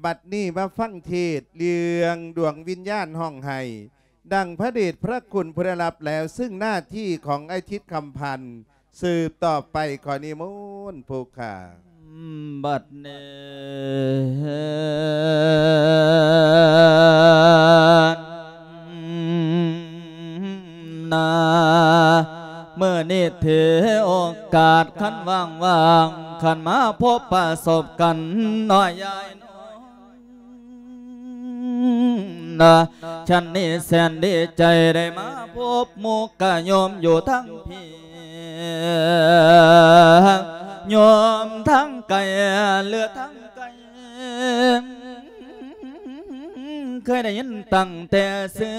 ບັດນີ້ມາຟັງເທດເລື່ອງດວງວິນຍານຮ້ອງໄຫ້ ດັ່ງພະເດດພະຄຸນຜູ້ໄດ້ຮັບແລ້ວ, ຊຶ່ງໜ້າທີ່ຂອງອ້າຍທິດຄຳພັນສືບຕໍ່ໄປ. ຂໍນິມົນຜູ້ຂ້າ. ບັດນີ້ນາ ມື້ນີ້ຖືໂອກາດຄັນວ່າງໆ ຄັນມາພົບປະສົບກັນເນາະຍາຍເນາະ. ນາ ສັນນີ້ແສນດີໃຈໄດ້ມາພົບໝູ່ກະໂຍມຢູ່ທາງພີ້ ໂຍມທາງໄກ ຫຼືທາງໄກ ເຄີຍໄດ້ຍິນຕັ້ງແຕ່ຊື່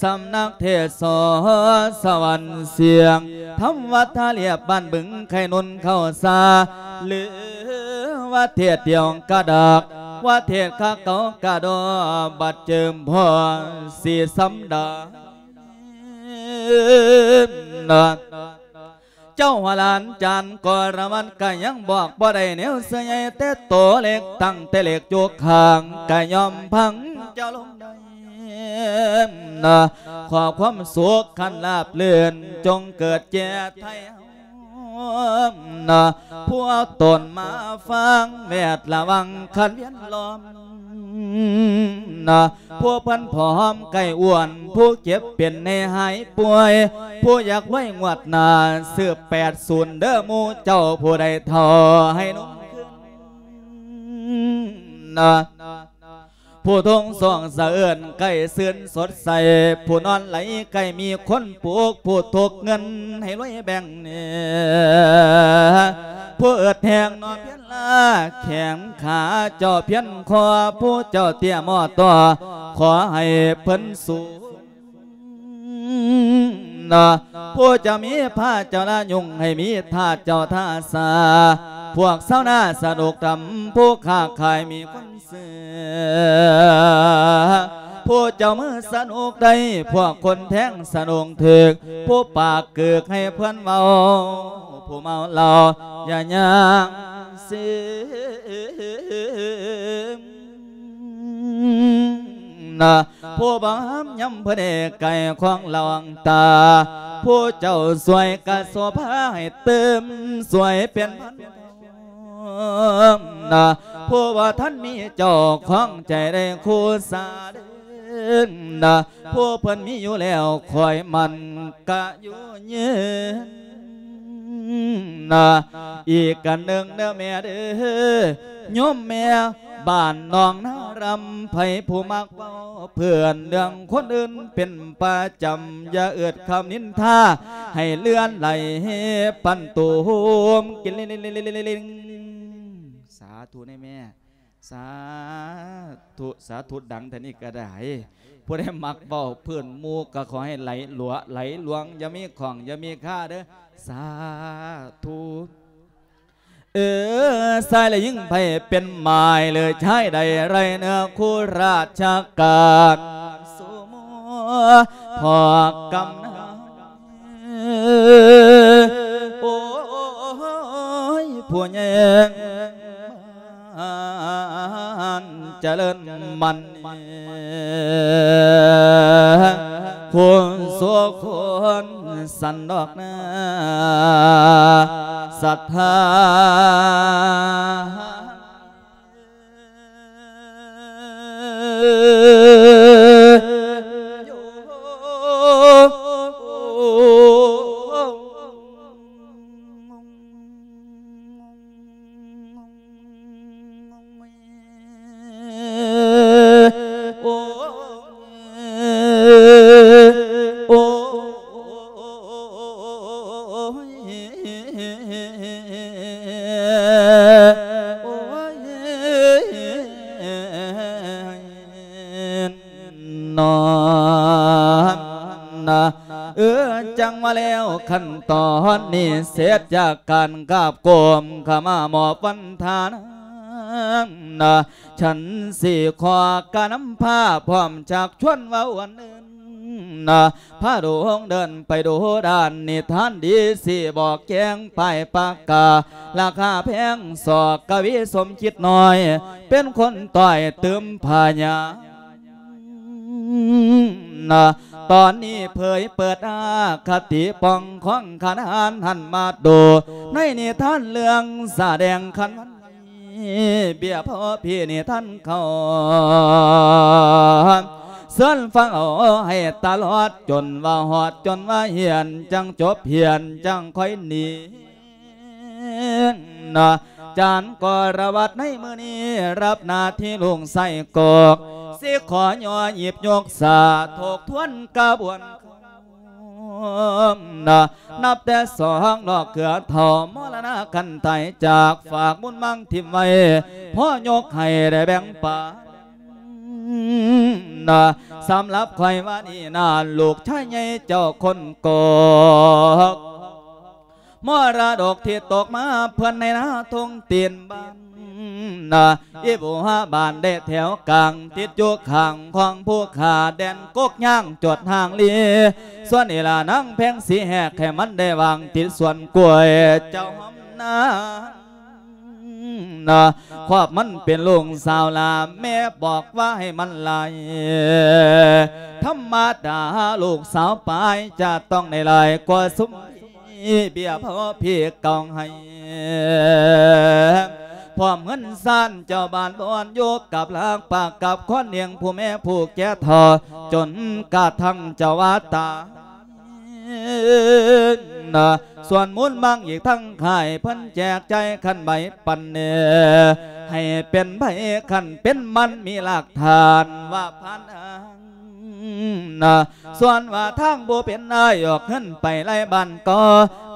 ສຳນັກເທດສອນສະຫວັນສຽງ ທຳວັດທ່າລຽບ ບ້ານບຶງໄຄນົນເຂົ້າສາ ຫຼືວ່າເທດດຽວກະດອກ ວ່າເທດຄາເກົ່າກະດໍ ບັດເຈີມພໍສີສຳດານ ເຈົ້າຫົວຫຼານຈານກໍລະວັນກະຍັງບອກບໍ່ໄດ້ແນວເສື້ອໃຫຍ່ ແຕ່ໂຕເລັກຕັ້ງແຕ່ເລັກຢູ່ຂ້າງກະຍອມພັງເຈົ້າລົງໄດ້ ຂໍຄວາມສຸກຄັນລາບລື່ນ ຈົ່ງເກີດແກ່ໄທເຮົາ ນະ ຜູ້ເອົາຕົນມາຟັງແວດລະວັງຄັນວຽນລ້ອມ ນະ ຜູ້ເພິ່ນພ້ອມໃກ້ອ້ວນ ຜູ້ເຈັບເປັນໃຫ້ຫາຍປ່ວຍ ຜູ້ຢາກລວຍງວດໜ້າ ຊື້ແປດສູນເດີໝູ່ເຈົ້າ ຜູ້ໃດເຖົ້າໃຫ້ໜຸ່ມຂຶ້ນ ນະ ຜູ້ທຸກສວງສະເອີນໃກ້ຊື່ນສົດໃສ ຜູ້ນອນໄຫຼໃກ້ມີຄົນປຸກ ຜູ້ທຸກເງິນໃຫ້ລວຍແບ່ງແໜ່ ຜູ້ອຶດແຮງນອນພຽນລາ ແຂງຂາເຈົ້າພຽນຄໍ ຜູ້ເຈົ້າເຕ້ຍໝໍ້ຕໍ່ ຂໍໃຫ້ເພິ່ນສູງ ນະ ຜູ້ເຈົ້າມີພະເຈົ້າລະຍຸງ ໃຫ້ມີທາດເຈົ້າທ່າສາ ພວກຊາວນາສະໜຸກທຳ ຜູ້ຄ້າຂາຍມີຄົນຊື້ ຜູ້ເຈົ້າມືສະໜຸກໄດ້ ພວກຄົນແທງສະໜຸກຖືກ ຜູ້ປາກກຶກໃຫ້ເພິ່ນເວົ້າ ຜູ້ເມົາເຫຼົ້າຢ່າຍ່າງເສມ ນະ ຜູ້ບໍ່ຫ້າມຍຳເພິ່ນເອກໄກ່ຂອງລະວັງຕາ ຜູ້ເຈົ້າຊ່ວຍກະໂສພາໃຫ້ຕື່ມ ຊ່ວຍເປັນພັນທອງ ນະ ຜູ້ບໍ່ທັນມີເຈົ້າຂອງໃຈໄດ້ຄູ່ສາເດີ ນະ ຜູ້ເພິ່ນມີຢູ່ແລ້ວ ຄອຍໝັ້ນກະຢູ່ຍືນ ນະ ອີກອັນໜຶ່ງເດີແມ່ເດີ ໂຍມແມ່ ບ້ານໜອງນາລຳ ໃຜຜູ້ມັກເວົ້າເພື່ອນເລື່ອງຄົນອື່ນເປັນປະຈຳ ຢ່າເອິດຄຳນິນທາໃຫ້ເລື່ອນໄຫຼປັນຕູມກິນລິງ ສາທຸເນແມ່ ສາທຸ ສາທຸ ດັງເທົ່ານີ້ກະໄດ້ ຜູ້ໃດມັກເວົ້າເພື່ອນໝູ່ກະຂໍໃຫ້ໄຫຼຫຼວ ໄຫຼຫຼວງ ຢ່າມີຂ້ອງ ຢ່າມີຄາເດີ ສາທຸ. ເອີ ຊາຍແລະຍິງໃຜເປັນໝາຍ ຫຼືຊາຍໃດໄດ້ເນື້ອຄູ່ລາຊະການ ສູ່ໝູ່ພວກກຳນານ ໂອ້ຍ ຜູ້ຍິງ ອັນຈະເລີນໝັ້ນ ຄູນສຸຄົນສັນດອກນາ ສັດທາ. ເອີ ຈັ່ງວ່າແລ້ວ ຂັ້ນຕອນນີ້ເສັດຈາກການກາບກົ້ມຂະມາມອບວັນທານາ ນະ ສັນສີຂໍກະນຳພາພ້ອມຈາກຊວນເວົ້າອັນອື່ນ ນະ ພາດວງເດີນໄປດູດ້ານ ນິທານດີຊິບອກແຈ້ງ ປ້າຍປາກກາລາຄາແພງ ສອກກະວີສົມຄິດນ້ອຍ ເປັນຄົນຕ້ອຍຕື່ມພະຍານະ ຕອນນີ້ເຜີຍເປີດອະຄະຕິ ປ່ອງຂອງຂະນານຫັ້ນມາໂດ ໃນນິທານເລື່ອງສະແດງຄັນວັນ ເບຍພໍ່ພີ່ນີ້ທ່ານເຂົາ ເຊີນຟັງເອົາໃຫ້ຕະຫຼອດ ຈົນວ່າຮອດ ຈົນວ່າຮຽນ ຈັ່ງຈົບຮຽນ ຈັ່ງຄ່ອຍໜີນະ ຈານກໍລະວັດໃນມື້ນີ້ ຮັບໜ້າທີ່ລຸງໄສ້ກອກ ຊິຂໍຍໍຫຍິບຍົກສາ ທົບທວນກະບວນ ນະ ນັບແຕ່ສອງດອກເກືອເຖົ້າ ມໍລະນະຄັນຕາຍຈາກ ຝາກບຸນມັງຖິ້ມໄວ້ ພໍຍົກໃຫ້ໄດ້ແບ່ງປັນນະ ສຳລັບຂ້ອຍວ່ານີ້ນາ ລູກຊາຍໃຫຍ່ເຈົ້າຄົນກອກ ມໍລະດົກທີ່ຕົກມາ ເພື່ອນໃນນາທົ່ງຕີນບ້ານນະ ອີບູຮາບ້ານໄດ້ແຖວກາງ ຕິດຢູ່ຂ້າງຂອງພູຂາ ແດນກົກຍາງຈົດຫ່າງລີ ສ່ວນອີຫຼ້ານາງແພງສີແຫກ ໃຫ້ມັນໄດ້ວາງຕິດສວນກ້ວຍ ເຈົ້າຫອມນານນະ ຄອບມັນເປັນລູກສາວຫຼ້າ ແມ່ບອກວ່າໃຫ້ມັນໄລ່ ທຳມະດາລູກສາວປາຍ ຈະຕ້ອງໄດ້ຫຼາຍກວ່າຊຸມ ເບຍພໍ່ພີ່ເກົ່າໃຫ້ ພ້ອມເຮືອນຊານເຈົ້າບ້ານບ່ອນຢູ່ ກັບລາກປາກກັບຄອນ ລ້ຽງຜູ້ແມ່ຜູ້ແກ່ເຖົ້າ ຈົນກະທັ່ງເຈົ້າວ່າຕາຍນະ ສ່ວນມູນມັງອີກທັງຄ້າຍ ເພິ່ນແຈກຈ່າຍຄັນໃບປັນແດ່ ໃຫ້ເປັນໃບຄັນເປັນມັນ ມີຫຼັກຖານວ່າຜ່ານທາງ ນະ ສ່ວນວ່າທາງບໍ່ເປັນ ອ້າຍອອກເຮືອນໄປໄລ່ບ້ານກໍ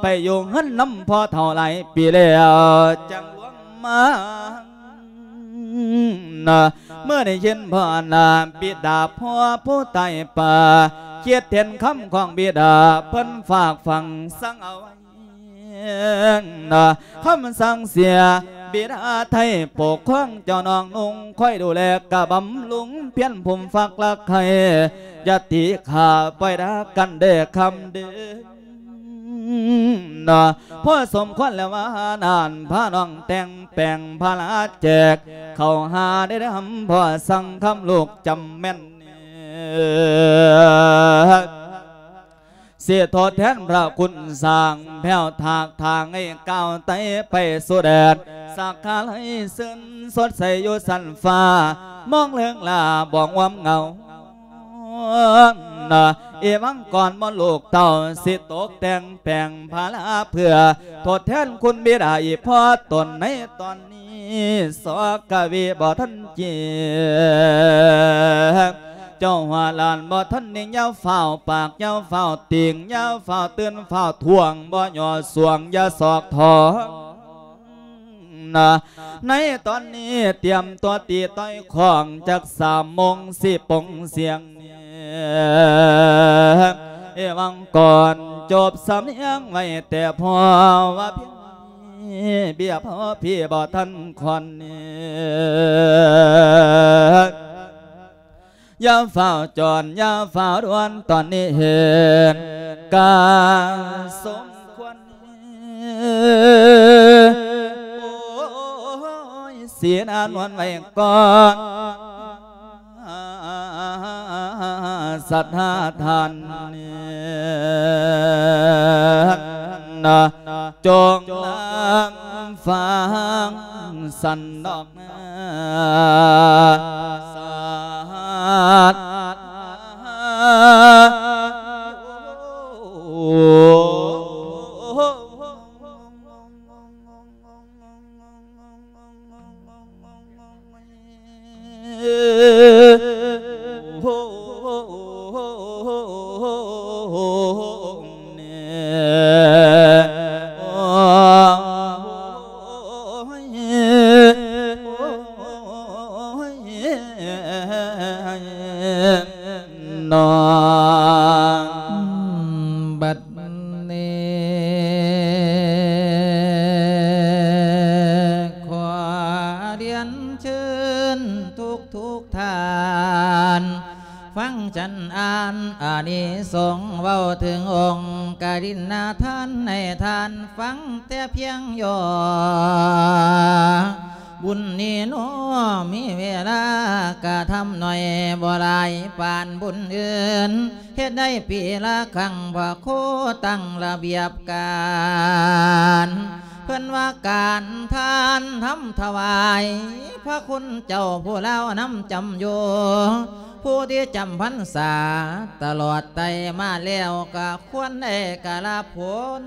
ໄປຢູ່ເຮືອນນຳພໍ່ເຖົ້າຫຼາຍປີແລ້ວ ຈັ່ງລວມມານະ ເມື່ອໄດ້ຍິນພໍ່ນາ ບິດາພໍ່ຜູ້ຕາຍໄປ ຄິດເຫັນຄຳຂອງບິດາ ເພິ່ນຝາກຝັງສັ່ງເອົາໄວ້ ນະ ຄຳສັ່ງເສຍ ບິດາໄທປົກຄອງເຈົ້ານ້ອງນຸ່ງ ຄອຍດູແລກະບຳລຸງ ພຽນພູມຟັກລັກໃຄ່ ຢ່າຕີຂ້າ ປ່ອຍດາກັນເດີຄຳເດີ ນະ ພໍສົມຄວນແລ້ວວ່ານັ້ນ ພານ້ອງແຕ່ງແປງພາລາແຈກ ເຂົ້າຫາໄດ້ນຳ ພໍ່ສັ່ງຄຳລູກຈຳແມ່ນ ຊິທົດແທນພະຄຸນສ້າງ ແພ້ວຖາກທາງໃຫ້ກ້າວໄຕ່ໄປສູ່ແດນ ສັກຄາໄລຊື່ນສົດໃສຢູ່ຊັ້ນຟ້າ ມອງເລິງລາບອງອວມເງົາ ນະ ເອວັງກອນໝໍລູກເຕົ້າ ຊິຕົກແຕ່ງແປງພາລາ ເພື່ອທົດແທນຄຸນບິດາອີກພໍຕົນໃນຕອນ ນີ້ ສອກະວີບໍ່ທັນເຈັບ ເຈົ້າຫົວຫຼານບໍ່ທັນນິ່ງ ຢ່າຟ້າວປາກ ຢ່າຟ້າວຕິງ ຢ່າຟ້າວຕື່ນ ຟ້າວທ້ວງ ບໍ່ຫຍໍ້ສວງ ຢ່າສອກຖອງນະ ໃນຕອນນີ້ຕຽມຕົວຕີຕ່ອຍຂ້ອງ ຈັກສາມໂມງຊິປົງສຽງ ເອວັງກອນຈົບສຳນຽງໄວ້ແຕ່ພໍວ່າພຽງ ເບຍພໍ່ພີ່ບໍ່ທັນຄອນ ຢ່າຟ້າວຈອນ ຢ່າຟ້າວດ່ວນ ຕອນນີ້ເຫັນການສົມຄວນ ໂອ້ຍ ສີໜ້ານວນໄວ້ກ່ອນ ສັດທາທ່ານ ນະ ຈົ່ງນຳຟັງສັນດອກນາ ສາດ ນອງ ບັດນີ້ ຂໍລຽນເຊີນທຸກໆທ່ານ ຟັງຈັນອ່ານອານິສົງ ເວົ້າເຖິງອົງກະລິນນະທານ ໃຫ້ທ່ານຟັງແຕ່ພຽງຫຍໍ້. ບຸນນີ້ໜໍ ມີເວລາກະທຳໜ້ອຍ ບໍ່ຫຼາຍປານບຸນອື່ນ ເຮັດໄດ້ປີລະຄັ້ງ ພະຄູຕັ້ງລະບຽບການ ເພິ່ນວ່າການທານທຳຖວາຍ ພະຄຸນເຈົ້າຜູ້ລາວນຳຈຳຢູ່ ຜູ້ທີ່ຈຳພັນສາຕະຫຼອດໄຕ່ມາແລ້ວ ກະຄວນໄດ້ກະລາຜົນ.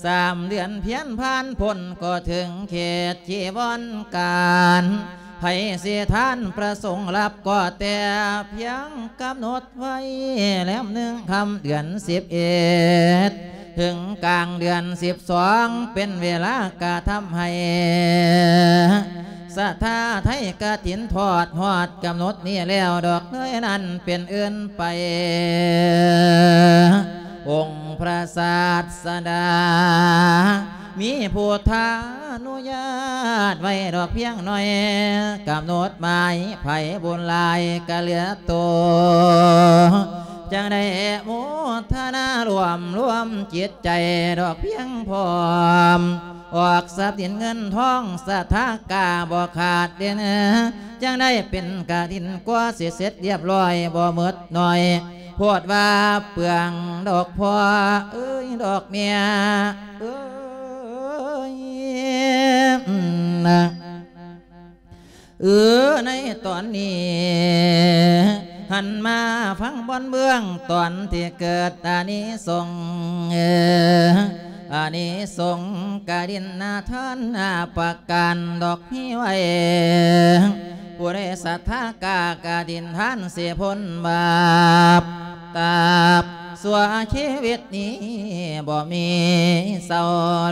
ສາມເດືອນພຽນຜ່ານພົ້ນ ກໍເຖິງເຂດຈີວອນການ ໃຜຊິທານປະສົງຮັບ ກໍແຕ່ພຽງກຳນົດໄວ້ ແລມໜຶ່ງຄ່ຳເດືອນສິບເອັດ ເຖິງກາງເດືອນສິບສອງ ເປັນເວລາກະທຳໃຫ້ ສະຖາໄທກະຖິນທອດຮອດກຳນົດນີ້ແລ້ວດອກ ເລີຍນັ້ນເປັນອື່ນໄປ ອົງພະສາດສະດາ ມີພຸດທານຸຍາດໄວ້ດອກພຽງໜ້ອຍ ກຳນົດໝາຍໃຜບຸນຫຼາຍກະເຫຼືອໂຕ ຈັ່ງໄດ້ໂມທະນາລວມລວມຈິດໃຈດອກພຽງພ້ອມ ອອກຊັບສິນເງິນທອງ ສະຖາກາບໍ່ຂາດເດ່ນ ຈັ່ງໄດ້ເປັນກະຖິນ ກວ່າຊິເສັດລຽບຮ້ອຍ ບໍ່ໝົດໜ້ອຍ ໂພດວ່າເປືອງດອກພໍ່ເອີຍ ດອກແມ່ເອີຍ ເອີ ໃນຕອນນີ້ ຫັນມາຟັງບ່ອນເບື້ອງ ຕອນທີ່ເກີດອານິສົງ ເອີ ອານິສົງກະດິນນາທານຫ້າປະການດອກມີໄວ້ ຜູ້ໃດສັດທາກາກະດິນທານຊິພົ້ນບາບ ຕາບຊົ່ວຊີວິດນີ້ ບໍ່ມີເສົ້າ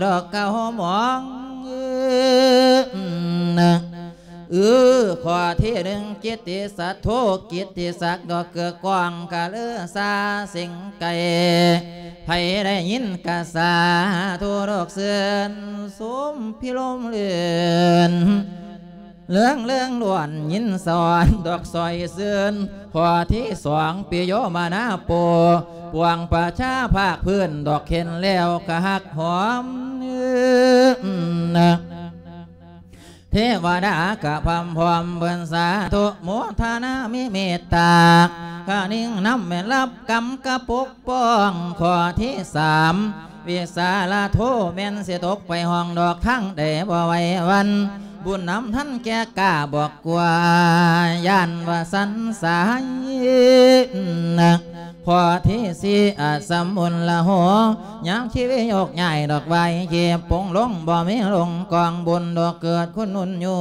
ດອກເກົ່າໝອງ ເອີ ຂໍ້ທີໜຶ່ງ ກິດຕິສັດໂທ ກິດຕິສັກດອກເກືອກອງກະເລີຊາ ເສັງໄກ ໃຜໄດ້ຍິນກະສາທຸດອກເຊີນ ສົມພິລົມລື່ນ ເລື່ອງເລື່ອງລ້ວນຍິນສອນ ດອກຊອຍຊື່ນ ຂໍ້ທີສອງ ປິໂຍມະນາໂປ ປວງປະຊາພາກພື້ນ ດອກເຫັນແລ້ວກະຮັກຫອມ ເທວະດາກະພຳພ້ອມເພິ່ນສາທຸໂມທະນາມີເມດຕາ ກະນິ່ງນຳແມ່ນຮັບກຳກະປົກປ້ອງ ຂໍ້ທີສາມ ວິສາລະໂທ ແມ່ນຊິຕົກໄປຫ້ອງດອກທາງໃດບໍ່ໄຫວຫວັ່ນ ບຸນນຳທັນແກ່ກ້າບອກກວ່າ ຢ້ານວ່າສັນສາຍ ຂໍ້ທີສີ່ ອະສຳມຸນລະໂຫ ຍາມຊີວິດໂຍກຍ້າຍດອກໄຫວ້ ເຈັບປົງລົງ ບໍ່ມີລົງກອງບຸນດອກເກີດຄຸນນຸນຢູ່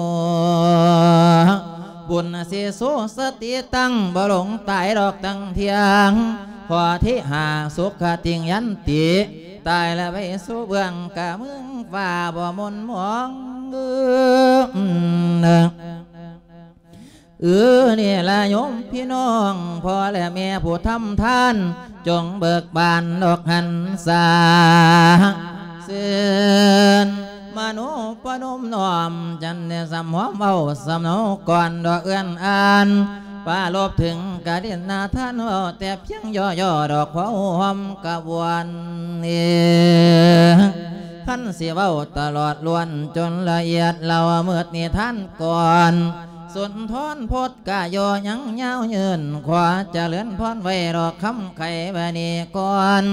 ບຸນສິສູສະຕິຕັ້ງ ບໍ່ຫຼົງຕາຍດອກຕັ້ງທ່ຽງ ຂໍ້ທີຫ້າ ສຸຂະຕິງຍັນຕິ ຕາຍແລ້ວໄປສູ່ເບື້ອງກາເມືອງຟ້າບໍ່ໝົນໝອງ ເອີ ເອີ ນີ້ລະໂຍມພີ່ນ້ອງ ພໍ່ແລະແມ່ຜູ້ທຳທານ ຈົ່ງເບີກບານດອກຫັນສາຊື່ນ ມະໂນປະນົມນ້ອມ ຈັນໄດ້ສຳຫອມເວົ້າສຳເນົາກ່ອນດອກເອື້ອນອ່ານ ປາລົບເຖິງກະດິນນາທານ ເວົ້າແຕ່ພຽງຫຍໍ້ໆດອກ ພໍຫອມກະບວນ ຄັນຊິເວົ້າຕະຫຼອດລ້ວນຈົນລະອຽດ ເລົ່າເໝິດນິທານກ່ອນ ສຸນທອນພົດກະຍໍຍັງຍາວຍືນ ຂໍຈະເລີນພອນໄວ້ດອກຄຳໄຂບາດນີ້ກ່ອນ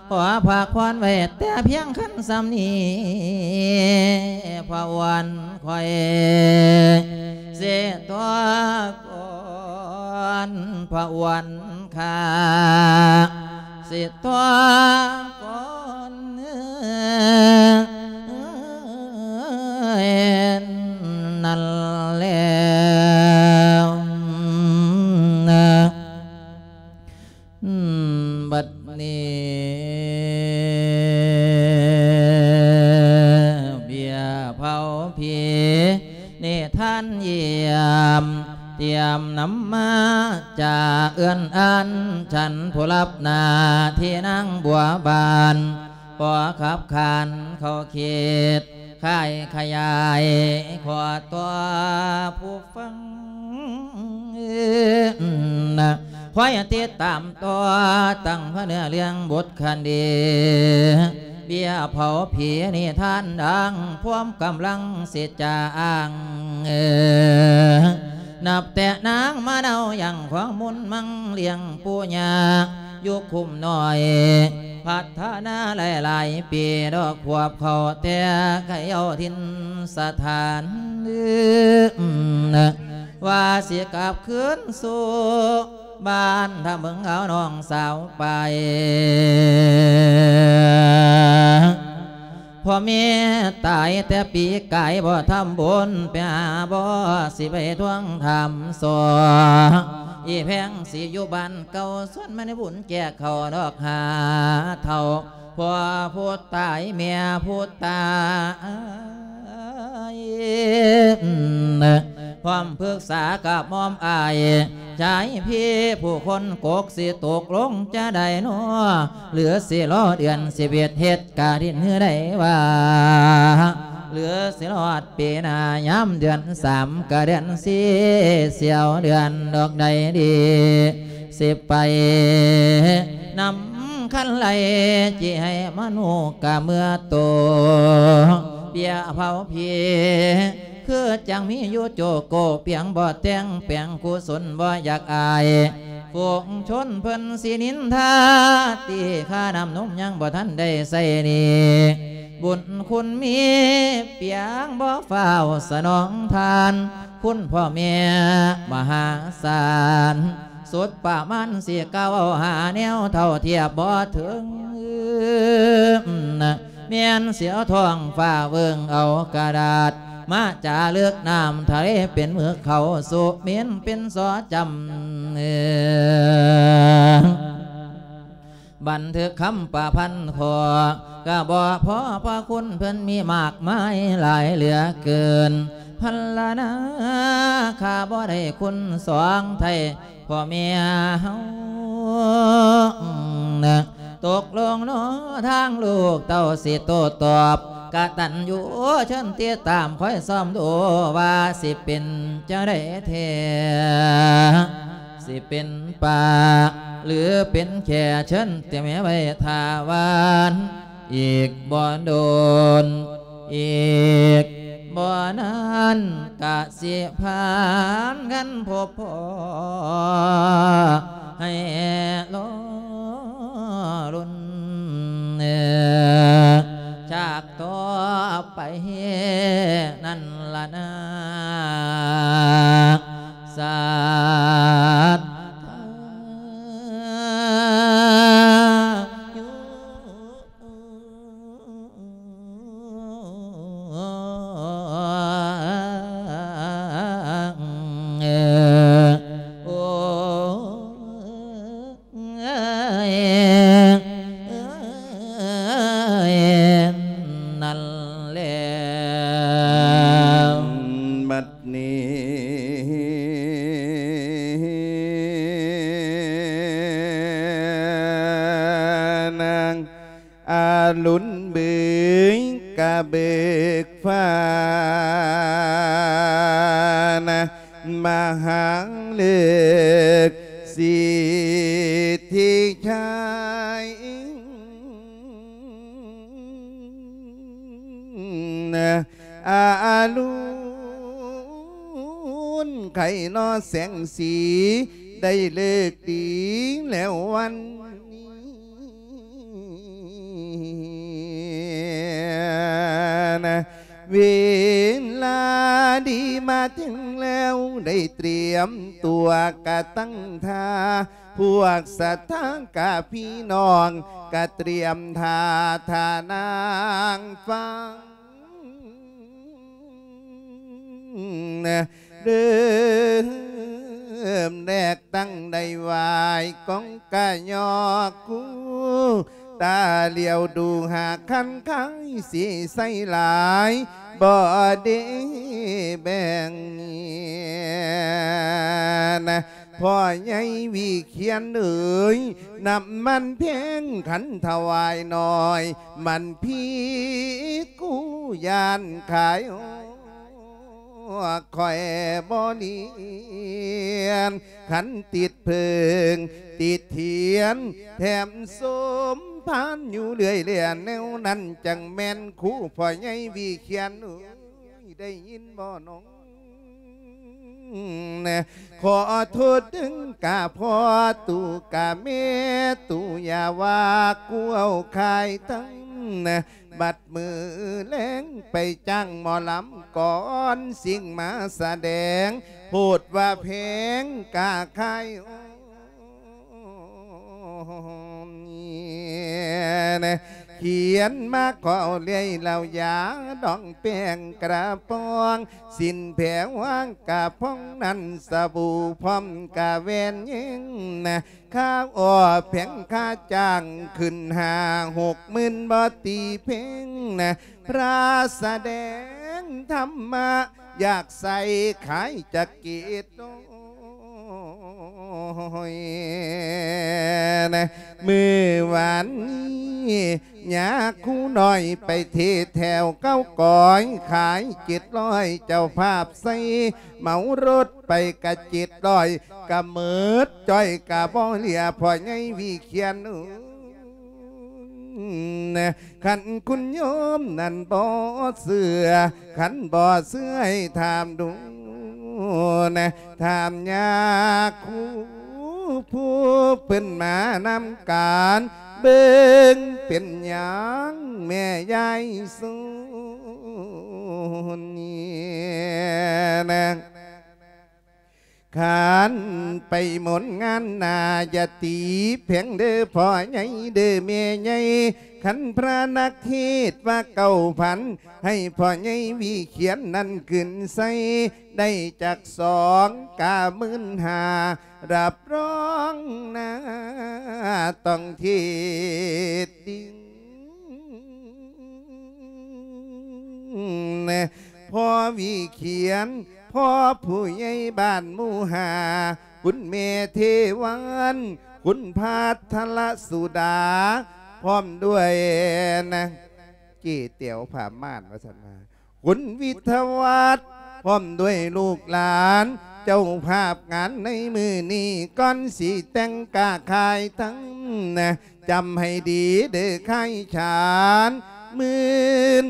ຂໍພາກພອນໄວ້ແຕ່ພຽງຄັນສ່ຳນີ້ ພະອວນຂ້ອຍ ເສຕົວກ່ອນ ພະອວນຂ້າ ເສຕົວກ່ອນ ນັ້ນແລ້ວ ບັດນີ້ ເບ້ຍເຜົາຜີ ນິທານຢ້ຽມ ຕຽມນຳມາຈາກເອື້ອນອັນ ສັນຜູ້ຮັບໜ້າທີ່ນາງບົວບານ ຂໍຂັບຂານເຂົ້າເຂດ ຂາຍຂະຫຍາຍ ຂໍຕໍ່ຜູ້ຟັງ ຄວາຍຕິດຕາມຕໍ່ຕັ້ງພະເນື້ອເລື່ອງບົດຄະດີ ເບ້ຍເຜົາຜີນິທານດັ່ງ ພວມກຳລັງສິຈາອ້າງ ເອີ ນັບແຕ່ນາງມາເນົາຍັງຂອງມຸນມັງລ້ຽງປູ່ຍ່າ ຢູ່ຄຸ້ມນ້ອຍ ພັດທະນາຫຼາຍໆປີ ດອກຂວບເຂົ້າແຕ່ໄກເຍົາຖິ່ນສະຖານ ວ່າຊິກັບຄືນສູ່ບ້ານ ຖ້າເບິ່ງເອົານ້ອງສາວໄປ ພໍ່ແມ່ຕາຍແຕ່ປີກາຍ ບໍ່ທຳບຸນໄປຫາ ບໍ່ຊິໄປທວງຖາມສໍ ອີແພງຊິຢູ່ບ້ານເກົ່າ ຊວນມາໃນບຸນແຈກເຂົ້າດອກຫາເຖົ້າ ພໍ່ຜູ້ຕາຍແມ່ຜູ້ຕາຍ ພ້ອມປຶກສາກັບໝອມອ້າຍ ຊາຍພີ່ຜູ້ຄົນກົກ ຊິຕົກລົງຈະໄດ້ນໍ ຫຼືຊິລໍເດືອນສິບເອັດເຮັດກະດິນ ຫຼືໄດ້ວ່າ ຫຼືຊິຮອດປີໜ້າ ຍາມເດືອນສາມກະເດືອນສີ່ ສ່ຽວເດືອນດອກໃດດີ ຊິໄປນຳຄັນໄລ່ ຊິໃຫ້ມະນຸກະເມືອໂຕ ເບ້ຍເຜົາຜີ ຄືຈັ່ງມີຢູ່ໂຈໂກ ປຽງບໍ່ແຕ່ງແປງ ກຸສົນບໍ່ຢາກອາຍ ຝູງຊົນເພິ່ນຊິນິນທາ ຕີຄ່ານ້ຳນົມຍັງບໍ່ທັນໄດ້ໃຊ້ໜີ້ ບຸນຄຸນມີ ປຽງບໍ່ຟ້າວສະໜອງທານ ຄຸນພໍ່ແມ່ມະຫາສານ ສຸດປະມານຊິກ່າວເອົາ ຫາແນວເທົ່າທຽບບໍ່ເຖິງ ແມ່ນຊິເອົາທ້ອງຟ້າເບິ່ງເອົາກະດາດ ມາຈາເລິກນ້ຳທະເລເປັນໝຶກ ເຂົ້າສຸເໝນເປັນສໍຈຳ ບັນທຶກຄຳປະພັນຂໍ້ ກະບໍ່ພໍ ພະຄຸນເພິ່ນມີມາກມາຍຫຼາຍເຫຼືອເກີນ ພັນລະນາ ຂ້າບໍ່ໄດ້ຄຸນສອງໄທ ພໍ່ແມ່ເຮົາ ຕົກລົງເນາະ ທາງລູກເຕົ້າຊິໂຕ້ຕອບ ກະຕັນຍູເຊີນຕິດຕາມ ຄອຍຊອມດູວ່າຊິເປັນຈັ່ງໃດແທ້ ຊິເປັນປ້າ ຫຼືເປັນແຂ້ ເຊີນແຕ່ແມ່ໄວ້ຖ້າວານ ອີກບໍ່ດົນ ອີກບໍ່ນານ ກະຊິຜ່ານກັນພົບພໍ້ ໃຫ້ລໍລຸ້ນຈາກຕໍ່ໄປນັ້ນລະນາ ສາດທາຍຸ. ນັ້ນແຫຼະ ບັດນີ້ ນາງ ອາລຸນເບີກກະເບີກຟ້ານະ ມະຫາເລີກສິດທິໄຊນະ ອາລຸນໄຄນໍແສງສີ ໄດ້ເລີກດີແລ້ວວັນ ເວລາດີມາເຖິງແລ້ວ ໄດ້ຕຽມຕົວກະຕັ້ງທ່າ ພວກສັດທາກະພີ່ນ້ອງ ກະຕຽມທ່າທ່ານາງຟັງ ເລີ່ມແລກຕັ້ງໄດ້ຫວາຍກອງກະຍອກຄູ ຕາຫຼຽວດູຫາຄັນຄາຍສີໃສຫຼາຍ ບໍ່ໄດ້ແບ່ງ ນະ ພໍ່ໃຫຍ່ວິຂຽນເອີຍ ນ້ຳມັນແພງຄັນຖວາຍໜ້ອຍ ມັນຜິດກູຢ້ານຂາຍ ຂ້ອຍບໍ່ລຽນ ຄັນຕິດເພິ່ງຕິດທຽນ ແຖມສົມພານຢູ່ເລື້ອຍແລ ແນວນັ້ນຈັ່ງແມ່ນຄູພໍ່ໃຫຍ່ວິຂຽນ ໂອ້ຍ ໄດ້ຍິນບໍ່ນ້ອງ? ຂໍໂທດເດີກະພໍ່ຕູ້ກະແມ່ຕູ້ ຢ່າວ່າກູເອົາຂາຍທັງ ບັດມື້ແລງໄປຈ້າງໝໍລຳກ່ອນ ສິ່ງມາສະແດງ ໂພດວ່າແພງກະຂາຍ ໂອ້ຍ ຂຽນມາຂໍເລື່ອຍເຫຼົ້າຢາ ດອງແປ້ງກະປອງ ສິ້ນແຜວາງກະພອງ ນັ້ນສະບູພ້ອມກະແວ່ນຍິງນະ ຄ່າອໍແພງຄ່າຈ້າງ ຂຶ້ນຫ້າຫົກໝື່ນບໍ່ຕີເພັງນະ ພະສະແດງທຳມະ ຢາກໃສ່ຂາຍຈັກເກດ ໂອ້ຍ ນະ ມື້ວານນີ້ຍາຄູນ້ອຍໄປເທດແຖວເກົ້າກອຍ ຂາຍເຈັດຮ້ອຍ ເຈົ້າພາບໃສ່ເໝົາລົດໄປກະເຈັດຮ້ອຍ ກະເໝິດຈ້ອຍກະບໍ່ເຫຼືອ ພໍ່ໃຫຍ່ວິຂຽນເອີຍ ຄັນຄຸນໂຍມນັ້ນບໍ່ເຊື່ອ ຄັນບໍ່ເຊື່ອໃຫ້ຖາມດູນະ ຖາມຍາຄູຜູ້ເພິ່ນມານຳການ ເບິ່ງເປັນຫຍັງແມ່ຍາຍສູນນີ້ນະ ຄັນໄປມົນງານໜ້າ ຢ່າຕີແພງເດີພໍ່ໃຫຍ່ເດີແມ່ໃຫຍ່ ຄັນພະນັກເທດວ່າເກົ້າພັນ ໃຫ້ພໍ່ໃຫຍ່ວິຂຽນນັ້ນຂຶ້ນໃສ່ ໄດ້ຈັກສອງກະໝື່ນຫ້າ ຮັບຮອງໜ້າຕ້ອງເທດດິນ ພໍ່ວິຂຽນ ພໍ່ຜູ້ໃຫຍ່ບ້ານໝູ່ຫ້າ ຄຸນແມ່ເທວັນ ຄຸນພັດທະລະສຸດາ ພ້ອມດ້ວຍນະ ເຈ້ແຕວຜ້າມ່ານວ່າຊັ້ນວ່າ ຄຸນວິທະວັດ ພ້ອມດ້ວຍລູກຫຼານ ເຈົ້າພາບງານໃນມື້ນີ້ ກ່ອນຊິແຕ່ງກະຂາຍທັງນະ ຈຳໃຫ້ດີເດີ ຂາຍສາມໝື່ນ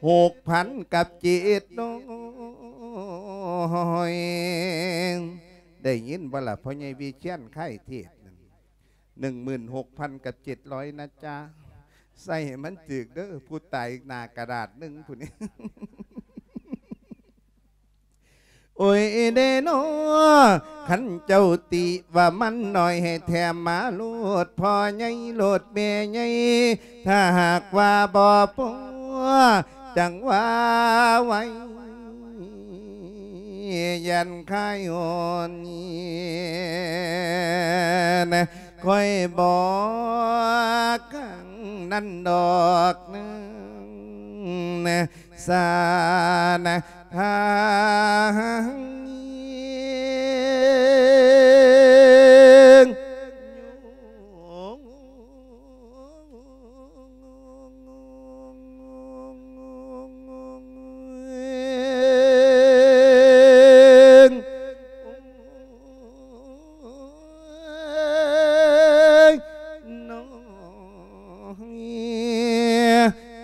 ຫົກພັນກັບເຈັດຮ້ອຍ ໄດ້ຍິນບໍ່ລະ ພໍ່ໃຫຍ່ວິຂຽນຂາຍເທດນັ້ນ ໜຶ່ງໝື່ນຫົກພັນກັບເຈັດຮ້ອຍນະຈ໊ະ ໃສ່ໃຫ້ມັນຖືກເດີ ຜູ້ຕາຍໜ້າກະດາດໜຶ່ງຜູ້ນີ້ ໂອ້ຍເດນໍ ຄັນເຈົ້າຕິວ່າມັນໜ້ອຍ ໃຫ້ແຖມມາໂລດ ພໍ່ໃຫຍ່ໂລດແມ່ໃຫຍ່ ຖ້າຫາກວ່າບໍ່ພໍ ຈັ່ງວ່າໄວ້ ຢ້ານຂາຍໂຫດນະ ຂ້ອຍບອກຄັ້ງນັ້ນດອກນະ ສານະທາງ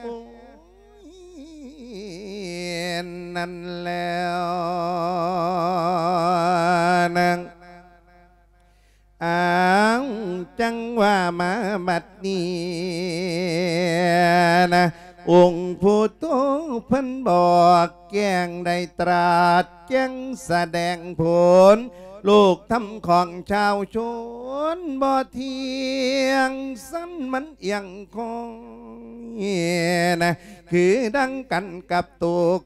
ໂອ້ຍ ນັ້ນແລ້ວນາງ ອ້າວ ຈັ່ງວ່າມາບັດນີ້ນະ ອົງພຸດໂທເພິ່ນບອກແຈ້ງ ໄດ້ຕຣາດແຈ້ງສະແດງຜົນ ໂລກທຳຂອງຊາວຊົນບໍ່ທ່ຽງ ສັນມັນອຽງຄອຍນະ ຄືດັ່ງກັນກັບໂຕ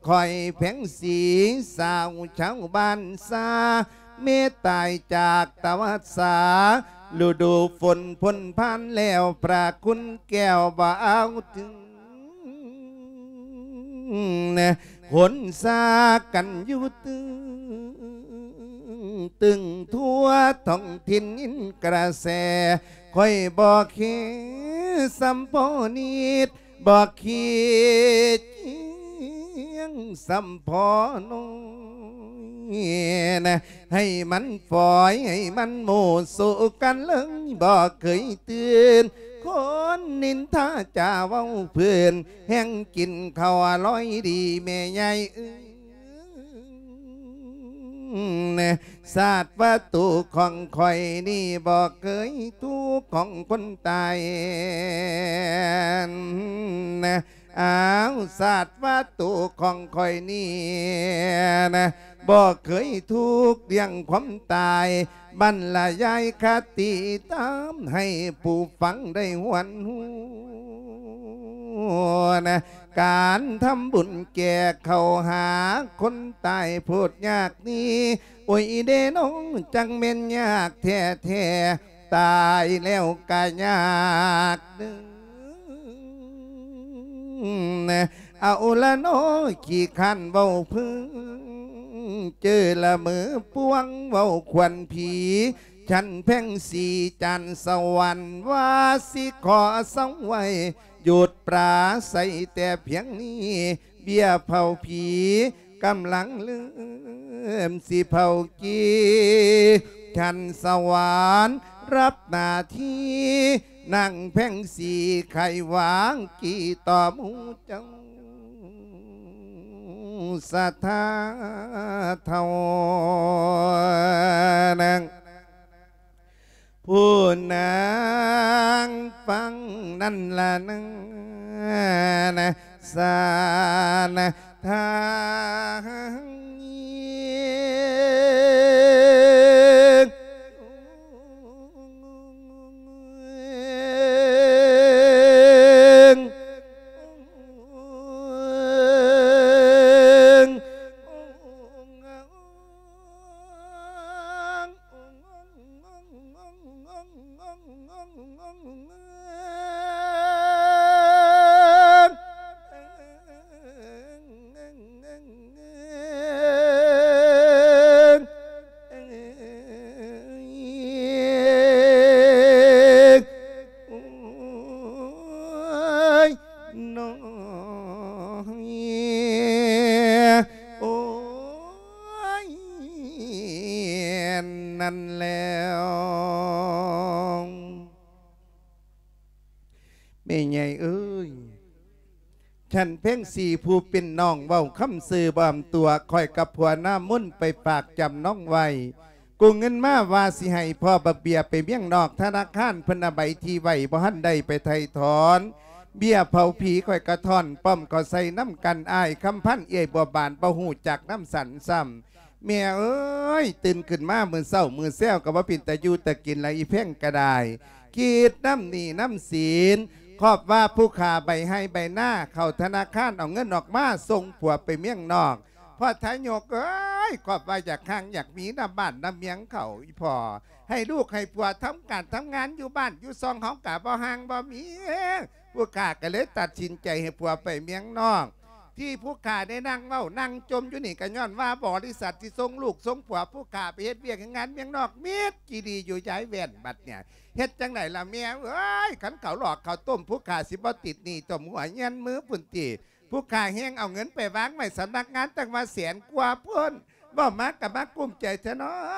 ຂ້ອຍແພງສີ ສາວຊາວບ້ານຊາ ແມ່ຕາຍຈາກຕະວັດສາ ລະດູຝົນພົ້ນຜ່ານແລ້ວ ພະຄຸນແກ້ວບໍ່ເອົາເຖິງ ຄົນຊາກັນຢູ່ຕຶງ ຕຶງທົ່ວທ້ອງຖິ່ນຍິນກະແສ ຂ້ອຍບໍ່ເຄສ່ຳພໍ່ນິດ ບໍ່ເຄຈຽງສ່ຳພໍ່ນ້ອງ ນະ ໃຫ້ມັນຝອຍ ໃຫ້ມັນໂມໂສກັນເລີຍ ບໍ່ເຄີຍຕື່ນ ຄົນນິນທາຈາເວົ້າເພິ່ນ ແຮ່ງກິນເຂົ້າອະລ່ອຍດີແມ່ໃຫຍ່ເອີຍ ນະ ຊາດວ່າໂຕຂອງຂ້ອຍນີ້ ບໍ່ເຄີຍທຸກຂອງຄົນຕາຍ ນະ ອ້າວ ຊາດວ່າໂຕຂອງຂ້ອຍນີ້ນະ ບໍ່ເຄີຍທຸກເລື່ອງຄວາມຕາຍ ບັນລະຍາຍຄະຕິທຳໃຫ້ຜູ້ຟັງໄດ້ຫວນຮູ້ນະ ການທຳບຸນແກ່ເຂົ້າຫາຄົນຕາຍໂພດຍາກນີ້ ໂອ້ຍເດນ້ອງ ຈັ່ງແມ່ນຍາກແທ້ໆ ຕາຍແລ້ວກະຍາກເດີ ເອົາລະເນາະ ຂີ້ຄ້ານເວົ້າເພີງ ເຈີລະເມີປວງເວົ້າຂວັນຜີ ຊັ້ນແພງສີຈານສະຫວັນ ວ່າຊິຂໍເຊົາໄວ້ ຢຸດປາໄສແຕ່ພຽງນີ້ ເບ້ຍເຜົາຜີ ກຳລັງເລີ່ມຊິເຜົາກີ ຊັ້ນສະຫວັນ ຮັບໜ້າທີ່ ນາງແພງສີ ໄຂວາງກີຕໍ່ໝູ່ເຈົ້າ ສະທາເຖົ້ານາງ ຜູ້ນາງຟັງນັ້ນລະນາ ສານທາງໂອ້ຍ ໂອ້ຍ ນັ້ນແລ້ວ ແມ່ໃຫຍ່ເອີຍ ຊັ້ນແພງສີຜູ້ເປັນນ້ອງເວົ້າຄຳຊື່ບອມຕົວ ຂ້ອຍກັບຜົວນາມົນໄປຝາກຈຳນອງໄວ້ ກູ້ເງິນມາວ່າຊິໃຫ້ພໍ່ບັກເບ້ຍໄປເມືອງນອກ ທະນາຄານເພິ່ນເອົາໃບທີ່ໄວ້ ບໍ່ທັນໄດ້ໄປໄຖ່ຖອນ ເບ້ຍເຜົາຜີຂ້ອຍກະທ້ອນ ປ້ອມເຂົ້າໃສ່ນຳກັນ ອ້າຍຄຳພັນ ເອື້ອຍບົວບານ ບໍ່ຮູ້ຈັກນຳສັນຊ້ຳ ແມ່ເອີຍ ຕື່ນຂຶ້ນມາມື້ເຊົ້າມື້ແຊວກໍບໍ່ເປັນຕາຢູ່ຕາກິນລະ ອີແພງກໍໄດ້ ຄິດນຳໜີ້ນຳສິນ ຄອບວ່າຜູ້ຂ້າໃບໄຮ່ໃບນາ ເຂົ້າທະນາຄານເອົາເງິນອອກມາ ສົ່ງຜົວໄປເມືອງນອກ ພໍ່ທາຍົກເອີຍ ຄອບວ່າຢາກຮັ່ງຢາກມີນຳບ້ານນຳເມືອງເຂົາ ອີພໍ່ ໃຫ້ລູກໃຫ້ຜົວທຳການທຳງານຢູ່ບ້ານຢູ່ຊ່ອງ ເຮົາກະບໍ່ຮັ່ງບໍ່ມີ ຜູ້ຂ້າກໍເລີຍຕັດສິນໃຈໃຫ້ຜົວໄປເມືອງນອກ ທີ່ຜູ້ຂ້າໄດ້ນັ່ງເວົ້ານັ່ງຈົ່ມຢູ່ນີ້ ກໍຍ້ອນວ່າບໍລິສັດທີ່ສົ່ງລູກສົ່ງຜົວຜູ້ຂ້າໄປເຮັດວຽກເຮັດງານເມືອງນອກ ມິດຈີ່ດີຢູ່ຍາຍແວ່ນ ບັດເນີ້ຍ ເຮັດຈັ່ງໃດລະແມ່ເອີຍ ຄັນເຂົາຫຼອກເຂົາຕົ້ມ ຜູ້ຂ້າຊິບໍ່ຕິດໜີ້ຕົມຫົວເງືອນມືພຸ້ນຕິ ຜູ້ຂ້າແຮ່ງເອົາເງິນໄປວາງໄວ້ສຳນັກງານຕັ້ງວ່າແສນກວ່າພຸ້ນ ເວົ້າມາກໍມາກຸ້ມໃຈແທ້ເນາ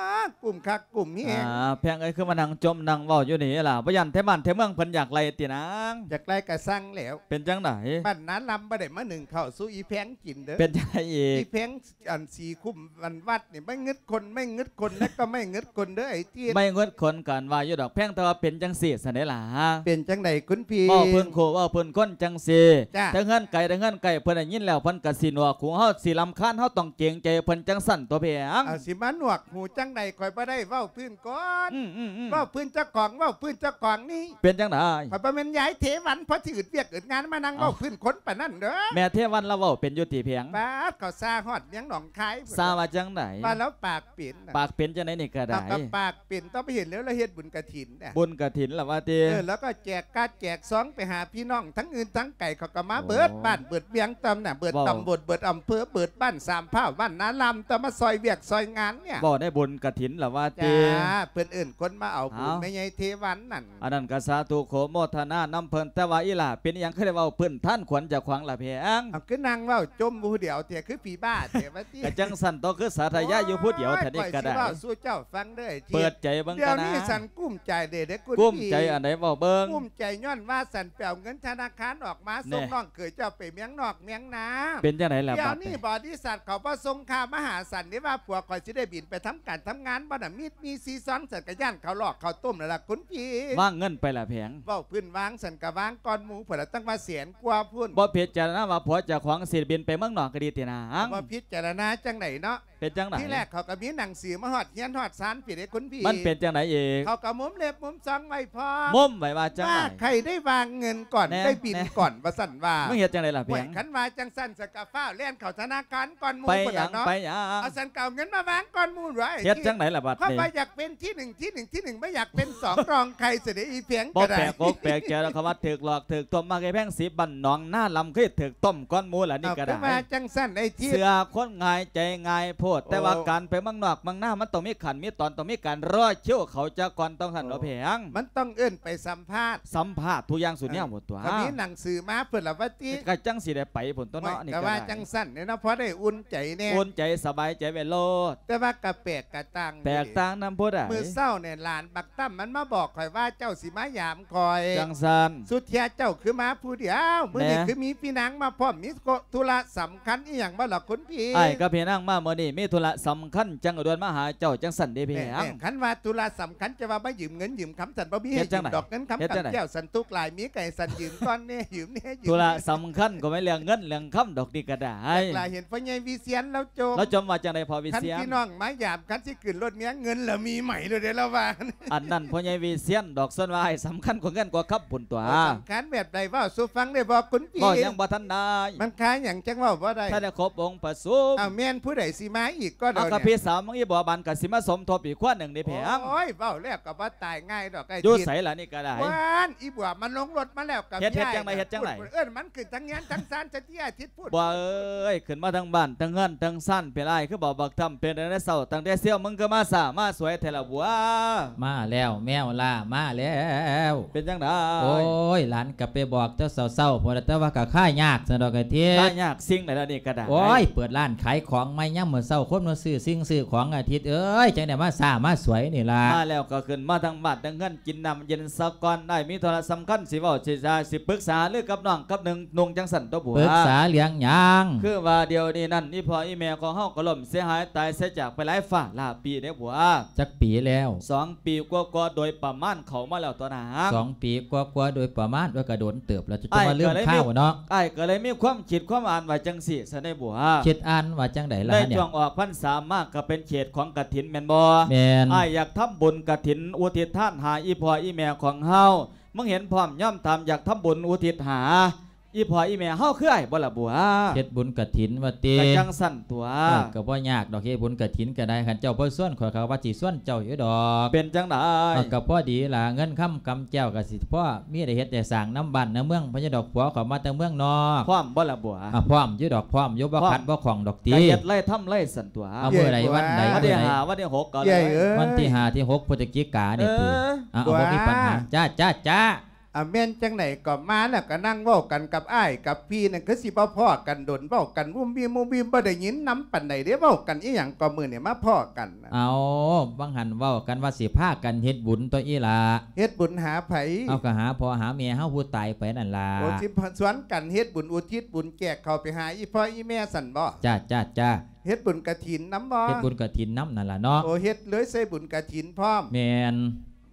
ະ ກຸ້ມຄັກກຸ້ມແຮງ ອ່າ ແພງເອີຍ ຄືມານັ່ງຈົ່ມນັ່ງເວົ້າຢູ່ນີ້ລະ ບໍ່ຢ້ານແທ້ບ້ານແທ້ເມືອງເພິ່ນຢາກໄລ່ຕິນາງ ຢາກໄລ່ກໍຊ່າງແລ້ວ ເປັນຈັ່ງໃດ ບ້ານນາລຳບໍ່ໄດ້ມາໜຶ້ງເຂົ້າສູ່ອີແພງກິນເດີ ເປັນຈັ່ງໃດອີກ ອີແພງ ອັນ ສີ່ຄຸ້ມ ອັນ ວັດນີ້ ໄມ້ງຶດຄົນ ໄມ້ງຶດຄົນ ແລ້ວກໍໄມ້ງຶດຄົນເດີ ໄອ້ຕິດ ໄມ້ງຶດຄົນກໍອັນວ່າຢູ່ດອກແພງ ແຕ່ວ່າເປັນຈັ່ງຊີ້ຊັ້ນເດລະ ເປັນຈັ່ງໃດຄຸນພີ່ ເວົ້າພື້ນຄູ່ເວົ້າພື້ນຄົນຈັ່ງຊີ້ ຈ້ະ ແຕ່ເຮືອນໄກ ແຕ່ເຮືອນໃກ້ ເພິ່ນໄດ້ຍິນແລ້ວ ເພິ່ນກໍຊິໜວກຫູເຮົາ ຊິລຳຄານ ເຮົາຕ້ອງເກງໃຈເພິ່ນຈັ່ງຊັ້ນຕົວະເພງ ເອົາ ຊິມາໜວກຫູຈັ່ງໃດ ຂ້ອຍບໍ່ໄດ້ເວົ້າພື້ນຄົນ ອືມໆໆ ເວົ້າພື້ນເຈົ້າຂອງ ເວົ້າພື້ນເຈົ້າຂອງນີ້ ເປັນຈັ່ງໃດ ຂ້ອຍບໍ່ແມ່ນຍາຍເທວັນ ພໍຊິອຶດວຽກອຶດງານມານັ່ງເວົ້າ ເອົ້າ ພື້ນຄົນປານນັ້ນເດີ ແມ່ເທວັນລາວເວົ້າເປັນຢູ່ຕິແພງ ປາດ ເຂົາຊ່າຮອດເມືອງໜອງຄາຍ ຊ່າວ່າຈັ່ງໃດ ວ່າລາວປາກເປັນນະ ປາກເປັນຈັ່ງໃດນີ້ກໍໄດ້ ເອົາ ກໍປາກເປັນ ຕ້ອງໄປເຫັນແລ້ວລາວເຮັດບຸນກະຖິນນະ ບຸນກະຖິນລະວ່າຕິ ເອີ ລາວກໍແຈກກາດແຈກຊອງໄປຫາພີ່ນ້ອງທັງອື່ນທັງໄກ ເຂົາກໍມາເບິດ ໂອ້ ບ້ານເບິດເມືອງຕຳນະ ເບິດ ເວົ້າ ຕຳບົນ ເບິດອຳເພີ ເບິດບ້ານສາມພ້າວ ບ້ານນາລຳ ຕ້ອງມາຊ່ອຍວຽກຊ່ອຍງານເນີ້ຍ ເວົ້າໃນບຸນກະ ສິນລະວ່າຕິ ຈ້າ ເພິ່ນເອີ້ນຄົນມາເອົາບຸນ ເອົ້າ ແມ່ໃຫຍ່ເທວັນນັ້ນ ອັນນັ້ນກໍສາທຸໂຄໂມທະນານຳເພິ່ນ ແຕ່ວ່າອີ່ຫຼ້າເປັນຫຍັງຄືໄດ້ເວົ້າພື້ນຖານຂວັນເຈົ້າຂອງລະແພງ? ເອົາ ຄືນັ່ງເວົ້າຈົ່ມຜູ້ດຽວແທ້ ຄືຜີບ້າແທ້ວ່າຕິ? ກໍຈັ່ງຊັ້ນຕົວະ ຄືສາທະຍາຢູ່ຜູ້ດຽວແທ້ນີ້ກໍໄດ້ ໂອ້ຍ ຂ້ອຍຊິເວົ້າສູ່ເຈົ້າຟັງເດີ ເປີດໃຈເບິ່ງ ດຽວນີ້ ກັນນະ ສັນກຸ້ມໃຈເດ້ເດ້ຄຸນ ກຸ້ມໃຈອັນໃດເວົ້າເບິ່ງ ກຸ້ມໃຈຍ້ອນວ່າສັນໄປເອົາເງິນທະນາຄານອອກມາ ແນ່ ສົ່ງນ້ອງເຂີຍເຈົ້າໄປເມືອງນອກເມືອງນາ ເປັນຈັ່ງໃດລະ ດຽວນີ້ ບັດນີ້ ບໍລິສັດເຂົາບໍ່ສົ່ງຄ່າມາຫາສັນເດ້ ວ່າຜົວຂ້ອຍຊິໄດ້ບິນໄປທຳການທຳງານບໍ່ນະ ມີດມີຊີຊອງ ສັນກະຢ້ານເຂົາຫຼອກເຂົາຕົ້ມແລ້ວລະຄຸນພີ່ ວາງເງິນໄປລະແພງ ເວົ້າພື້ນວາງ ສັນກະວາງກ່ອນໝູ່ພຸ້ນລະ ຕັ້ງວ່າແສນກວ່າພຸ້ນ ບໍ່ພິຈາລະນາວ່າຜົວເຈົ້າຂອງຊິບິນໄປເມືອງນອກກໍດີຕິນາງ ບໍ່ພິຈາລະນາຈັ່ງໃດເນາະ ເປັນຈັ່ງໃດ? ທີແລກເຂົາກໍມີໜັງສືມາຮອດເຮືອນຮອດຊານພີ້ເດ້ຄຸນພີ່ ມັນເປັນຈັ່ງໃດອີກ? ເຂົາກໍມຸມເລັບມຸມຊອງໄວ້ພ້ອມ ມຸມໄວ້ວ່າຈັ່ງໃດ? ວ່າໃຜໄດ້ວາງເງິນກ່ອນ ແນ່ ໄດ້ບິນ ແນ່ ກ່ອນ ວ່າຊັ້ນວ່າ ມຶງເຮັດຈັ່ງໃດລະແພງ? ໂອ້ຍ ຄັນວ່າຈັ່ງຊັ້ນ ສະກະຟ້າວແລ່ນເຂົ້າທະນາຄານກ່ອນໝູ່ ໄປຫຍັງ ພຸ້ນລະເນາະ ໄປຫຍັງ? ເອົາ ສັນກໍເອົາເງິນມາວາງກ່ອນໝູ່ດ້ວຍ ເຮັດຈັ່ງໃດລະບັດນີ້? ເພາະວ່າຢາກເປັນທີໜຶ່ງ ທີໜຶ່ງ ທີໜຶ່ງ ບໍ່ຢາກເປັນສອງ ຮອງໃຜຊະເດ ອີແພງກໍໄດ້ ບໍ່ແປກອົກແປກໃຈດອກ ຄຳວ່າຖືກຫຼອກຖືກຕົ້ມມາ ຄືແພງສີບ້ານໜອງນາລຳ ຄືຖືກຕົ້ມກ່ອນໝູ່ລະນີ້ກໍໄດ້ ເອົາ ຄືວ່າຈັ່ງຊັ້ນໄອ້ທິດ ເຊື່ອຄົນງ່າຍໃຈງ່າຍໂພດ ແຕ່ວ່າ ໂອ້ ການໄປເມືອງນອກເມືອງນາ ມັນຕ້ອງມີຂັ້ນມີຕອນ ຕ້ອງມີການລໍຄິວເຂົ້າຈັກກ່ອນ ຕ້ອງຊັ້ນ ໂອ້ ເນາະແພງ ມັນຕ້ອງເອີ້ນໄປສຳພາດ ສຳພາດທຸກຢ່າງສູ່ແນວໝົດຕົວະ ເອີ ກໍມີໜັງສືມາພຸ້ນລະວ່າຕິ ກໍຈັ່ງຊິໄດ້ໄປພຸ້ນຕົວະເນາະ ໂອ້ຍ ນີ້ກໍໄດ້ ກໍວ່າຈັ່ງຊັ້ນເດ້ເນາະ ພໍໄດ້ອຸ່ນໃຈແດ່ ອຸ່ນໃຈສະບາຍໃຈໄວ້ໂລດ ແຕ່ວ່າກໍແປກກະຕ່າງ ແຕກຕ່າງນຳຜູ້ໃດ? ມື້ເຊົ້ານີ້ຫຼານບັກຕັ້ມມັນມາບອກຂ້ອຍວ່າເຈົ້າຊິມາຢາມຂ້ອຍ ຈັ່ງຊັ້ນ ສຸດເທຍເຈົ້າຄືມາຜູ້ດຽວ ມື້ນີ້ ແມ່ ຄືມີພີ່ນາງມາພ້ອມ ມີທຸລະສຳຄັນອີ່ຫຍັງບໍ່ລະຄຸນພີ່? ອ້າຍກັບພີ່ນາງມາມື້ນີ້ມີທຸລະສຳຄັນ ຈັ່ງດ່ວນມາຫາເຈົ້າຈັ່ງຊັ້ນເດ້ ແມ່ ພີ່ນາງ ແມ່ ຄັນວ່າທຸລະສຳຄັນ ຈະວ່າມາຢືມເງິນຢືມຄຳ ສັນບໍ່ມີໃຫ້ຢືມດອກ ເງິນຄຳ ເຮັດຈັ່ງໃດ? ຄຳແກ້ວ ສັນທຸກຫຼາຍ ມີກໍໃຫ້ສັນຢືມກ່ອນແດ່ ຢືມແດ່ ຢືມ ທຸລະສຳຄັນກໍແມ່ນເລື່ອງເງິນເລື່ອງຄຳດອກນີ້ກໍໄດ້ ຈັກລະເຫັນພໍ່ໃຫຍ່ວິຊຽນລາວຈົ່ມ ລາວຈົ່ມວ່າຈັ່ງໃດພໍ່ວິຊຽນ? ຄັນພີ່ນ້ອງມາຢາມ ຄັນຊິຂຶ້ນລົດເມຍ ເງິນລະມີໃໝ່ໂລດເດ້ລາວວ່າ ອັນນັ້ນພໍ່ໃຫຍ່ວິຊຽນດອກ ສ່ວນວ່າອ້າຍສຳຄັນກວ່າເງິນກວ່າຄຳພຸ້ນຕົວະ ໂອ້ ສຳຄັນແບບໃດ ເວົ້າສູ່ຟັງໄດ້ບໍ່ຄຸນພີ່? ເວົ້າຫຍັງບໍ່ທັນໄດ້ ມັນຄາຫຍັງຈັ່ງເວົ້າບໍ່ໄດ້? ຖ້າໄດ້ຄົບອົງປະຊຸມ ອ້າວ ແມ່ນຜູ້ໃດຊິມາອີກກໍດຽວນີ້? ເອົາ ກໍພີ່ສາວມັງອີ່ບໍ່ບານກໍຊິມາສົມທົບອີກຄົນໜຶ່ງເດ້ແພງ ໂອ້ຍ ເວົ້າແລ້ວກໍບໍ່ຕາຍງ່າຍດອກໄອ້ທິດ ຢູ່ໃສລະນີ້ກໍໄດ້ ຫວານ ອີ່ບໍ່ມັນລົງລົດມາແລ້ວກໍ ເຮັດ ເຮັດຈັ່ງໃດ ເຮັດຈັ່ງໃດ? ເອີ້ນມັນຂຶ້ນທັງເຮືອນທັງຊານຊະຕິ ອາທິດ ພຸ້ນ ບົວເອີຍ ຂຶ້ນມາທັງບ້ານທັງເຮືອນທັງຊານເປັນອ້າຍ ຄືບໍ່ບັກທຳເປັນແນວໃດເຊົ້າ ຕັ້ງແຕ່ເຊົ້າ ມຶງຄືມາຊ້າມາສວຍແທ້ລະບົວ? ມາແລ້ວ ແມວລ່າມາແລ້ວ ເປັນຈັ່ງໃດ? ໂອ້ຍ ຫຼານກໍໄປບອກແຕ່ເຊົ້າໆ ພຸ້ນລະ ແຕ່ວ່າກໍຄາຍາກຊັ້ນດອກໄອ້ທິດ ຄາຍາກສິ່ງໃດລະນີ້ກໍໄດ້ ໂອ້ຍ ເປີດຮ້ານຂາຍຂອງໃໝ່ຍາມມື້ເຊົ້າ ຄົນມາຊື້ສິ່ງຊື້ຂອງ ອາທິດເອີຍ ຈັ່ງໄດ້ມາຊ້າມາສວຍນີ້ລະ ມາແລ້ວກໍຂຶ້ນມາທັງບ້ານທັງເຮືອນ ກິນນ້ຳເຢັນສາກ່ອນ ອ້າຍມີທຸລະສຳຄັນຊິເວົ້າ ຊິຈາ ຊິປຶກສາຫາລືກັບນ້ອງກັບໜຶ່ງນຸ່ງຈັ່ງຊັ້ນຕົວະບົວ ປຶກສາເລື່ອງຫຍັງ? ຄືວ່າດຽວນີ້ນັ້ນ ອີ່ພໍ່ອີ່ແມ່ຂອງເຮົາກໍລົ້ມເສຍຫາຍຕາຍເສຍຈາກໄປຫຼາຍຟ້າຫຼາຍປີເດ້ບົວ ຈັກປີແລ້ວ? ສອງປີກວ່າໆໂດຍປະມານເຂົ້າມາແລ້ວຕົວະນາງ ສອງປີກວ່າໆໂດຍປະມານ ໂອ້ຍ ກໍດົນເຕີບແລ້ວ ຈະ ອ້າຍ ມາລືມຄາວເນາະ ກໍເລີຍມີ ອ້າຍກໍເລີຍມີຄວາມຄິດຄວາມອ່ານວ່າຈັ່ງຊີ້ຊະເດ້ບົວ ຄິດອ່ານວ່າຈັ່ງໃດລະ ໃນຊ່ວງອອກພັນສາມາກໍເປັນເຂດຂອງກະຖິນແມ່ນບໍ່? ແມ່ນ ອ້າຍຢາກທຳບຸນກະຖິນອຸທິດທານຫາອີ່ພໍ່ອີ່ແມ່ຂອງເຮົາ ມຶງເຫັນພ້ອມຍອມຕາມຢາກທຳບຸນອຸທິດຫາອີ່ພໍ່ອີ່ແມ່ເຮົາຄືອ້າຍບໍ່ລະບົວ? ເຮັດບຸນກະຖິນວ່າຕິ? ກະຈັ່ງຊັ້ນຕົວະ ເອີ ກະບໍ່ຍາກດອກ ເຮັດບຸນກະຖິນກະໄດ້ ຄັນເຈົ້າບໍ່ຊວນຂ້ອຍ ຂ້ອຍວ່າຊິຊວນເຈົ້າຢູ່ດອກ ເປັນຈັ່ງໃດ? ເອີ ກະພໍດີລະ ເງິນຄຳກຳແກ້ວກະຊິພໍມີໄດ້ເຮັດໄດ້ສ້າງນຳບ້ານນຳເມືອງ ພະຍາດອກ ຜົວຂ້ອຍມາແຕ່ເມືອງນອກ ພ້ອມບໍ່ລະບົວ? ອາ ພ້ອມຢູ່ດອກ ພ້ອມຢູ່ ບໍ່ຂັດບໍ່ຂ້ອງດອກຕິ ກະເຮັດໄລ່ທຳໄລ່ຊັ້ນຕົວະ ເອົາ ມື້ໃດວັນໃດ? ວັນທີຫ້າ ວັນທີຫົກກໍໄດ້ ວັນທີຫ້າ ທີຫົກ ພຶສຈິການີ້ຕິ ເອີ ເອົາ ບໍ່ມີບັນຫາ ຈ້າ ຈ້າ ຈ້າ ອາ ແມ່ນຈັ່ງໃດກໍມາແລ້ວກໍນັ່ງເວົ້າກັນກັບອ້າຍກັບພີ່ນັ້ນ ຄືຊິບໍ່ພໍ້ກັນດົນ ເວົ້າກັນວຸ້ມວິ້ມງຸ້ມວິ້ມ ບໍ່ໄດ້ຍິນນຳປານໃດເດ້ ເວົ້າກັນອີ່ຫຍັງກໍມື້ນີ້ມາພໍ້ກັນນະ? ເອົາ ວ່າງຫັ້ນເວົ້າກັນວ່າຊິພາກັນເຮັດບຸນຕົວະອີ່ຫຼ້າ ເຮັດບຸນຫາໃຜ? ເອົາ ກໍຫາພໍ່ຫາແມ່ເຮົາຜູ້ຕາຍໄປນັ້ນລະ ໂອ້ ຊິຊວນກັນເຮັດບຸນອຸທິດບຸນແຈກເຂົ້າໄປຫາອີ່ພໍ່ອີ່ແມ່ຊັ້ນບໍ? ຈ້າ ຈ້າ ຈ້າ ເຮັດບຸນກະຖິນນຳບໍ? ເຮັດບຸນກະຖິນນຳນັ້ນລະເນາະ ໂອ້ ເຮັດເລີຍໃສ່ບຸນກະຖິນພ້ອມ ແມ່ນ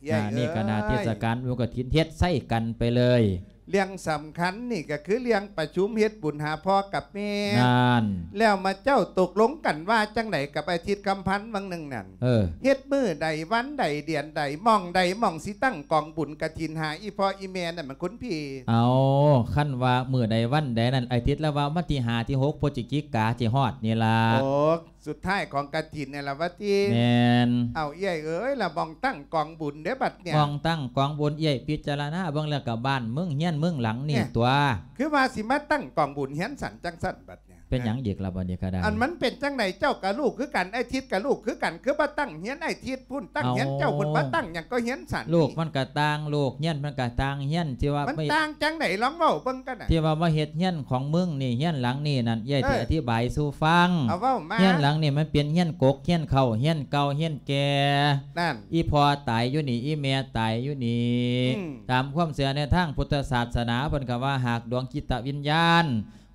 ເອີຍ ໜ້ານີ້ກໍໜ້າເທດສະການບຸນກະຖິນ ເຮັດໃສ່ກັນໄປເລີຍ ເລື່ອງສຳຄັນນີ້ກໍຄືເລື່ອງປະຊຸມເຮັດບຸນຫາພໍ່ກັບແມ່ ນັ້ນ ແລ້ວມາເຈົ້າຕົກລົງກັນວ່າຈັ່ງໃດກັບອາທິດຄຳພັນຫວ່າງໜຶ່ງນັ້ນ? ເອີ ເຮັດມື້ໃດວັນໃດເດືອນໃດ ໝ່ອງໃດໝ່ອງຊິຕັ້ງກອງບຸນກະຖິນຫາອີ່ພໍ່ອີ່ແມ່ນັ້ນ ມັນຄຸນພີ່ ເອົາ ຄັນວ່າມື້ໃດວັນໃດນັ້ນ ອາທິດລະວ່າວັນທີຫ້າ ທີຫົກ ພຶສຈິກາ ຊິຮອດນີ້ລະ ໂອ້ ສຸດທ້າຍຂອງກະຖິນນີ້ລະວ່າຕິ? ແມ່ນ ເອົາ ເອື້ອຍເອີຍ ລະໝ່ອງຕັ້ງກອງບຸນເດ້ບັດເນີ້ຍ ໝ່ອງຕັ້ງກອງບຸນ ເອື້ອຍພິຈາລະນາເບິ່ງແລ້ວກໍບ້ານເມືອງເຮືອນເມືອງຫຼັງນີ້ ແນ່ ຕົວະ ຄືວ່າຊິມາຕັ້ງກອງບຸນເຮືອນສັນຈັງຊັ້ນບັດເນີ້ຍ ເປັນຫຍັງອີກລະບາດນີ້ກະໄດ້? ອັນມັນເປັນຈັ່ງໃດ? ເຈົ້າກະລູກຄືກັນ ອ້າຍທິດກະລູກຄືກັນ ຄືບໍ່ຕັ້ງຮຽນອ້າຍທິດພຸ້ນ ຕັ້ງຮຽນເຈົ້າພຸ້ນ ເອົ້າ ບໍ່ຕັ້ງຫຍັງກໍຮຽນຊັ້ນ? ລູກມັນກະຕ່າງໂລກ ຮຽນມັນກະຕ່າງຮຽນ ທີ່ວ່າມັນຕ່າງຈັ່ງໃດ? ລອງເວົ້າເບິ່ງກັນນະ ທີ່ວ່າມາເຮັດຮຽນຂອງມຶງນີ້ ຮຽນຫຼັງນີ້ນັ້ນ ເອື້ອຍ ເອີ ຊິອະທິບາຍສູ່ຟັງ. ເອົາເວົ້າມາ. ຮຽນຫຼັງນີ້ມັນເປັນຮຽນກົກ ຮຽນເກົ່າ ຮຽນເກົ່າ ຮຽນແກ່. ນັ້ນ ອີ່ພໍ່ຕາຍຢູ່ນີ້ ອີ່ແມ່ຕາຍຢູ່ນີ້. ອືມ ຕາມຄວາມເຊື່ອໃນທາງພຸດທະສາສະໜາ ເພິ່ນກໍວ່າຫາກດວງຈິດຕະວິນຍານ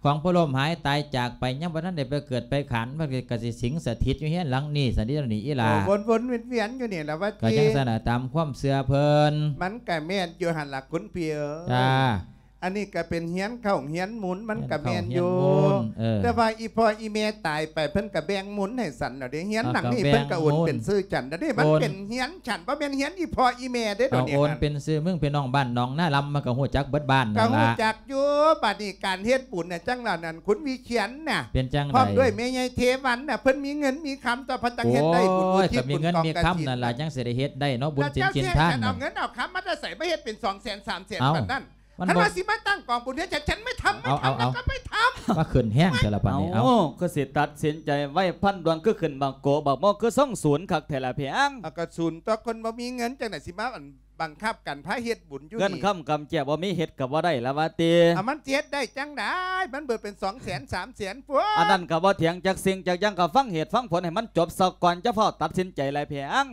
ຂອງຜູ້ລົ້ມຫາຍຕາຍຈາກໄປ ຍັງບໍ່ທັນໄດ້ໄປເກີດໄປຂັນ ມັນກໍ ກໍຊິສິງສະຖິດຢູ່ເຮືອນຫຼັງນີ້ຊັ້ນເດ ນີ້ອີ່ຫຼ້າ. ໂອ້ ວົນໆວຽນໆຢູ່ນີ້ລະວ່າຕິ. ກໍຈັ່ງຊັ້ນລະ ຕາມຄວາມເຊື່ອເພິ່ນ. ມັນກໍແມ່ນຢູ່ຫັ້ນລະຄຸນພີ່ເອີຍ. ຈ້າ. ອັນນີ້ກໍເປັນເຮືອນເຂົ້າເຮືອນໝູນ ມັນກໍແມ່ນຢູ່. ເຮືອນເຂົ້າເຮືອນໝູນ ເອີ. ແຕ່ວ່າອີ່ພໍ່ອີ່ແມ່ຕາຍໄປ ເພິ່ນກໍແບ່ງໝູນໃຫ້ສັນແລ້ວເດ້. ເຮືອນຫຼັງນີ້ເພິ່ນກໍໂອນເປັນຊື່ສັນແລ້ວເດ້. ມັນເປັນເຮືອນສັນ ບໍ່ແມ່ນເຮືອນອີ່ພໍ່ອີ່ແມ່ເດ້. ດຽວນີ້ໂອນເປັນຊື່ ເປັນນ້ອງບ້ານໜອງນາລຳ ມັນກໍຮູ້ຈັກເບິດບ້ານນັ້ນລະ. ກໍຮູ້ຈັກ ຢູ່ ບາດນີ້ການເຮັດບຸນນະ ຈັ່ງລະນັ້ນ ຄຸນວິຊຽນນະ ເປັນຈັ່ງໃດ? ພ້ອມດ້ວຍແມ່ໃຫຍ່ເທວັນນະ ເພິ່ນມີເງິນມີຄຳຕົວະ ເພິ່ນຈັ່ງເຮັດໄດ້ບຸນອຸທິດບຸນກອງກະຖິນ. ໂອ້ຍ ຄັນມີເງິນມີຄຳນັ້ນລະ ຈັ່ງຊິໄດ້ເຮັດໄດ້ເນາະ ບຸນສິນສິນທານນັ້ນ. ເຈົ້າຊິເອົາເງິນເອົາຄຳມາແຕ່ໃສ ມາເຮັດເປັນສອງແສນສາມແສນ ເອົ້າ ປານນັ້ນ. ຄັນວ່າຊິມາຕັ້ງກອງບຸນເຮັດ ເອົາ ເອົາ ເອົາ ມາຂຶ້ນແຮງແທ້ລະບາດນີ້. ເອົ້າ ເອົ້າ ຄືຊິຕັດສິນໃຈໄວພັນດ່ວນ ຄືຂຶ້ນບັກໂກບັກໂມ ຄືຊົງສູນຄັກແທ້ລະແພງ. ເອົາ ກໍສູນຕົວະ ຄົນບໍ່ມີເງິນຈັ່ງໃດຊິມາ ອັນ ບັງຄັບກັນພາເຮັດບຸນຢູ່ນີ້ ເງິນຄຳກຳແຈບໍ່ມີ ເຮັດກໍບໍ່ໄດ້ລະວ່າຕິ. ເອົາ ມັນຊິເຮັດໄດ້ຈັ່ງໃດ ມັນເບີດເປັນສອງແສນສາມແສນພຸ້ນ. ອັນນັ້ນກໍບໍ່ຖຽງຈັກສິ່ງຈັກຢ່າງ ກໍຟັງເຫດຟັງຜົນໃຫ້ມັນຈົບຊະກ່ອນ ຈະຟ້າວຕັດສິນໃຈຫຼາຍແພງ.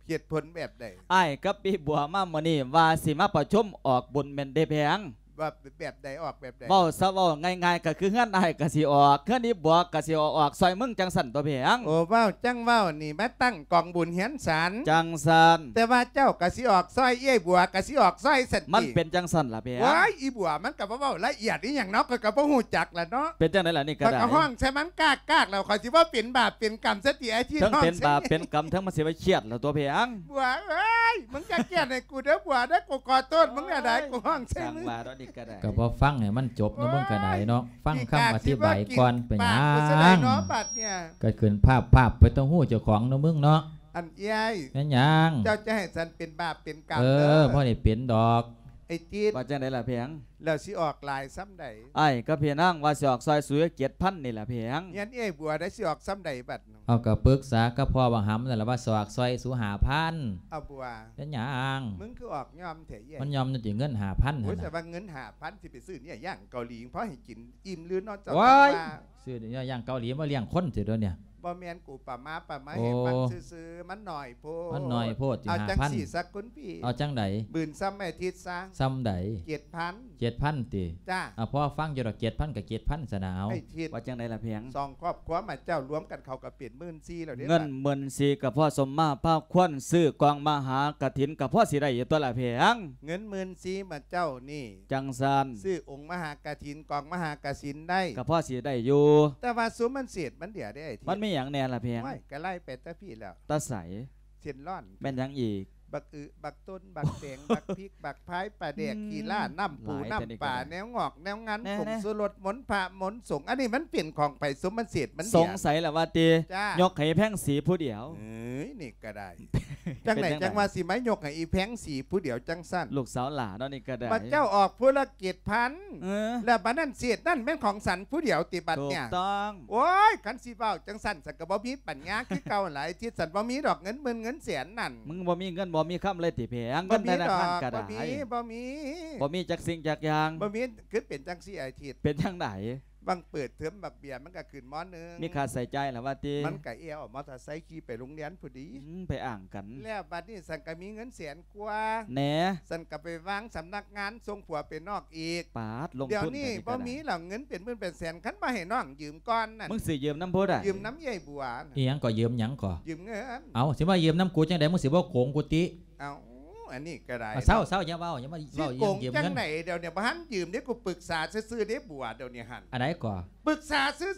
ເຫດຜົນແບບໃດ? ອ້າຍກັບອີ່ບົວມາມື້ນີ້ວ່າຊິມາປະຊຸມອອກບຸນແມ່ນເດແພງ. ວ່າແບບໃດ ອອກແບບໃດ? ເວົ້າຊະ ເວົ້າງ່າຍໆ ກໍຄືເຮືອນອ້າຍກໍຊິອອກ ເຮືອນອີ່ບົວກໍຊິເອົາອອກຊ່ອຍມຶງ ຈັ່ງຊັ້ນຕົວະແພງ. ໂອ້ ເວົ້າຈັ່ງເວົ້ານີ້ ມາຕັ້ງກອງບຸນເຮືອນສັນ ຈັ່ງຊັ້ນ. ແຕ່ວ່າເຈົ້າກໍຊິອອກຊ່ອຍ ເອື້ອຍບົວກໍຊິອອກຊ່ອຍຊັ້ນຕິ. ມັນເປັນຈັ່ງຊັ້ນລະແພງ. ໂອ້ຍ ອີ່ບົວມັນກໍບໍ່ເວົ້າລະອຽດອີ່ຫຍັງເນາະ ຂ້ອຍກໍບໍ່ຮູ້ຈັກລະເນາະ. ເປັນຈັ່ງໃດລະນີ້ກໍໄດ້? ຂ້ອຍກໍຮ້ອງໃສ່ມັນກາກໆ ແລ້ວຂ້ອຍຊິບໍ່ເປັນບາບເປັນກຳຊະຕິ ອ້າຍທິດ. ເຖິງເປັນບາບເປັນກຳ ເຖິງມັນຊິວ່າຄຽດລະຕົວະແພງ. ບົວເອີຍ ມຶງຢ່າຄຽດໃຫ້ກູເດີບົວເດີ ກູຂໍໂທດມຶງແນວໃດ ກູຮ້ອງໃສ່ມຶງ. ກໍບໍ່ຟັງໃຫ້ມັນຈົບເນາະ ມຶງກໍໄດ້ເນາະ ຟັງຄຳອະທິບາຍກ່ອນ. ເປັນຫຍັງ ປາກກູຊິໄດ້ເນາະບາດເນີ້ຍ ກໍຂຶ້ນພາບໆ ໄປຕ້ອງຮູ້ເຈົ້າຂອງເນາະ ມຶງເນາະ. ອັນເອື້ອຍ ແມ່ນຫຍັງ? ເຈົ້າຈະໃຫ້ສັນເປັນບາບເປັນກຳເດີ. ເອີ ພໍໄດ້ເປັນດອກ ໄອ້ຕິດ. ວ່າຈັ່ງໃດລະແພງ? ແລ້ວຊິອອກຫຼາຍສ່ຳໃດ? ອ້າຍກັບພີ່ນາງວ່າຊິອອກຊ່ອຍສູເຈັດພັນນີ້ລະແພງ. ເຮືອນເອື້ອຍບົວໄດ້ ຊິອອກສ່ຳໃດບັດ? ເອົາ ກໍປຶກສາກັບພໍ່ບັກຫຳນັ້ນລະວ່າຊິອອກຊ່ອຍສູຫ້າພັນ. ເອົາບົວ ເປັນຫຍັງ? ມຶງຄືອອກຍອມແທ້ເອື້ອຍ? ມັນຍອມຢູ່ຕິ ເງິນຫ້າພັນ. ໂອ້ຍ ຫັ້ນນະ ແຕ່ວ່າເງິນຫ້າພັນຊິໄປຊື້ເນື້ອຢ່າງເກົາຫຼີ ພໍໃຫ້ກິນອີ່ມຫຼືເນາະ ເຈົ້າວ່າ. ຊື້ເນື້ອຢ່າງເກົາຫຼີມາລ້ຽງຄົນຕິດຽວນີ້. ບໍ່ແມ່ນ ກູປະມາປະໄມໃຫ້ຟັງຊື່ໆ ມັນໜ້ອຍໂພດ. ມັນໜ້ອຍໂພດຕິ ຫ້າພັນ. ເອົາຈັ່ງຊີ້ຊະຄຸນພີ່ ເອົາຈັ່ງໃດ? ບືນສ່ຳໄອ້ທິດຊະ. ສ່ຳໃດ? ເຈັດພັນ. ເຈັດພັນຕິ? ຈ້າ. ເອົາ ພໍຟັງຢູ່ດອກ ເຈັດພັນກໍເຈັດພັນຊະນະ. ເອົາ ໄອ້ທິດ ວ່າຈັ່ງໃດລະແພງ? ສອງຄອບຄົວມາເຈົ້າລວມກັນ ເຂົາກໍເປັນໝື່ນສີ່ແລ້ວເດ້. ເງິນໝື່ນສີ່ກໍພໍສົມມາພາຄວນ ຊື້ກອງມະຫາກະຖິນກໍພໍຊິໄດ້ຢູ່ຕົວລະແພງ. ເງິນໝື່ນສີ່ມາເຈົ້ານີ້ ຈັ່ງຊັ້ນ ຊື້ອົງມະຫາກະຖິນ ກອງມະຫາກະສິນໄດ້ ກໍພໍຊິໄດ້ຢູ່. ແຕ່ວ່າສຸມມັນເສດມັນເຫຼືອເດ້ ໄອ້ທິດ. ມັນມີຫຍັງແດ່ລະແພງ? ໂອ້ຍ ກໍໄລ່ໄປແຕ່ພີ້ແລ້ວ. ແຕ່ໃສ? ເສັ້ນລ້ອນ. ແມ່ນຫຍັງອີກ? ບັກອຶ ບັກຕົ້ນ ບັກແຕງ ບັກພິກ ບັກພາຍ ປາແດກ ອືມ ຂີ້ລ້າ ນ້ຳປູ ຫຼາຍແທ້ນີ້ກໍໄດ້. ນ້ຳປາ ແນວງອກແນວງັນ ແນ່ໆ ຜົງຊູລົດ ມົນພະມົນສົງ ອັນນີ້ມັນເປັນຂອງໃຜ? ສົມມັນເສດມັນເຫຼືອ. ສົງໄສລະວ່າຕິ? ຈ້າ. ຍົກໃຫ້ແພງສີຜູ້ດຽວ. ເອີຍ ນີ້ກໍໄດ້. ຈັ່ງໃດຈັ່ງວ່າຊິມາຍົກໃຫ້ອີ່ແພງສີຜູ້ດຽວຈັ່ງຊັ້ນ? ລູກສາວຫຼ້າເນາະ ນີ້ກໍໄດ້. ບັດເຈົ້າອອກຜູ້ລະເຈັດພັນ ເອີ ແລ້ວບັດນັ້ນເສດນັ້ນແມ່ນຂອງສັນຜູ້ດຽວຕິບັດເນີ້ຍ? ຖືກຕ້ອງ. ໂອ້ຍ ຄັນຊິເວົ້າຈັ່ງຊັ້ນ ສັນກໍບໍ່ມີປັນຍາຄືເກົ່າຫຼາຍ ທີ່ສັນບໍ່ມີດອກເງິນໝື່ນເງິນແສນນັ້ນ. ມຶງບໍ່ມີເງິນບໍ່ມີຄຳເລີຍຕິແພງ? ເງິນທະນາຄານກໍໄດ້ ບໍ່ມີ ບໍ່ມີ ບໍ່ມີຈັກສິ່ງຈັກຢ່າງ. ບໍ່ມີ. ຄືເປັນຈັ່ງຊີ້ ໄອ້ທິດ ເປັນຈັ່ງໃດ? ຫວ່າງເປີດເທີມບັກເບ້ຍມັນກໍຂຶ້ນ ມໍໜຶ່ງ ມີຄ່າໃຊ້ຈ່າຍລະວ່າຕິ? ມັນກໍແອວເອົາມໍເຕີໄຊຂີ່ໄປໂຮງຮຽນພຸ້ນດີ. ອືມ ໄປອ້າງກັນ. ແລ້ວບັດນີ້ສັນກໍມີເງິນແສນກວ່າແນ່ ສັນກໍໄປວາງສຳນັກງານ ສົ່ງຜົວໄປນອກອີກ. ປາດ ລົງທຶນ. ດຽວນີ້ບໍ່ມີແລ້ວ ເງິນເປັນໝື່ນເປັນແສນ ຄັນບໍ່ໃຫ້ນ້ອງຢືມກ່ອນນັ້ນ. ມຶງຊິຢືມນຳຜູ້ໃດ? ຢືມນຳເອື້ອຍບົວ. ອີ່ຫຍັງກໍ? ຢືມຫຍັງກໍ? ຢືມເງິນ. ເອົ້າ ຊິມາຢືມນຳກູຈັ່ງໃດ? ມຶງຊິບໍ່ໂກງກູຕິ? ເອົ້າ ອັນນີ້ກໍໄດ້. ເຊົາໆ ຢ່າເວົ້າ ຢ່າມາເວົ້າເລື່ອງຢືມເງິນ. ຈັ່ງໃດດຽວນີ້ ບໍ່ທັນຢືມເດ້ ກູປຶກສາຊື່ໆເດ້ບົວ ດຽວນີ້ຫັ້ນ. ອັນໃດກໍ? ປຶກສາຊື່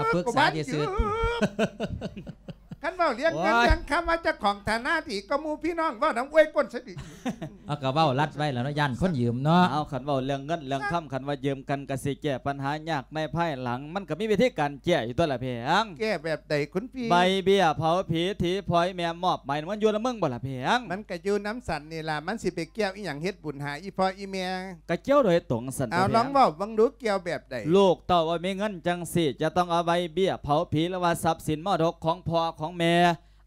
ໆ. ປຶກສາຊື່ໆ. ຄັນເວົ້າເລື່ອງເງິນ ໂອ້ຍ ເລື່ອງຄຳ ວ່າເຈົ້າຂອງຖານະດີກວ່າໝູ່ພີ່ນ້ອງ ເວົ້ານຳອວຍກົ້ນຊະດີ. ເອົາ ກໍເວົ້າລັດໄວ້ແລ້ວເນາະ ຢ້ານຄົນຢືມເນາະ. ເອົາ ຄັນເວົ້າເລື່ອງເງິນເລື່ອງຄຳ ຄັນວ່າຢືມກັນກໍຊິແກ້ບັນຫາຍາກໃນພາຍຫຼັງ ມັນກໍມີວິທີການແກ້ຢູ່ຕົວລະແພງ. ແກ້ແບບໃດຄຸນພີ່? ໃບເບ້ຍເຜົາຜີທີ່ພໍ່ອີ່ແມ່ມອບໝາຍ ມັນຢູ່ນຳມຶງບໍ່ລະແພງ? ມັນກໍຢູ່ນຳສັນນີ້ລະ ມັນຊິໄປກ່ຽວອີ່ຫຍັງເຮັດບຸນຫາອີ່ພໍ່ອີ່ແມ່? ກໍກ່ຽວໂດຍຕົງຊັ້ນ. ເອົາ ຕົວແພງ ລອງເວົ້າເບິ່ງດູ ກ່ຽວແບບໃດ? ລູກເຕົ້າບໍ່ມີເງິນຈັ່ງຊີ້ ຈະຕ້ອງເອົາໃບເບ້ຍເຜົາຜີ ຫຼືວ່າຊັບສິນມໍລະດົກຂອງພໍ່ຂອງແມ່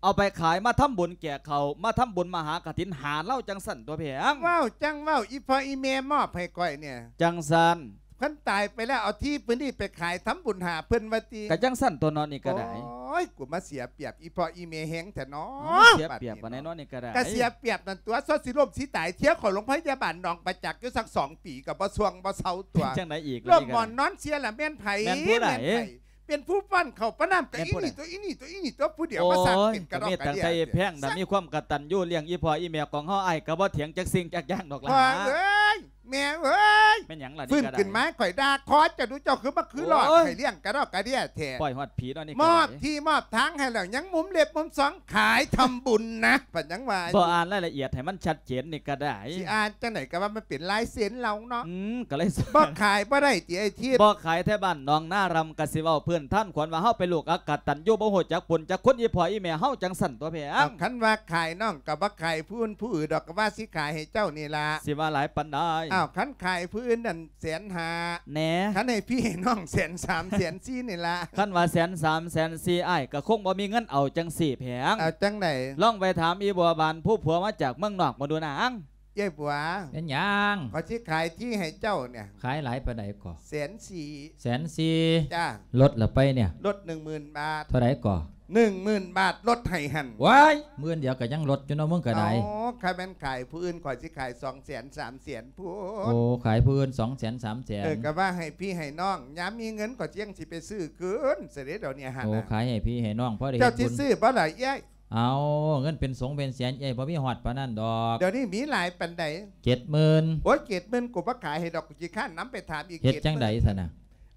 ເອົາໄປຂາຍມາທຳບຸນແຈກເຂົ້າ ມາທຳບຸນມະຫາກະຖິນຫາລາວຈັ່ງຊັ້ນຕົວແພງ. ເວົ້າຈັ່ງເວົ້າ ອີ່ພໍ່ອີ່ແມ່ມອບໃຫ້ຂ້ອຍນີ້ ຈັ່ງຊັ້ນ ເພິ່ນຕາຍໄປແລ້ວ ເອົາທີ່ພື້ນທີ່ໄປຂາຍທຳບຸນຫາເພິ່ນວ່າຕິ? ກະຈັ່ງຊັ້ນຕົວເນາະ ນີ້ກະໄດ້. ໂອ້ຍ ກູມາເສຍປຽບອີ່ພໍ່ອີ່ແມ່ແຮງແທ້ເນາະ. ເອົາ ເສຍປຽບປານໃດເນາະນີ້ກະໄດ້? ກະເສຍປຽບນັ້ນຕົວະ ຊົ່ວຊິລົ້ມຊິຕາຍ ເສຍເຂົ້າໂຮງພະຍາບານໜອງປະຈັກຢູ່ສັກສອງປີ ກະບໍ່ຊ່ວງບໍ່ເຊົາຕົວະ. ເປັນຈັ່ງໃດອີກລະ ລົ້ມໝອນນອນເສຍລະແມ່ນໃຜ? ແມ່ນຜູ້ໃດ? ແມ່ນໃຜ? ເປັນຜູ້ປ້ອນເຂົ້າປ້ອນນ້ຳ ກະອີ່ນີ້ຕົວະ ອີ່ນີ້ຕົວະ ອີ່ນີ້ຕົວະ ຜູ້ດຽວມາສ້າງເປັນກະດອກກະເດຍ. ໂອ້ຍ ກໍມີແຕ່ໃສ່ແພງນະ ມີຄວາມກະຕັນຢູ່ລ້ຽງອີ່ພໍ່ອີ່ແມ່ຂອງເຮົາ ອ້າຍກໍບໍ່ຖຽງຈັກສິ່ງຈັກຢ່າງດອກຫຼາ. ພໍ່ເອີຍ ແມ່ເອີຍ ແມ່ນຫຍັງລະນີ້ກະດາຍ? ຟື້ນຂຶ້ນມາ ຂ້ອຍດ່າຂໍເຈົ້າດູ ເຈົ້າຄືມາຄືຫຼອດ ໂອ້ຍ ໃຫ້ລ້ຽງກະດອກກະເດຍແທ້. ປ່ອຍຮອດຜີເນາະນີ້ກະດາຍ. ມອບທີ່ມອບທາງໃຫ້ແລ້ວ ຍັງມຸມເລັບມຸມສອງຂາຍທຳບຸນນະ ເພິ່ນຍັງວ່າຢູ່. ບໍ່ອ່ານລາຍລະອຽດໃຫ້ມັນຊັດເຈນນີ້ກະໄດ້. ຊິອ່ານຈັ່ງໃດກະວ່າມັນເປັນລາຍເຊັນລາວເນາະ. ອືມ ກະເລີຍ ບໍ່ຂາຍບໍ່ໄດ້ຕິອ້າຍທິດ? ບໍ່ຂາຍແທ້ ບ້ານໜອງນາລຳ ກະຊິເວົ້າພື້ນຖານຄວນວ່າເຮົາເປັນລູກອະກະຕັນຢູ່ ບໍ່ຮູ້ຈັກບຸນຈັກຄຸນອີ່ພໍ່ອີ່ແມ່ເຮົາຈັ່ງຊັ້ນຕົວແພງ. ເອົາ ຄັນວ່າຂາຍນ້ອງກະບໍ່ຂາຍຜູ້ອື່ນຜູ້ອື່ນດອກ ກະວ່າຊິຂາຍໃຫ້ເຈົ້ານີ້ລະ. ຊິວ່າຫຼາຍປານໃດ? ເອົາ ຄັນຂາຍຜູ້ອື່ນນັ້ນແສນຫ້າແດ່ ຄັນໃຫ້ພີ່ໃຫ້ນ້ອງແສນສາມແສນສີ່ນີ້ລະ. ຄັນວ່າແສນສາມແສນສີ່ ອ້າຍກະຄົງບໍ່ມີເງິນເອົາຈັ່ງຊີ້ແພງ. ເອົາຈັ່ງໃດ? ລອງໄປຖາມອີ່ບົວບານຜູ້ຜົວມາຈາກເມືອງນອກເບິ່ງດູນາງ. ເອື້ອຍບົວ ເປັນຫຍັງ? ຂ້ອຍຊິຂາຍທີ່ໃຫ້ເຈົ້ານີ້ ຂາຍຫຼາຍປານໃດກໍ? ແສນສີ່. ແສນສີ່? ຈ້າ. ລົດລະໄປນີ້? ລົດໜຶ່ງໝື່ນບາດ. ເທົ່າໃດກໍ? ໜຶ່ງໝື່ນບາດ ລົດໃຫ້ຫັ້ນ. ວ້າຍ ໝື່ນດຽວກໍຍັງລົດຢູ່ເນາະ ມຶງກໍໄດ້. ອໍ ຄັນແມ່ນຂາຍຜູ້ອື່ນ ຂ້ອຍຊິຂາຍສອງແສນສາມແສນພຸ້ນ. ໂອ້ ຂາຍຜູ້ອື່ນສອງແສນສາມແສນ. ເອີ ກໍວ່າໃຫ້ພີ່ໃຫ້ນ້ອງ ຍາມມີເງິນຂ້ອຍຈັ່ງຊິໄປຊື້ຄືນ ຊະເດດຽວນີ້ຫັ້ນ. ໂອ້ ຂາຍໃຫ້ພີ່ໃຫ້ນ້ອງ ພໍໄດ້ເຮັດບຸນ. ເຈົ້າຊິຊື້ບໍ່ລະເອື້ອຍ? ເອົາ ເງິນເປັນສົງເປັນແສນ ເອື້ອຍ ບໍ່ມີຮອດປານນັ້ນດອກ. ດຽວນີ້ມີຫຼາຍປານໃດ? ເຈັດໝື່ນ. ໂອ້ຍ ເຈັດໝື່ນ ກູບໍ່ຂາຍໃຫ້ດອກ ກູຂີ້ຄ້ານນຳໄປຖາມອີກ. ເຮັດຈັ່ງໃດຊັ້ນນະ?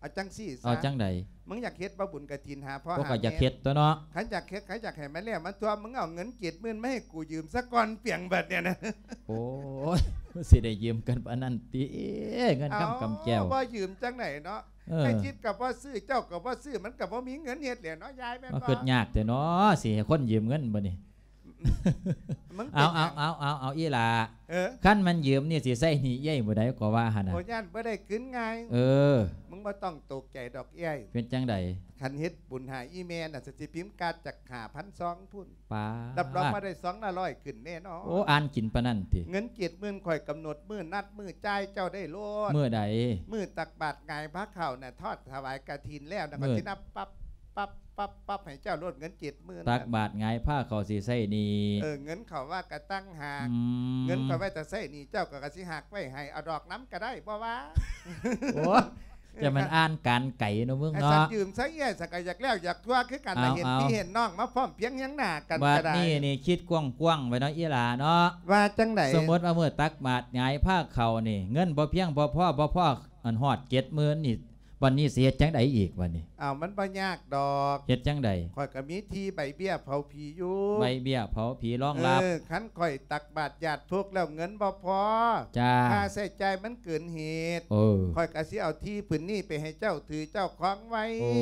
ເອົາຈັ່ງຊີ້ຊະ. ເອົາຈັ່ງໃດ? ມຶງຢາກເຮັດບໍ່ບຸນກະຖິນຫາພໍ່ຫາແມ່? ກໍຢາກເຮັດຕົວະເນາະ. ຄັນຢາກເຮັດ ຄັນຢາກໃຫ້ມັນແລ້ວມັນທົ່ວ ມຶງເອົາເງິນເຈັດໝື່ນມາໃຫ້ກູຢືມສາກ່ອນ ປຽງບັດນີ້ນະ. ໂອ້ຍ ຊິໄດ້ຢືມກັນປານນັ້ນຕິ ເງິນຄຳກຳແກ້ວ. ເອົາ ບໍ່ຢືມຈັ່ງໃດເນາະ? ເອີ ໄອ້ທິດກໍບໍ່ຊື້ ເຈົ້າກໍບໍ່ຊື້ ມັນກໍບໍ່ມີເງິນເຮັດແຫຼະເນາະ ຍາຍແມ່ນບໍ່? ມາຄິດຍາກແທ້ເນາະ ຊິໃຫ້ຄົນຢືມເງິນບັດນີ້. ມຶງເປັນຫຍັງ? ເອົາ ເອົາ ເອົາ ເອົາ ອີ່ຫຼ້າ ເອີ ຄັນມັນຢືມນີ້ຊິໃຊ້ໜີ້ເອື້ອຍມື້ໃດກໍວ່າຫັ້ນນະ. ໂອ້ ຢ້ານບໍ່ໄດ້ຄືນງ່າຍ. ເອີ ມຶງບໍ່ຕ້ອງຕົກໃຈດອກເອື້ອຍ. ເປັນຈັ່ງໃດ? ຄັນເຮັດບຸນຫາອີ່ແມ່ນະ ຊິພິມກາດຈັກຫ້າພັນຊອງພຸ້ນ. ປາດ ຮັບຮອງວ່າໄດ້ຊອງລະຮ້ອຍຂຶ້ນແນ່ນອນ. ໂອ້ ອ່ານກິນປານນັ້ນຕິ? ເງິນເຈັດໝື່ນ ຂ້ອຍກຳນົດມື້ນັດມື້ຈ່າຍເຈົ້າໄດ້ໂລດ. ມື້ໃດ? ມື້ຕັກບາດຫງາຍພາເຂົ້ານະ ທອດຖວາຍກະຖິນແລ້ວນະ ຂ້ອຍຊິນັບປັບ ປັບ ປັບ ປັບໃຫ້ເຈົ້າໂລດ ເງິນເຈັດໝື່ນ. ຕັກບາດຫງາຍພາເຂົ້າຊິໃຊ້ໜີ້. ເອີ ເງິນເຂົ້າວ່າກະຕ່າງຫາກ. ອືມ ເງິນຂ້ອຍໄວ້ແຕ່ໃຊ້ໜີ້ ເຈົ້າກໍ ກໍຊິຫັກໄວ້ໃຫ້ ເອົາດອກນຳກໍໄດ້ ບໍ່ວ່າ. ໂອ້ ຈະແມ່ນອ່ານການໄກເນາະມຶງເນາະ. ໃຫ້ສັນຢືມຊະເອື້ອຍ ສັນກໍຢາກແລ້ວຢາກທົ່ວຄືກັນລະ. ເຫັນພີ່ເຫັນນ້ອງມາພ້ອມພຽງຮຽງໜ້າກັນກໍໄດ້. ບັດນີ້ນີ້ຄິດກວ້າງໆໄວ້ເນາະ ອີ່ຫຼ້າເນາະ. ວ່າຈັ່ງໃດ? ສົມມຸດວ່າມື້ຕັກບາດຫງາຍພາເຂົ້ານີ້ ເງິນບໍ່ພຽງບໍ່ພໍ ບໍ່ພໍອັນຮອດເຈັດໝື່ນນີ້ ບັດນີ້ຊິເຮັດຈັ່ງໃດອີກບັດນີ້? ອ້າວ ມັນບໍ່ຍາກດອກ. ເຮັດຈັ່ງໃດ? ຂ້ອຍກໍມີທີ່ໃບເບ້ຍເຜົາຜີຢູ່. ໃບເບ້ຍເຜົາຜີລອງລັບ. ເອີ ຄັນຂ້ອຍຕັກບາດຍາດໂພກແລ້ວເງິນບໍ່ພໍ ຈ້າ ຄ່າໃຊ້ຈ່າຍມັນເກີນເຫດ ເອີ ຂ້ອຍກໍຊິເອົາທີ່ພື້ນນີ້ໄປໃຫ້ເຈົ້າຖືເຈົ້າຄອງໄວ້. ໂອ້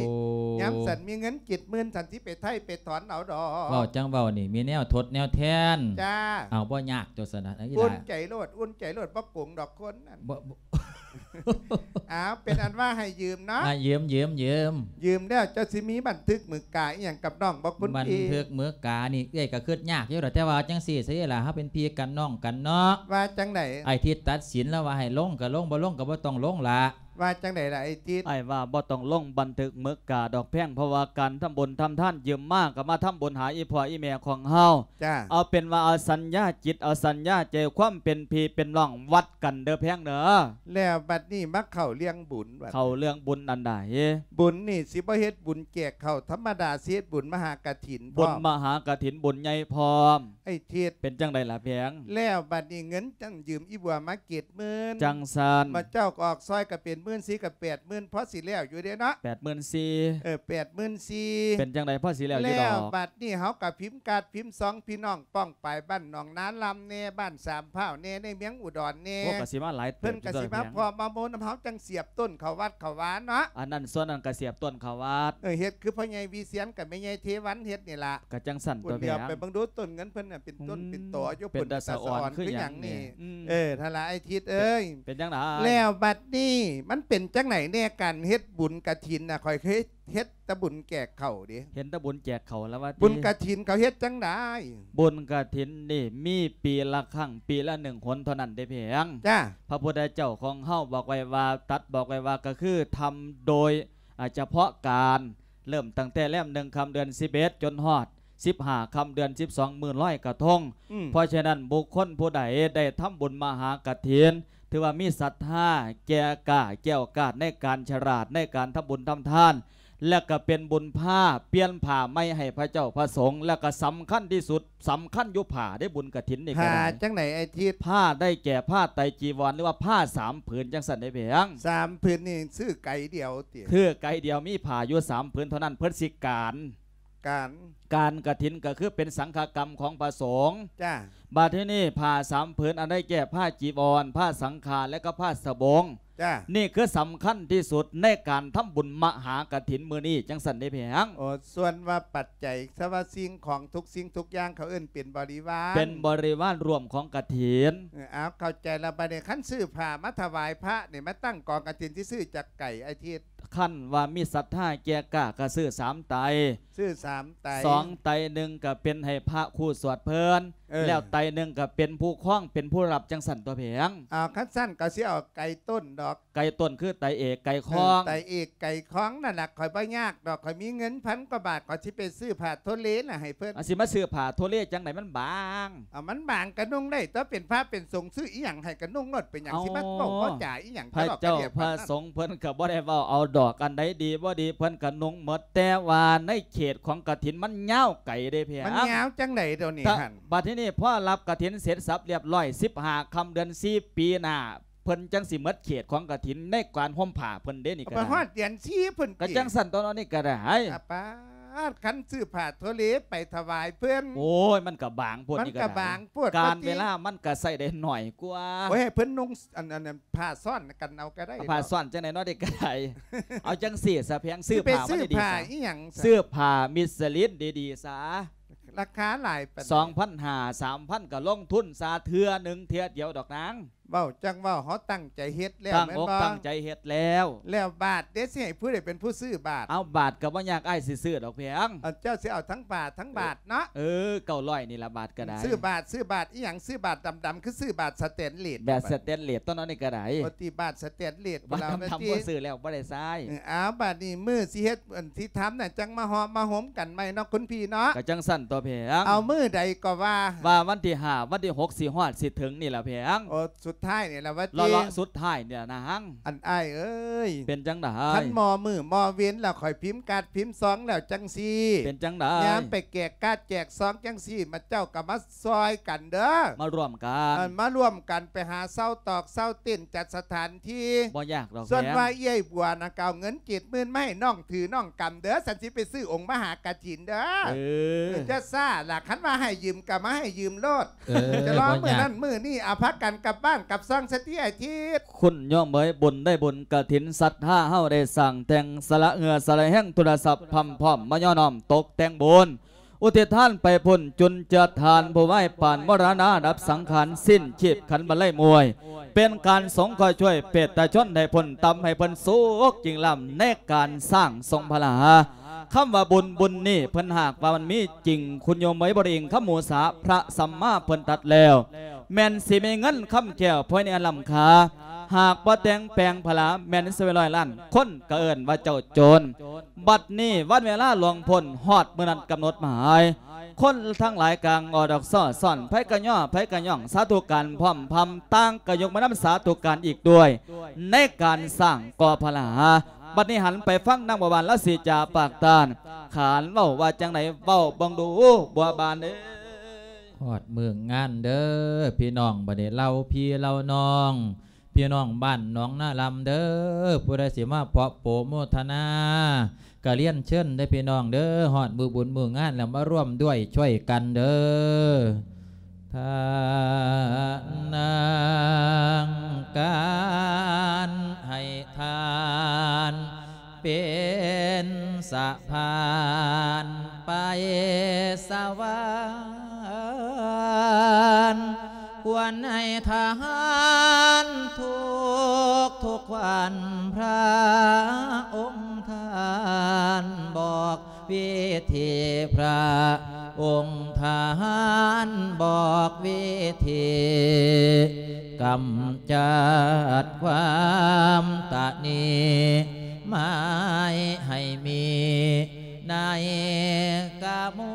ຍາມສັນມີເງິນເຈັດໝື່ນ ສັນຊິໄປໄຖ່ໄປຖອນເອົາດອກ. ເວົ້າຈັ່ງເວົ້ານີ້ ມີແນວທົດແນວແທນ. ຈ້າ ເອົາ ບໍ່ຍາກຕົວະຊັ້ນນະ ອີ່ຫຼ້າ. ອຸ່ນໃຈໂລດ ອຸ່ນໃຈໂລດ ບໍ່ໂກງດອກຄົນນັ້ນ. ບໍ່ ບໍ່ ອ້າວ ເປັນອັນວ່າໃຫ້ຢືມເນາະ. ອ່າ ຢືມ ຢືມ ຢືມ ຢືມແລ້ວເຈົ້າຊິມີບັນທຶກມືກາອີ່ຫຍັງກັບນ້ອງບໍ່ຄຸນພີ່? ບັນທຶກມືການີ້ເອື້ອຍກໍຄິດຍາກຢູ່ດອກ ແຕ່ວ່າຈັ່ງຊີ້ຊະອີ່ຫຼ້າ ເຮົາເປັນພີ່ກັນນ້ອງກັນເນາະ. ວ່າຈັ່ງໃດ? ອ້າຍທິດຕັດສິນແລ້ວວ່າໃຫ້ລົງກໍລົງ ບໍ່ລົງກໍບໍ່ຕ້ອງລົງລະ. ວ່າຈັ່ງໃດລະອ້າຍທິດ? ອ້າຍວ່າບໍ່ຕ້ອງລົງບັນທຶກມືກາດອກແພງ ເພາະວ່າການທຳບຸນທຳທານ ຢືມມາກໍມາທຳບຸນຫາອີ່ພໍ່ອີ່ແມ່ຂອງເຮົາ. ຈ້າ ເອົາເປັນວ່າເອົາສັນຍາຈິດ ເອົາສັນຍາໃຈ ຄວາມເປັນພີ່ເປັນນ້ອງວັດກັນເດີແພງເດີ. ແລ້ວບັດນີ້ມາເຂົ້າເລື່ອງບຸນ ເຂົ້າເລື່ອງບຸນອັນໃດ? ບຸນນີ້ຊິບໍ່ເຮັດບຸນແຈກເຂົ້າທຳມະດາ ຊິເຮັດບຸນມະຫາກະຖິນ ບຸນມະຫາກະຖິນ ບຸນໃຫຍ່ພ້ອມ. ໄອ້ທິດ ເປັນຈັ່ງໃດລະແພງ? ແລ້ວບັດນີ້ເງິນຈັ່ງຢືມອີ່ບົວມາເຈັດໝື່ນ ຈັ່ງຊັ້ນ ມາເຈົ້າກໍອອກຊ່ອຍກໍເປັນ ໝື່ນສີ່ ກໍແປດໝື່ນ ພໍຊິແລ້ວຢູ່ເດ້ເນາະ ແປດໝື່ນສີ່ ເອີ ແປດໝື່ນສີ່ ເປັນຈັ່ງໃດ ພໍຊິແລ້ວຢູ່ດອກ ແລ້ວບັດນີ້ເຮົາກໍພິມກາດພິມຊອງ ພີ່ນ້ອງປ້ອງປາຍ ບ້ານໜອງນາລຳແດ່ ບ້ານສາມພ້າວແດ່ ໃນເມືອງອຸດອນແດ່ ໂອ້ ກໍຊິມາຫຼາຍເຕີບ ເພິ່ນກໍຊິມາ ຢູ່ ພໍມາໂມນຳເຮົາ ຈັ່ງສຽບຕົ້ນເຂົ້າວັດເຂົ້າວາເນາະ ອັນນັ້ນສ່ວນນັ້ນກໍສຽບຕົ້ນເຂົ້າວັດ ເອີ ເຮັດຄືພໍ່ໃຫຍ່ວິສຽນກັບແມ່ໃຫຍ່ເທວັນເຮັດນີ້ລະ ກໍຈັ່ງຊັ້ນຕົວ ເພິ່ນດຽວ ແພງ ໄປເບິ່ງດູຕົ້ນເງິນເພິ່ນນະ ເປັນຕົ້ນ ອືມ ເປັນຕໍຢູ່ ເປັນ ເປັນຕາສະອອນ ຕາສະອອນ ຄືຫຍັງນີ້ ອືມ ເອີ ຫັ້ນລະ ອ້າຍທິດເອີຍ ເປັນຈັ່ງໃດ ແລ້ວບັດນີ້ມັນເປັນຈັ່ງໃດແດ່ ການເຮັດບຸນກະຖິນນະ ຂ້ອຍເຄີຍເຮັດແຕ່ບຸນແຈກເຂົ້າເດ້ ເຫັນແຕ່ບຸນແຈກເຂົ້າລະວ່າຕິ ບຸນກະຖິນເຂົາເຮັດຈັ່ງໃດ ບຸນກະຖິນນີ້ມີປີລະຄັ້ງ ປີລະໜຶ່ງຫົນເທົ່ານັ້ນເດ້ ແພງ ຈ້າ ພະພຸດທະເຈົ້າຂອງເຮົາບອກໄວ້ວ່າ ຕັດບອກໄວ້ວ່າ ກໍຄືທຳໂດຍ ອາ ສະເພາະການ ເລີ່ມຕັ້ງແຕ່ແລມໜຶ່ງຄ່ຳເດືອນສິບເອັດ ຈົນຮອດສິບຫ້າຄ່ຳເດືອນສິບສອງ ມື້ລອຍກະທົງ ອືມ ເພາະສະນັ້ນ ບຸກຄົນຜູ້ໃດໄດ້ທຳບຸນມະຫາກະຖິນ ຖືວ່າມີສັດທາແກ່ກ້າແກ້ວກາດໃນການສະຫຼາດໃນການທຳບຸນທຳທານ ແລະກະເປັນບຸນພາປ່ຽນຜ້າໃໝ່ໃຫ້ພະເຈົ້າພະສົງ ແລະກະສຳຄັນທີ່ສຸດ ສຳຄັນຢູ່ຜ້າເດ້ ບຸນກະຖິນນີ້ກໍ ຜ້າ ໄດ້ ຈັ່ງໃດ ອ້າຍທິດ ຜ້າໄດ້ແກ່ຜ້າໄຕຈີວອນ ຫຼືວ່າຜ້າສາມຜືນຈັ່ງຊັ້ນເດ້ ແພງ ສາມຜືນນີ້ຊື້ໄກດຽວຕິ ຊື້ໄກດຽວ ມີຜ້າຢູ່ສາມຜືນເທົ່ານັ້ນ ເພິ່ນຊິການ ການ ການກະຖິນກໍຄືເປັນສັງຄະກຳຂອງພະສົງ ຈ້າ ບາດທີນີ້ຜ້າສາມຜືນ ອັນໄດ້ແກ່ຜ້າຈີວອນ ຜ້າສັງຄາ ແລະກໍຜ້າສະບົງ ຈ້າ ນີ້ຄືສຳຄັນທີ່ສຸດໃນການທຳບຸນມະຫາກະຖິນມື້ນີ້ ຈັ່ງຊັ້ນເດ້ ແພງ ໂອ້ ສ່ວນວ່າປັດໄຈ ສະວ່າສິ່ງຂອງທຸກສິ່ງທຸກຢ່າງ ເຂົາເອີ້ນເປັນບໍລິວານ ເປັນບໍລິວານຮ່ວມຂອງກະຖິນ ເອີ ເອົາ ເຂົ້າໃຈລະ ບາດນີ້ຄັນຊື້ຜ້າມາຖວາຍພະນີ້ ມາຕັ້ງກອງກະຖິນ ຊິຊື້ຈັກໄກ ອ້າຍທິດ ຄັນວ່າມີສັດທາແກ່ກ້າກໍຊື້ສາມໄຕ ຊື້ສາມໄຕ ສອງໄຕໜຶ່ງກໍເປັນໃຫ້ພະຄູ່ສວດເພິ່ນ ເອີ ແລ້ວໄຕໜຶ່ງກໍເປັນຜູ້ຄອງ ເປັນຜູ້ຮັບ ຈັ່ງຊັ້ນຕົວະ ແພງ ເອົາ ຄັນຊັ້ນກໍຊິເອົາໄກຕົ້ນດອກ ໄກຕົ້ນຄືໄຕເອກໄກຄອງ ເອີ ໄຕເອກໄກຄອງນັ້ນລະ ຂ້ອຍບໍ່ຍາກດອກ ຂ້ອຍມີເງິນພັນກວ່າບາດ ຂ້ອຍຊິໄປຊື້ຜ້າໂທເລນະໃຫ້ເພິ່ນ ອາ ຊິມາຊື້ຜ້າໂທເລຈັ່ງໃດ ມັນບາງ ເອົາ ມັນບາງກະນຸ່ງໄດ້ຕົວະ ເປັນພະເປັນສົງ ຊື້ອີ່ຫຍັງໃຫ້ກະນຸ່ງໂລດ ເປັນຫຍັງ ເອົາ ຊິມາເວົ້າບໍ່ຈາອີ່ຫຍັງ ພະເຈົ້າພະສົງເພິ່ນກໍບໍ່ໄດ້ເວົ້າເອົາດອກ ອັນໃດດີບໍ່ດີເພິ່ນກໍນຸ່ງໝົດ ແຕ່ວ່າໃນເຂດຂອງກະຖິນມັນຍາວໄກເດ້ ແພງ ມັນຍາວຈັ່ງໃດດຽວນີ້ຫັ້ນ ບາດທີນີ້ພໍຮັບກະຖິນເສັດສັບລຽບຮ້ອຍ ສິບຫ້າຄ່ຳເດືອນສີ່ ປີໜ້າ ເພິ່ນຈັ່ງຊິໝົດເຂດຂອງກະຖິນໃນການຫົ່ມຜ້າເພິ່ນເດ້ນີ້ກໍໄດ້ ໄປຮອດເດືອນສີ່ພຸ້ນ ກໍຈັ່ງຊັ້ນຕົວະ ເນາະ ນີ້ກໍໄດ້ ອາປາດ ຄັນຊື້ຜ້າໂທເລໄປຖວາຍເພິ່ນ ໂອ້ຍ ມັນກໍບາງໂພດ ມັນກໍບາງໂພດ ການເວລາມັນກໍໃຊ້ໄດ້ໜ້ອຍກວ່າ ໂອ້ຍ ໃຫ້ເພິ່ນນຸ່ງ ອັນ ອັນ ອັນ ຜ້າຊ້ອນກັນເອົາກໍໄດ້ ເອົາຜ້າຊ້ອນຈັ່ງໃດເນາະ ເດັກກໍໄດ້ ເອົາຈັ່ງຊີ້ຊະ ແພງ ຊື້ຜ້າມາດີໆ ຊື້ຜ້າອີ່ຫຍັງ ຊື້ຜ້າມິດສະລິນດີໆຊະ ລາຄາຫຼາຍປານໃດ ສອງພັນຫ້າ ສາມພັນ ກໍລົງທຶນຊະ ເທື່ອໜຶ່ງເທື່ອດຽວດອກນາງ ເວົ້າຈັ່ງເວົ້າ ເຮົາຕັ້ງໃຈເຮັດແລ້ວ ຕັ້ງອົກຕັ້ງໃຈເຮັດແລ້ວ ແລ້ວບາດເດ ຊິໃຫ້ຜູ້ໃດເປັນຜູ້ຊື້ບາດ ເອົາ ບາດກໍບໍ່ຍາກ ອ້າຍຊິຊື້ດອກ ແພງ ເອົາ ເຈົ້າຊິເອົາທັງບາດທັງບາດເນາະ ເອີ ເກົ້າຮ້ອຍນີ້ລະ ບາດກໍໄດ້ ຊື້ບາດ ຊື້ບາດອີ່ຫຍັງ ຊື້ບາດດຳໆ ຄືຊື້ບາດສະແຕນເລດ ບາດສະແຕນເລດຕົວະ ເນາະ ນີ້ກໍໄດ້ ໂອຕິ ບາດສະແຕນເລດ ບາດດຳໆ ບໍ່ຊື້ແລ້ວ ບໍ່ໄດ້ໃຊ້ ເອີ ເອົາ ບາດນີ້ມື້ຊິເຮັດ ອັນ ຊິທຳນະ ຈັ່ງມາເຫາະມາໂຮມກັນໃໝ່ເນາະ ຄຸນພີ່ເນາະ ກໍຈັ່ງຊັ້ນຕົວະ ແພງ ເອົາ ມື້ໃດກໍວ່າ ວ່າວັນທີຫ້າ ວັນທີຫົກ ຊິຮອດຊິເຖິງນີ້ລະ ແພງ ໂອ ສຸດທ້າຍນີ້ລະວ່າຕິ ເລາະໆ ສຸດທ້າຍນີ້ລະນາງ ອັນອ້າຍເອີຍ ເປັນຈັ່ງໃດ ຄັນມໍມື້ມໍເວັນແລ້ວ ຂ້ອຍພິມກາດພິມຊອງແລ້ວຈັ່ງຊີ້ ເປັນຈັ່ງໃດ ຍາມໄປແຈກກາດແຈກຊອງຈັ່ງຊີ້ ມາເຈົ້າກໍມາຊ່ອຍກັນເດີ ມາຮ່ວມກັນ ອັນ ມາຮ່ວມກັນໄປຫາເຊົ່າຕອກເຊົ່າເຕັນ ຈັດສະຖານທີ່ ບໍ່ຍາກດອກ ສ່ວນວ່າເອື້ອຍບົວນະ ກໍເອົາເງິນເຈັດໝື່ນມາໃຫ້ນ້ອງຖືນ້ອງກຳເດີ ສັນຊິໄປຊື້ອົງມະຫາກະຖິນເດີ ເອີ ຢ່າຊ້າລະ ຄັນວ່າໃຫ້ຢືມກໍມາໃຫ້ຢືມໂລດ ເອີ ຈະລໍມື້ນັ້ນມື້ນີ້ ເອົາພາກັນກັບບ້ານກັບຊ່ອງສະຕິອາທິດ ຄຸນໂຍມເອີຍ ບຸນໄດ້ບຸນກະຖິນ ສັດທາເຮົາໄດ້ສ້າງແຕ່ງ ສະຫຼະເຫື່ອສະຫຼະແຮງ ທຸລະຊັບ ພ້ອມໆ ມາຍໍນ້ອມຕົກແຕ່ງບຸນ ອຸທິດທານໄປພຸ້ນ ຈຸນເຈືອທານຜູ້ວາຍປານ ມໍລະນະດັບສັງຂານ ສິ້ນຊີບຂັນບັນໄລມວຍ ເປັນການສົງເຄາະຊ່ວຍເປດຕາຊົນໃຫ້ພົ້ນຕ່ຳ ໃຫ້ເພິ່ນສຸກຍິ່ງລ້ຳ ໃນການສ້າງຊົງພະລາ ຄຳວ່າບຸນ ບຸນນີ້ເພິ່ນຫາກວ່າມັນມີຈິງ ຄຸນໂຍມເອີຍ ບໍ່ໄດ້ອີງຄຳໝູສາ ພະສຳມາເພິ່ນຕັດແລ້ວ ແມ່ນຊິມີເງິນຄຳແກ້ວພອຍໃນອັນລ້ຳຄ່າ ຫາກບໍ່ແຕ່ງແປງພະລາ ແມ່ນຊິໄປຮ້ອຍລ້ານ ຄົນກໍເອີ້ນວ່າເຈົ້າໂຈນ ບັດນີ້ວັນເວລາລ່ວງພົ້ນ ຮອດມື້ນັດກຳນົດໝາຍ ຄົນທັງຫຼາຍກາງອອດອອກຊ້ອຊ້ອນ ໃຜກະຍໍ້ ໃຜກະຍ່ອງ ສາທຸການພ້ອມພຳ ຕ່າງກະຍົກມືນຳສາທຸການອີກດ້ວຍ ໃນການສ້າງກໍ່ພະລາ ບັດນີ້ຫັນໄປຟັງນາງບົວບານລາວຊິຈາປາກຕ້ານ ຂານເວົ້າວ່າຈັ່ງໃດ ເວົ້າເບິ່ງດູບົວບານເອີຍ ຮອດມື້ງານເດີພີ່ນ້ອງ ບັດນີ້ເຫຼົ່າພີ່ເຫຼົ່ານ້ອງ ພີ່ນ້ອງບ້ານໜອງນາລຳເດີ ຜູ້ໃດຊິມາເພາະໂປໂມທະນາ ກະລຽນເຊີນເດີພີ່ນ້ອງເດີ ຮອດມື້ບຸນມື້ງານແລ້ວມາຮ່ວມດ້ວຍຊ່ວຍກັນເດີ. ທານາງການໃຫ້ທານ ເປັນສະພານໄປສະຫວັນ ຄວນໃຫ້ທານທຸກໆວັນ ພະອົງທ່ານບອກ ວິທີ ພະອົງທ່ານບອກວິທີ ກຳຈັດຄວາມຕະໜີ ໝາຍໃຫ້ມີໃນກະມວ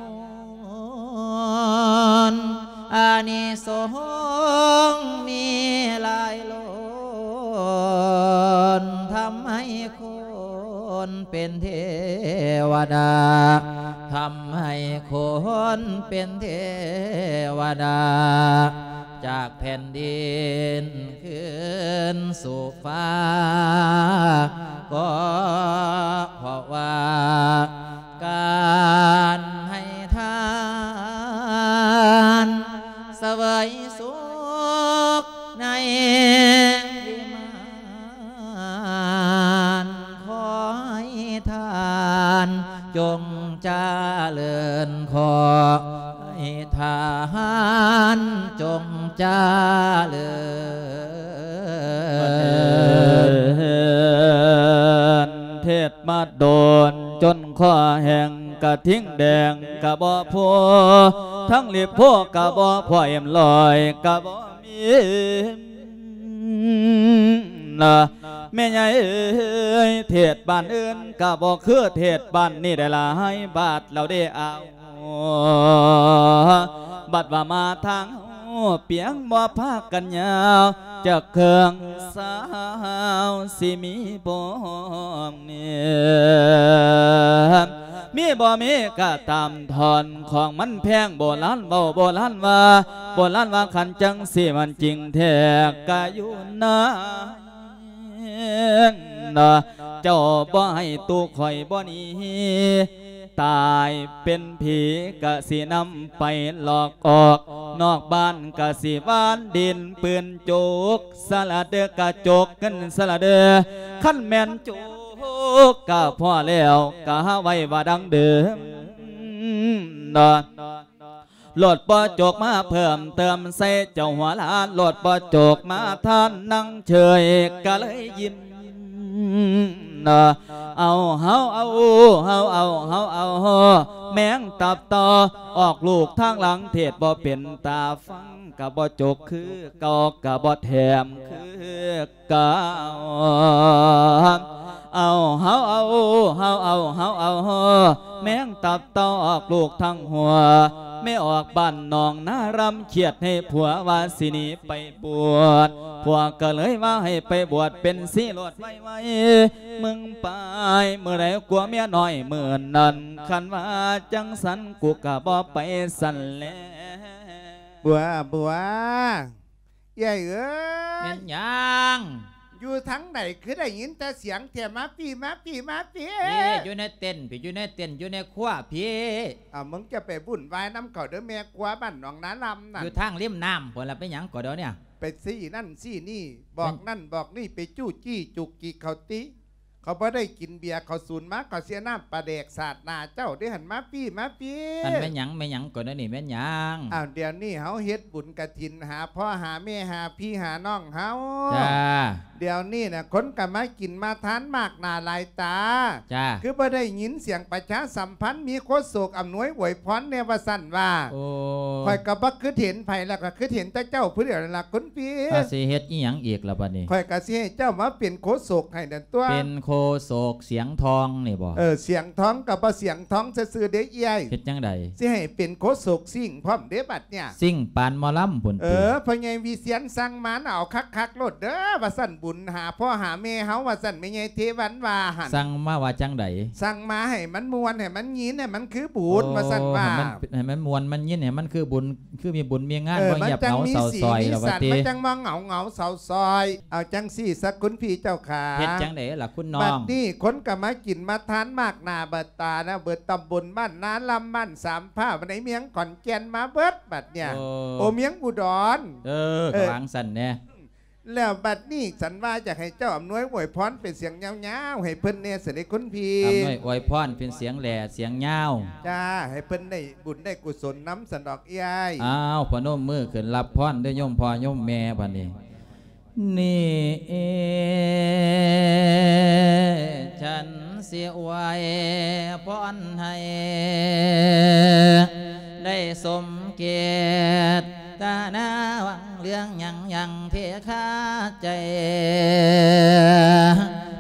ນ ອານິສົງມີຫຼາຍລ້ນ ທຳໃຫ້ ຄົນເປັນເທວະດາ ທຳໃຫ້ຄົນເປັນເທວະດາ ຈາກແຜ່ນດິນຄືນສູ່ຟ້າ ກໍເພາະວ່າ ການໃຫ້ທານ ສະເຫວີຍສຸກໃນວິມານ ຂໍໃຫ້ທ່ານຈົ່ງຈະເລີນ ຂໍໃຫ້ທ່ານຈົ່ງຈະເລີນ. ເທດມາໂດນຈົນຄໍແຫ້ງ ກະທິງແດງກະບໍ່ພໍ ທັງລິບໂພກະບໍ່ພໍ ເອັມຮ້ອຍກະບໍ່ມີ ນະ ແມ່ໃຫຍ່ເອີຍ ເທດບ້ານອື່ນກະບໍ່ຄືເທດບ້ານນີ້ ໄດ້ຫຼາຍບາດແລ້ວເດ້ອາວ ບັດວ່າມາທາງເຮົາ ປຽງບໍ່ພາກັນຍາວ ຈັກເຄື່ອງສາວຊິມີບໍ່ແນ່ ມີບໍ່ມີກະຕາມ ທ່ອນຂອງມັນແພງ ໂບລານເວົ້າ ໂບລານວ່າ ໂບລານວ່າ ຄັນຈັ່ງຊີ້ມັນຈິງແທ້ ກະຢູ່ນາ ເຈົ້າບໍ່ໃຫ້ຕູ້ຂ້ອຍບໍ່ໜີ ຕາຍເປັນຜີກະຊິນຳໄປຫຼອກອອກ ນອກບ້ານກະຊິຫວ່ານດິນປືນໂຈກ ສະລະເດີກະໂຈກເງິນສະລະເດີ ຄັນແມ່ນໂຈກກະພໍແລ້ວ ກະຫາໄວ້ວ່າດັ່ງເດີມ ໂລດບໍ່ໂຈກມາເພີ່ມເຕີມໃສ່ເຈົ້າຫົວຫຼານ ໂລດບໍ່ໂຈກມາທານນັ່ງເຊີຍກະເລີຍຍິ້ມ ເອົາ ເຮົາເອົາ ເຮົາເອົາ ເຮົາເອົາ ແມງຕັບຕໍ່ ອອກລູກທາງຫຼັງເທດບໍ່ເປັນຕາຟັງ ກະບໍ່ໂຈກຄືເກົ່າ ກະບໍ່ແຖມຄື ກາວ ເອົາ ເຮົາເອົາ ເຮົາເອົາ ເຮົາເອົາ ແມງຕັບເຕົ້າອອກລູກທັງຫົວ ແມ່ອອກບ້ານໜອງນາລຳ ຄຽດໃຫ້ຜົວວ່າຊິໜີໄປບວດ ຜົວກະເລີຍວ່າໃຫ້ໄປບວດເປັນຊີໂລດໄວໆ ມຶງໄປມື້ໃດກົວເມຍນ້ອຍມື້ນັ້ນ ຄັນວ່າຈັ່ງຊັ້ນກູກະບໍ່ໄປຊັ້ນແລະ. ບົວ ບົວ ເອື້ອຍເອີຍ ແມ່ນຫຍັງ? ຢູ່ທາງໃດຄືໄດ້ຍິນແຕ່ສຽງແທ້? ມາພີ້ ມາພີ້ ມາພີ້ ເອີ ຢູ່ໃນເຕັນພີ້ ຢູ່ໃນເຕັນ ຢູ່ໃນຄົວພີ້. ອ້າວ ມຶງຈະໄປວຸ້ນວາຍນຳເຂົາເດີ ແມ່ຄົວບ້ານໜອງນາລຳນັ້ນ ຢູ່ທາງລິມນ້ຳພຸ້ນລະ. ເປັນຫຍັງກໍດຽວນີ້ ໄປຊີ້ນັ້ນຊີ້ນີ້ ບອກນັ້ນບອກນີ້ ໄປຈູ້ຈີ້ຈຸກຈິກເຂົາຕິ. ເຂົາບໍ່ໄດ້ກິນເບຍເຂົາສູນມາ ເຂົາເສຍນ້ຳປາແດກສາດໜ້າເຈົ້າເດ້ຫັ້ນ. ມາພີ້ ມາພີ້ ອັນແມ່ນຫຍັງ ແມ່ນຫຍັງກໍດຽວນີ້ ແມ່ນຫຍັງ? ອ້າວ ດຽວນີ້ເຮົາເຮັດບຸນກະຖິນ ຫາພໍ່ຫາແມ່ ຫາພີ່ຫານ້ອງເຮົາ. ຈ້າ ດຽວນີ້ນະ ຄົນກະມາກິນມາທານມາກໜ້າຫຼາຍຕາ. ຈ້າ ຄືບໍ່ໄດ້ຍິນສຽງປະຊາສຳພັນ ມີໂຄສົກອຳນວຍອວຍພອນແດ່ວ່າຊັ້ນວ່າ. ໂອ້ ຂ້ອຍກະບໍ່ຄິດເຫັນໃຜ ແລ້ວກະຄິດເຫັນແຕ່ເຈົ້າຜູ້ດຽວນັ້ນລະຄຸນພີ່. ຊິເຮັດອີ່ຫຍັງອີກລະບາດນີ້? ຂ້ອຍກະຊິໃຫ້ເຈົ້າມາເປັນໂຄສົກໃຫ້ນັ້ນຕົວະ. ເປັນໂຄ ໂຄສົກສຽງທອງນີ້ບໍ່? ເອີ ສຽງທອງກໍບໍ່ສຽງທອງຊື່ໆເດ້ເອື້ອຍ. ເຮັດຈັ່ງໃດ? ຊິໃຫ້ເປັນໂຄສົກຊິງພ້ອມເດ້ບັດເນີ້ຍ. ຊິງປານໝໍລຳພຸ້ນຕິ? ເອີ ພໍ່ໃຫຍ່ວິຊຽນສັ່ງມານະ ເອົາຄັກໆໂລດເດີ ວ່າຊັ້ນ ບຸນຫາພໍ່ຫາແມ່ເຮົາ ວ່າຊັ້ນ ແມ່ໃຫຍ່ເທວັນວ່າຫັ້ນ. ສັ່ງມາວ່າຈັ່ງໃດ? ສັ່ງມາໃຫ້ມັນມ່ວນ ໃຫ້ມັນຍິນ ໃຫ້ມັນຄືບຸນ ໂອ້ ວ່າຊັ້ນວ່າ. ໃຫ້ມັນ ໃຫ້ມັນມ່ວນ ມັນຍິນ ໃຫ້ມັນຄືບຸນ ຄືມີບຸນມີງານ ເອີ ບໍ່ຫຽບເຫງົາເສົ້າຊອຍແລ້ວວ່າຕິ. ມັນຈັ່ງມີສີມີສັນ ມັນຈັ່ງບໍ່ເຫງົາເຫງົາເສົ້າຊອຍ. ເອົາຈັ່ງຊີ້ຊະຄຸນພີ່ເຈົ້າຂ້າ. ເຮັດຈັ່ງໃດລະຄຸນນ້ອງ? ບັດນີ້ຄົນກໍມາກິນມາທານມາກໜ້າບາດຕານະ ເບິດຕຳບົນບ້ານນາລຳ ບ້ານສາມພ້າວ ໃນເມືອງຂອນແກ່ນມາເບິດບັດເນີ້ຍ. ໂອ້ ໂອ້ ເມືອງອຸດອນ. ເອີ ເອີ ກໍວ່າຈັ່ງຊັ້ນແດ່. ແລ້ວບັດນີ້ສັນວ່າຢາກໃຫ້ເຈົ້າອຳນວຍອວຍພອນເປັນສຽງຍາວໆໃຫ້ເພິ່ນແດ່ ສະເດັດຄຸນພີ່. ອຳນວຍອວຍພອນເປັນສຽງແຫຼສຽງຍາວ. ຈ້າ ໃຫ້ເພິ່ນໄດ້ບຸນໄດ້ກຸສົນນຳສັນດອກເອື້ອຍ. ອ້າວ ພະນົມມືຂຶ້ນຮັບພອນເດີໂຍມພໍ່ໂຍມແມ່ບັດນີ້. ນີ້ສັນຊິອວຍພອນໃຫ້ໄດ້ສົມເກດ ຕະນາຫວັງເລື່ອງຫຍັງຫຍັງເທຄາໃຈ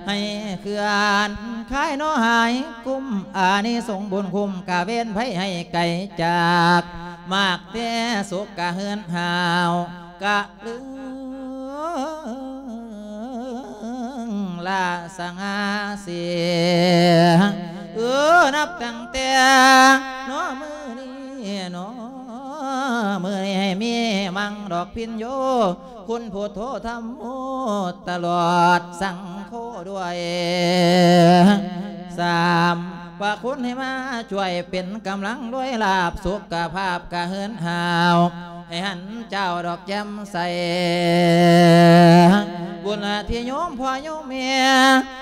ໃຫ້ເຄື່ອນຄາຍເນາະຫາຍກຸ້ມ ອານິສົງບຸນຄຸ້ມກະເວນໄພໃຫ້ໄກຈາກ ມາກແຕ່ສຸກກະເຮືອນຫາວ ກະລຶງລາສະຫງ່າເສຍ ເອີ ນັບຕັ້ງແຕ່ເນາະມື້ນີ້ເນາະ ມື້ນີ້ໃຫ້ມີມັງດອກພິນໂຍ ຄຸນພຸດໂທທຳໂມ ຕະຫຼອດສັງໂຄດ້ວຍ ສາມພະຄຸນໃຫ້ມາຊ່ວຍເປັນກຳລັງດ້ວຍລາບ ສຸຂະພາບກະເຮືອນຫາວ ໃຫ້ຫັນເຈົ້າດອກແຈ່ມໃສ ບຸນທີ່ໂຍມພໍ່ໂຍມແມ່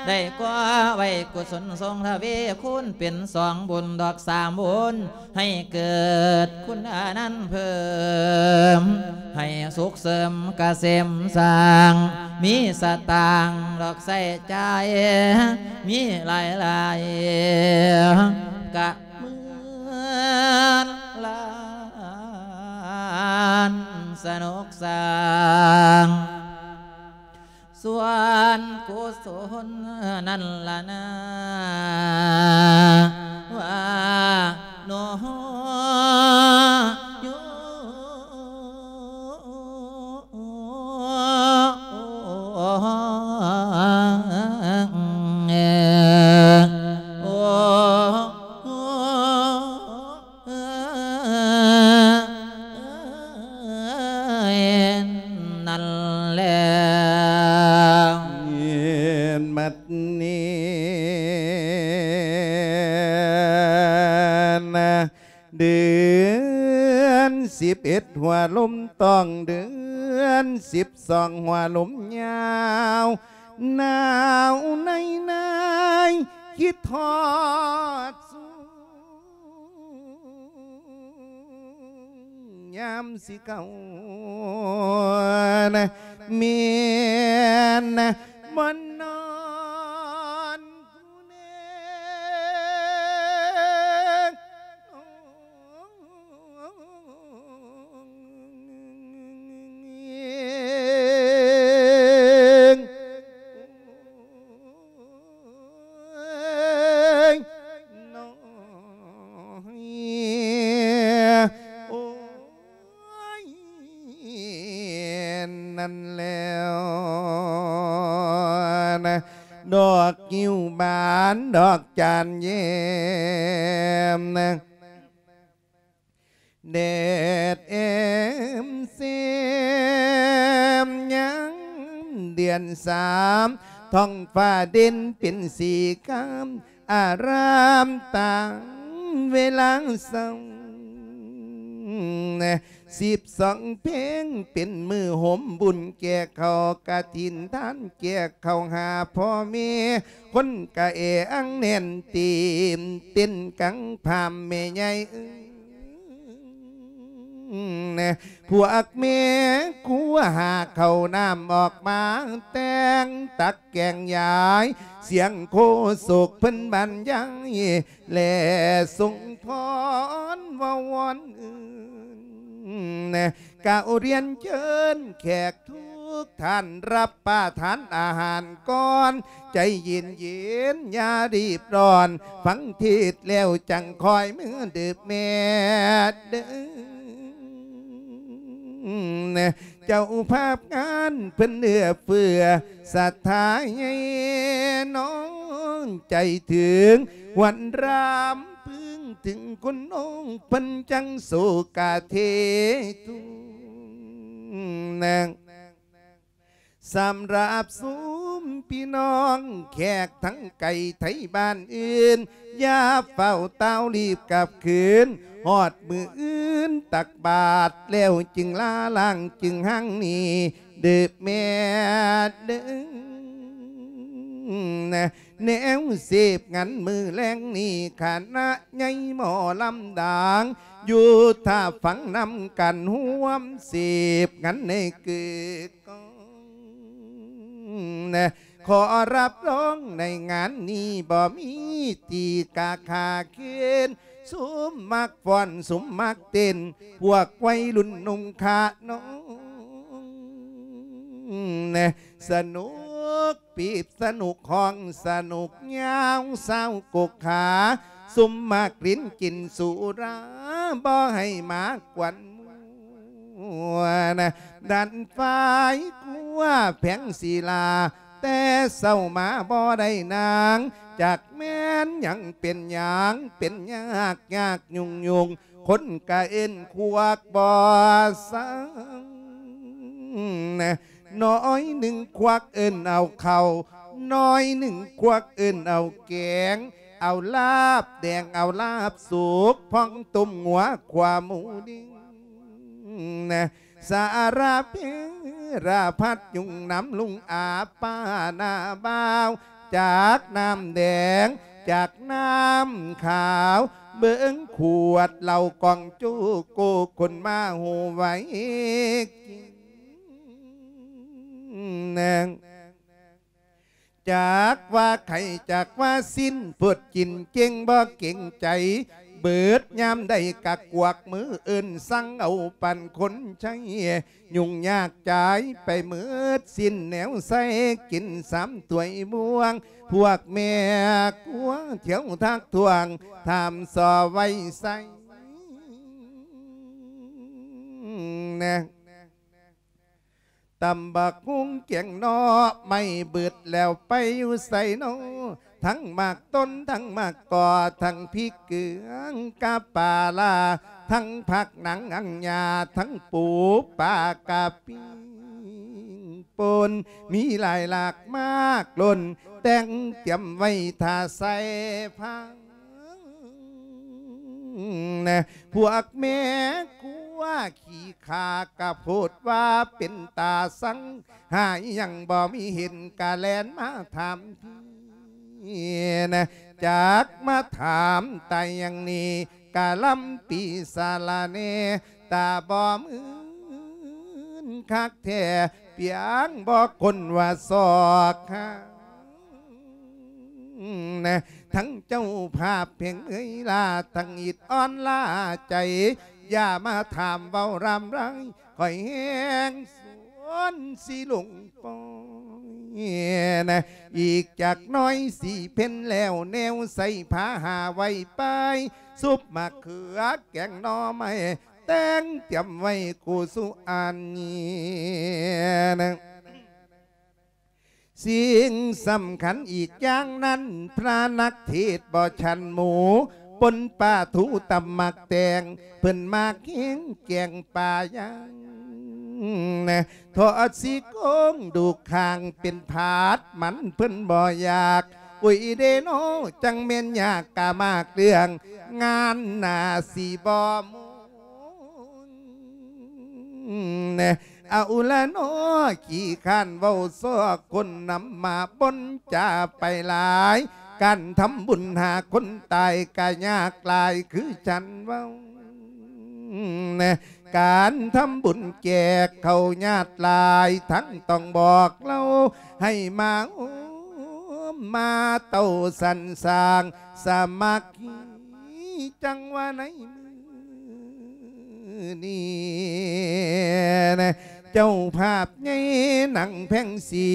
ໄດ້ກໍ່ໄວ້ກຸສົນສົ່ງທະວີຄູນ ເປັນສອງບຸນດອກສາມບຸນ ໃຫ້ເກີດຄຸນອານັນເພີ່ມ ໃຫ້ສຸກເສີມກະເສມສ້າງ ມີສະຕາງດອກໃຊ້ຈ່າຍ ມີຫຼາຍໆ ກະເໝືອນຫຼານສະໜຸກສາງ ສ່ວນກຸສົນນັ້ນລະນາ ວ່າໂນໂຍ ໂອ ເອີຍ ນັ້ນແຫຼະ ບັດນີ້ນະ ເດືອນສິບເອັດຫົວລົມຕ້ອງ ເດືອນສິບສອງຫົວລົມຍາວ ໜາວໃນໃນຄິດຮອດສູ ຍາມຊິເຂົ້ານະ ແມ່ນນະ ບໍ່ນອນຜູ້ແນງ ເອີຍ ນ້ອຍ ໂອ້ຍ ນັ້ນແລ້ວນະ ດອກງິ້ວບານ ດອກຈານແຍ້ມນະ ແດດແອມແຊມຍາມເດືອນສາມ ທ້ອງຟ້າເດັ່ນເປັນສີຄາມ ອາຣາມຕາມເວລາເຊົ້າ ສິບສອງເພງເປັນມື້ໂຮມບຸນ ແກ່ເຂົ້າກະຖິນທານ ແກ່ເຂົ້າຫາພໍ່ແມ່ ຄົນກະແອອັງແໜ້ນຕີມ ເຕັ້ນກັງພາມແມ່ໃຫຍ່ເອີຍ ພວກແມ່ຄົວຫາເຂົ້ານ້ຳອອກມາແຕ່ງ ຕັກແກງຢາຍ ສຽງໂຄສົກເພິ່ນບັນຍາຍ ແລະ ສົ່ງພອນເວົ້າວອນອື່ນ ກະໂອລຽນເຊີນແຂກທູ ທຸກທ່ານ ຮັບປະທານອາຫານກ່ອນ ໃຈເຢັນໆ ຢ່າຣີບຮ້ອນ ຟັງເທດແລ້ວຈັ່ງຄ່ອຍເມືອເດີແມ່ເດີ. ເຈົ້າພາບງານເພິ່ນເອື້ອເຟື້ອ ສັດທາໃຫຍ່ນ້ອງໃຈເຖິງ ວັນຣຳພຶງເຖິງຄຸນນ້ອງ ເພິ່ນຈັ່ງໂສກາເທທຸງນາງ. ສຳລັບຊຸມພີ່ນ້ອງແຂກທັງໄກໄທບ້ານອື່ນ ຢ່າຟ້າວຕ່າວລີບກັບຄືນ ຮອດມື້ອື່ນຕັກບາດແລ້ວຈຶ່ງລາລ້າງຈຶ່ງຮັ່ງນີ້ ເດີແມ່ເດີ. ແນວເສບງານມື້ແລງນີ້ ຄະນະໃຫຍ່ໝໍລຳດັງ ຢູ່ຖ້າຟັງນຳກັນຮ່ວມເສບງານໃນຄືກອງ. ຂໍຮັບຮອງໃນງານນີ້ບໍ່ມີທີ່ກາຄາເຄນ ຊຸມມັກຟ້ອນ ຊຸມມັກເຕັ້ນ ພວກໄວລຸ້ນໜຸ່ມຂະນ້ອງ ສະໜຸກປີບ ສະໜຸກຮ້ອງ ສະໜຸກຍາວ ຊາວກົກຂາ ຊຸມມັກຫຼິ້ນກິນສຸລາ ບໍ່ໃຫ້ມາກວນມົວນະ. ດັນຝາຍຄົວແພງສີລາ ແຕ່ເຊົ້າມາບໍ່ໄດ້ນາງ ຈັກແມ່ນຫຍັງເປັນຫຍັງ ເປັນຍາກຍາກຫຍຸ້ງຫຍຸ້ງ ຄົນກະເອີ້ນຄວັກບໍ່ສັງ. ໜ້ອຍໜຶ່ງຄວັກເອີ້ນເອົາເຂົ້າ ໜ້ອຍໜຶ່ງຄວັກເອີ້ນເອົາແກງ ເອົາລາບແດງ ເອົາລາບສຸກ ພ້ອມຕົ້ມງົວຂົ້ວໝູດິງ. ສາລະເພລະພັດຍຸງນຳລຸງອາປ້າໜ້າບ່າວ ຈາກນ້ຳແດງ ຈາກນ້ຳຂາວ ເບິ່ງຂວດເຫຼົ້າກອງໂຈໂກ ຄົນມາຮູ້ໄວກິນແນງ. ຈັກວ່າໄຂ້ຈັກວ່າຊິນ ເພິດກິນເກັ່ງບໍ່ເກງໃຈ ເບີດຍາມໃດກະກວັກມືເອີ້ນສັ່ງເອົາປັນຄົນໃຊ້ ຫຍຸ້ງຍາກຈາຍໄປເໝິດສິ້ນແນວໃຊ້ ກິນສາມຖ້ວຍບ່ວງ ພວກແມ່ຄົວທ່ຽວທັກທ້ວງ ຖາມສໍໄວ້ໃສ່ແນງ. ຕຳບັກຫຸ່ງແກງໜໍ່ໄມ້ເບິດແລ້ວໄປຢູ່ໃສນໍ ທັງໝາກຕົ້ນ ທັງໝາກກອ ທັງພິກເກືອງກະປາລາ ທັງຜັກໜັງອັງຍາ ທັງປູປາກະປີ້ງປົ່ນ ມີຫຼາຍຫຼາກມາກລົ້ນ ແຕ່ງຕຽມໄວ້ຖ້າໃສ່ພັງ. ພວກແມ່ຄົວຂີ້ຂ້າກະໂພດວ່າເປັນຕາຊັງ ຫາຫຍັງບໍ່ມີເຫັນກະແລ່ນມາຖາມພີນະ ຈັກມາຖາມຕາຍຫຍັງນີ້ ກະລຳປີສາລະແໜ່ ຕາບໍ່ມື່ນຄັກແທ້ ປຽງບໍ່ຄົນວ່າຊອກຫາ ນະ ທັງເຈົ້າພາບແຫ່ງເອີຍລາ ທັງອິດອ່ອນລາໃຈ ຢ່າມາຖາມເວົ້າລຳລາຍ ຂ້ອຍແຮງສວນຊິລົງປ່ອຍນະ ອີກຈັກໜ້ອຍຊິເພັນແລ້ວ ແນວໃສ່ຜ້າຫາໄວ້ໄປ ຊຸບໝາກເຂືອແກງໜໍ່ໄມ້ ແຕ່ງຕຽມໄວ້ຄູ່ສຸອັນນີ້ນະ. ສິ່ງສຳຄັນອີກຢ່າງນັ້ນ ພະນັກເທດບໍ່ຊັ້ນໝູ ປົນປາທູຕຳໝາກແຕງ ເພິ່ນມັກແຮງແກງປາຍ່າງນະ ທອດຊີ້ໂຄງດູກຄາງ ເປັນຜາດມັນເພິ່ນບໍ່ຢາກ ໂອ້ຍເດນໍ ຈັ່ງແມ່ນຍາກກະມາກເລື່ອງ ງານໜ້າຊິບໍ່ມ່ວນ ເອົາລະນໍ ຂີ້ຄ້ານເວົ້າຊອກຄົນນຳມາ ບົນຈາໄປຫຼາຍ ການທຳບຸນຫາຄົນຕາຍກະຍາກຫຼາຍຄືສັນເວົ້ານະ ການທຳບຸນແຈກເຂົ້າຍາດຫຼາຍ ທັງຕ້ອງບອກເລົ່າໃຫ້ມາໂຮມມາເຕົ້າສັນສ້າງສາມັກຄີ ຈັ່ງວ່າໃນມື້ນີ້ນະ ເຈົ້າພາບໃຫຍ່ນາງແພງສີ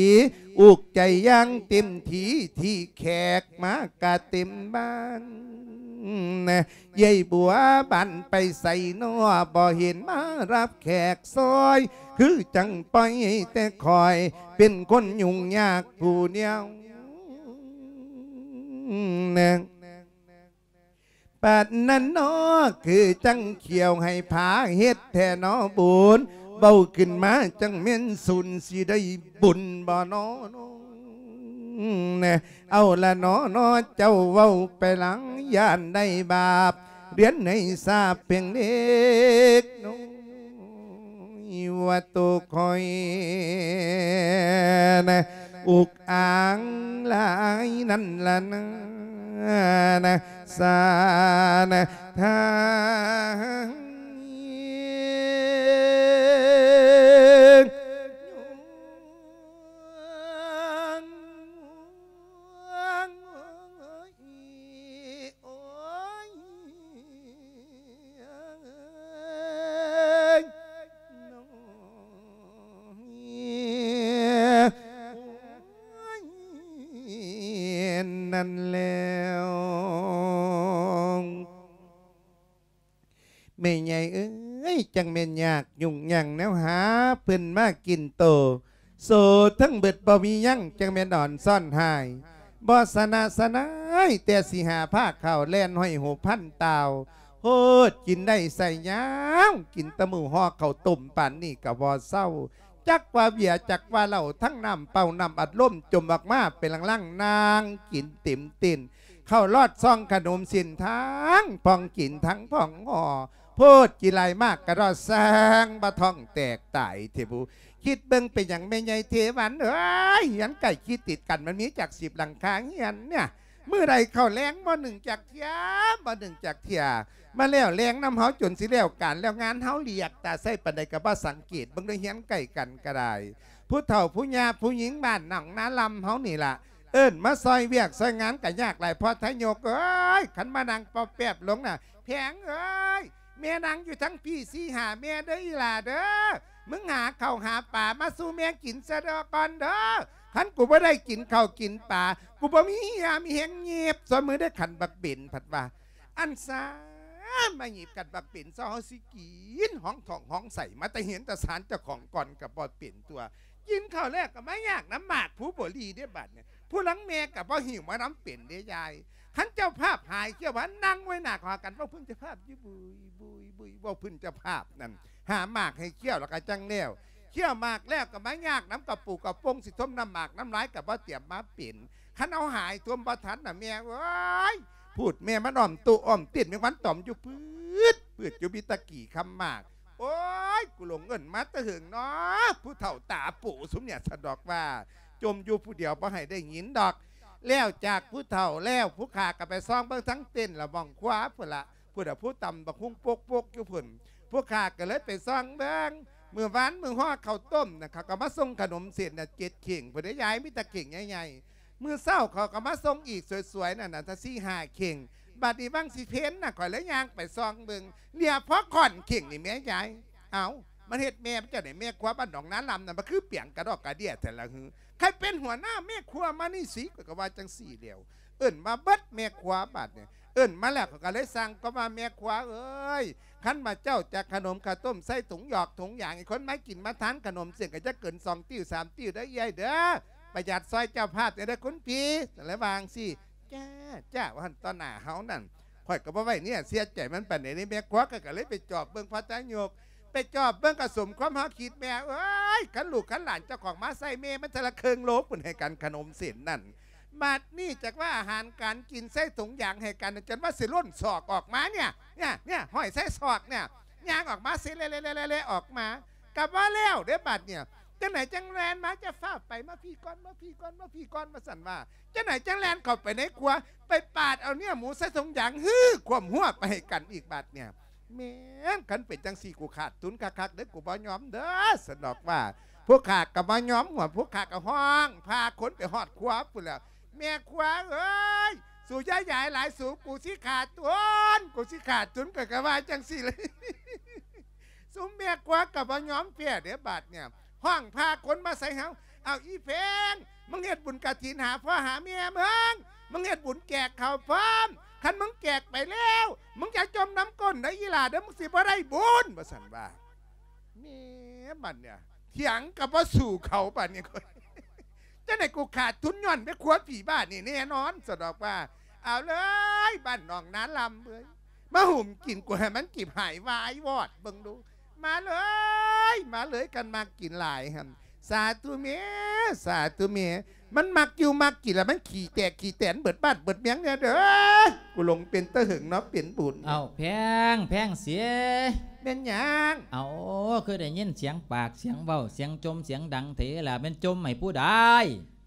ອຸກໃຈຢ່າງເຕັມທີ່ ທີ່ແຂກມາກະເຕັມບ້ານ. ເອື້ອຍບົວບານໄປໃສນໍ ບໍ່ເຫັນມາຮັບແຂກຊ່ອຍ ຄືຈັ່ງປ່ອຍແຕ່ຂ້ອຍ ເປັນຄົນຫຍຸ້ງຍາກຜູ້ດຽວ. ປານນັ້ນນໍ ຄືຈັ່ງຂ້ຽວໃຫ້ພາເຮັດແທ້ນໍບຸນ ເວົ້າຂຶ້ນມາຈັ່ງແມ່ນສູນ ຊິໄດ້ບຸນບໍ່ນໍ? ເອົາລະນໍນໍ ເຈົ້າເວົ້າໄປຫຼັງ ຢ້ານໄດ້ບາບ ລຽນໃຫ້ຊາບພຽງເລັກນ້ອຍ ວ່າໂຕຂ້ອຍນະ ອຸກອາງຫຼາຍນັ້ນລະນາ ນະ ສານະ ທາງ ນັ້ນແລ້ວ ແມ່ໃຫຍ່ເອີຍ ຈັ່ງແມ່ນຍາກຫຍຸ້ງຫຍັງແນວຫາເພິ່ນມາກິນໂຕ ໂສທັງເບິດບໍ່ມີຫຍັງ ຈັ່ງແມ່ນອ່ອນຊ້ອນຫາຍ ບໍ່ຊະນະຊະນາຍ ແຕ່ຊິຫາພາເຂົ້າແລ່ນຫ້ອຍຫູພັນຕ່າວ ໂພດກິນໄດ້ໃສ່ຍາວ ກິນແຕ່ມື້ຫໍ່ເຂົ້າຕົ້ມປານນີ້ກະບໍ່ເຊົາ ຈັກວ່າເບຍ ຈັກວ່າເຫຼົ້າ ທັງນ້ຳເປົ່າ ນ້ຳອັດລົມ ຈົມອອກມາເປັນຫຼັງໆ ນາງກິນເຕັມຕີນ ເຂົ້າລອດຊອງຂະໜົມເສັ້ນ ທັງພອງກິນທັງພອງຫໍ່ ໂພດກິນຫຼາຍມາກກະດອດແຊງ ບໍ່ທ້ອງແຕກຕາຍເທະບຸ. ຄິດເບິ່ງເປັນຫຍັງແມ່ໃຫຍ່ເທວັນເອີຍ ເຮືອນໃກ້ຄີດຕິດກັນ ມັນມີຈັກສິບຫຼັງຄາເຮືອນເນຍ ມື້ໃດເຂົ້າແລງບໍ່ໜຶ້ງຈັກເທື່ອ ບໍ່ໜຶ້ງຈັກເທື່ອ ມາແລ້ວແລງນຳເຮົາຈົນຊິແລ້ວການແລ້ວງານເຮົາລຽກຕາໃສ່ປານໃດກະບໍ່ສັງເກດເບິ່ງເດີ ເຮືອນໃກ້ກັນກະໄດ້ ຜູ້ເຖົ້າຜູ້ຍ່າຜູ້ຍິງບ້ານໜອງນາລຳເຮົານີ້ລະ ເອີ້ນມາຊ່ອຍວຽກຊ່ອຍງານກະຍາກຫຼາຍ ພໍ່ທາຍົກເອີຍ ຄັນມານັ່ງປອບແປບລົງນະ ແພງເອີຍ ແມ່ນັ່ງຢູ່ທັງພີ້ສີ່ຫ້າແມ່ເດີອີ່ຫຼ້າເດີ ມຶງຫາເຂົ້າຫາປາມາສູ່ແມ່ກິນຊະດອກກ່ອນເດີ ຄັນກູບໍ່ໄດ້ກິນເຂົ້າກິນປາ ກູບໍ່ມີເຫື່ອມີແຮງຫຍິບ ສ່ວນມຶງໄດ້ຂັນບັກເບັນ ພັດວ່າ ອັນຊາ ມາຫຍິບກັນບັກເບັນ ເຮົາຊິກິນ ຫ້ອງທ້ອງຫ້ອງໄສ້ ມາແຕ່ເຮືອນແຕ່ຊານເຈົ້າຂອງກ່ອນກະບໍ່ເປັນຕົວ ກິນເຂົ້າແລ້ວກະມາຍາກນຳໝາກພູບໍລີເດ້ບາດນີ້ ຜູ້ລັງແມ່ກະບໍ່ຫິວມານຳເປັນເດ້ຍາຍ ຄັນເຈົ້າພາບຫາຍເຂົ້າມານັ່ງໄວ້ໜ້າຫາກັນ ເວົ້າພື້ນເຈົ້າພາບຢູ່ບຸຍບຸຍບຸຍ ເວົ້າພື້ນເຈົ້າພາບນັ້ນ ຫາໝາກໃຫ້ເຂົ້າແລ້ວກະຈັ່ງແລ້ວ ເຂົ້າໝາກແລ້ວກະມາຍາກນຳກະປູກະປົງ ຊິຖົມນ້ຳໝາກນ້ຳລາຍກະບໍ່ຕຽມມາເປັນ ຄັນເອົາຫາຍຖົມບໍ່ທັນນະແມ່ເອີຍ ພູດແມ່ມັນອ້ອມໂຕອ້ອມຕີນ ແມງວັນຕອມຢູ່ປືດ ປືດຢູ່ມີແຕ່ກີ່ຄຳໝາກ ໂອ້ຍ ກູຫຼົງເອີ້ນມາແຕ່ເຫິງເນາະ ຜູ້ເຖົ້າຕາໂປຊຸມເນຍ ສະດອກວ່າ ຈົ່ມຢູ່ຜູ້ດຽວບໍ່ໃຫ້ໄດ້ຍິນດອກ ແລ້ວຈາກຜູ້ເຖົ້າແລ້ວ ຜູ້ຂ້າກະໄປສ່ອງເບິ່ງທັງເຕັນລະ ໝ່ອງຄົວພຸ້ນລະ ພຸ້ນລະ ຜູ້ຕຳບັກຫຸ່ງປົກໆຢູ່ພຸ້ນ ຜູ້ຂ້າກະເລີຍໄປສ່ອງເບິ່ງ ມື້ວານມື້ຫໍ່ເຂົ້າຕົ້ມນະ ເຂົາກະມາສົ່ງຂະໜົມເສັ້ນນະ ເຈັດເຂ່ງພຸ້ນເດ້ຍາຍ ມີແຕ່ເຂ່ງໃຫຍ່ໆ ມື້ເຊົ້າເຂົາກະມາສົ່ງອີກສວຍໆນັ້ນນະ ສີ່ຫ້າເຂ່ງ ບາດນີ້ຫວ່າງຊິເພັນນະ ຂ້ອຍເລີຍຍ່າງໄປສ່ອງເບິ່ງ ເຫຼືອພໍຂ້ອນເຂ່ງນີ້ແມ່ຍາຍ ເອົ້າ ມັນເຮັດແມ່ມັນຈັ່ງໃດ ແມ່ຄົວບ້ານໜອງນາລຳນັ້ນ ມັນຄືປຽງກະດອກກະເດຍແທ້ລະຫື ໃຜເປັນຫົວໜ້າແມ່ຄົວມານີ້ຊິ ຂ້ອຍກະວ່າຈັ່ງຊີ້ແລ້ວ ເອີ້ນມາເບິດແມ່ຄົວບາດນີ້ ເອີ້ນມາແລ້ວເຂົາກະເລີຍສັ່ງກະວ່າ ແມ່ຄົວເອີຍ ຄັນວ່າເຈົ້າຈະຂະໜົມເຂົ້າຕົ້ມໃສ່ຖົງຫຍອກຖົງຢາງ ໃຫ້ຄົນມາກິນມາທານຂະໜົມເສັ້ນ ກະຢ່າເກີນສອງຕິ້ວສາມຕິ້ວເດີເອື້ອຍເດີ ປະຢັດຊ່ອຍເຈົ້າພາບແດ່ເດີຄຸນພີ່ ລະວ່າຈັ່ງຊີ້ ຈ້າ ຈ້າ ວ່າຫັ້ນ ຕໍ່ໜ້າເຮົານັ້ນ ຂ້ອຍກະບໍ່ໄວ້ເນື້ອເຊື່ອໃຈມັນປານໃດເດ້ ແມ່ຄົວກະ ກະເລີຍໄປຈອບເບິ່ງ ພໍ່ທາຍົກ ໄປຈອບເບິ່ງກະສົມຄວາມເຮົາຄິດ ແມ່ເອີຍ ຄັນລູກຄັນຫຼານເຈົ້າຂອງມາໃສ່ແມ່ມັນເທື່ອລະເຄິ່ງໂລພຸ້ນ ໃຫ້ກັນຂະໜົມເສັ້ນນັ້ນ ບາດນີ້ຈັກວ່າອາຫານການກິນໃສ່ຖົງຢາງໃຫ້ກັນ ຈົນວ່າຊິລົ້ນສອກອອກມາເນຍ ເນຍ ເນຍ ຫ້ອຍໃສ່ສອກເນຍ ຍ່າງອອກມາຊິແລະໆໆ ອອກມາ ກະບໍ່ແລ້ວເດ້ບາດເນຍ ຈັ່ງໃດຈັ່ງແລ່ນມາ ຈະຟ້າວໄປ ມາພີ້ກ່ອນ ມາພີ້ກ່ອນ ມາພີ້ກ່ອນ ວ່າຊັ້ນວ່າ ຈັ່ງໃດຈັ່ງແລ່ນເຂົ້າໄປໃນຄົວ ໄປປາດເອົາເນື້ອໝູໃສ່ຖົງຢາງ ຮື ຄວາມຫົວໄປໃຫ້ກັນອີກບາດເນຍ ແມ່ນ ຄັນເປັນຈັ່ງຊີ້ ກູຂາດທຶນຄັກໆເດີ ກູບໍ່ຍອມເດີ ສະດອກວ່າ ພວກຂ້າກະບໍ່ຍອມຫົວ ພວກຂ້າກະຮ້ອງພາຄົນໄປຮອດຄົວພຸ້ນແລ້ວ ແມ່ຄົວເອີຍ ສູຢ່າຢາຍຫຼາຍສູ ກູຊິຂາດທຶນ ກູຊິຂາດທຶນ ຂ້ອຍກະວ່າຈັ່ງຊີ້ແຫຼະ ຊຸມແມ່ຄົວ ກໍບໍ່ຍອມແພ້ເດ້ບາດນີ້ ຮ້ອງພາຄົນມາໃສ່ເຮົາ. ເອົາ ອີ່ແພງ ມຶງເຮັດບຸນກະຖິນຫາພໍ່ຫາແມ່ມຶງ ມຶງເຮັດບຸນແຈກເຂົ້າພ້ອມ ຄັນມຶງແຈກໄປແລ້ວ ມຶງຢ່າຈົ່ມນ້ຳກົ້ນເດີອີ່ຫຼ້າເດີ ມຶງຊິບໍ່ໄດ້ບຸນ ວ່າຊັ້ນວ່າ. ແໝ ບັດນີ້ຖຽງກໍບໍ່ສູ້ເຂົາ ບັດນີ້ ຈັ່ງໃດກູຂາດທຶນຍ້ອນແມ່ຄົວຜີບ້ານນີ້ແນ່ນອນ ສະດອກວ່າ. ເອົາເລີຍ ບ້ານໜອງນາລຳເອີຍ ມາຫຸ້ມກິນກູໃຫ້ມັນຈິບຫາຍວາຍວອດເບິ່ງດູ ມາເລີຍ ມາເລີຍ ຄັນມັກກິນຫຼາຍຫັ້ນ. ສາທຸແມ່ ສາທຸແມ່ ມັນມັກຢູ່ມັກກິນລະມັນຂີ້ແຕກຂີ້ແຕນເບິດບ້ານເບິດເມືອງແນ່ເດີ ກູຫຼົງເປັນຕາເຫິງເນາະ ເປັນບຸນ. ເອົ້າ ແພງ ແພງເສຍ ແມ່ນຫຍັງ? ເອົ້າ ຄືໄດ້ຍິນສຽງປາກສຽງເວົ້າ ສຽງຈົ່ມສຽງດັງເທລະ ແມ່ນຈົ່ມໃຫ້ຜູ້ໃດ?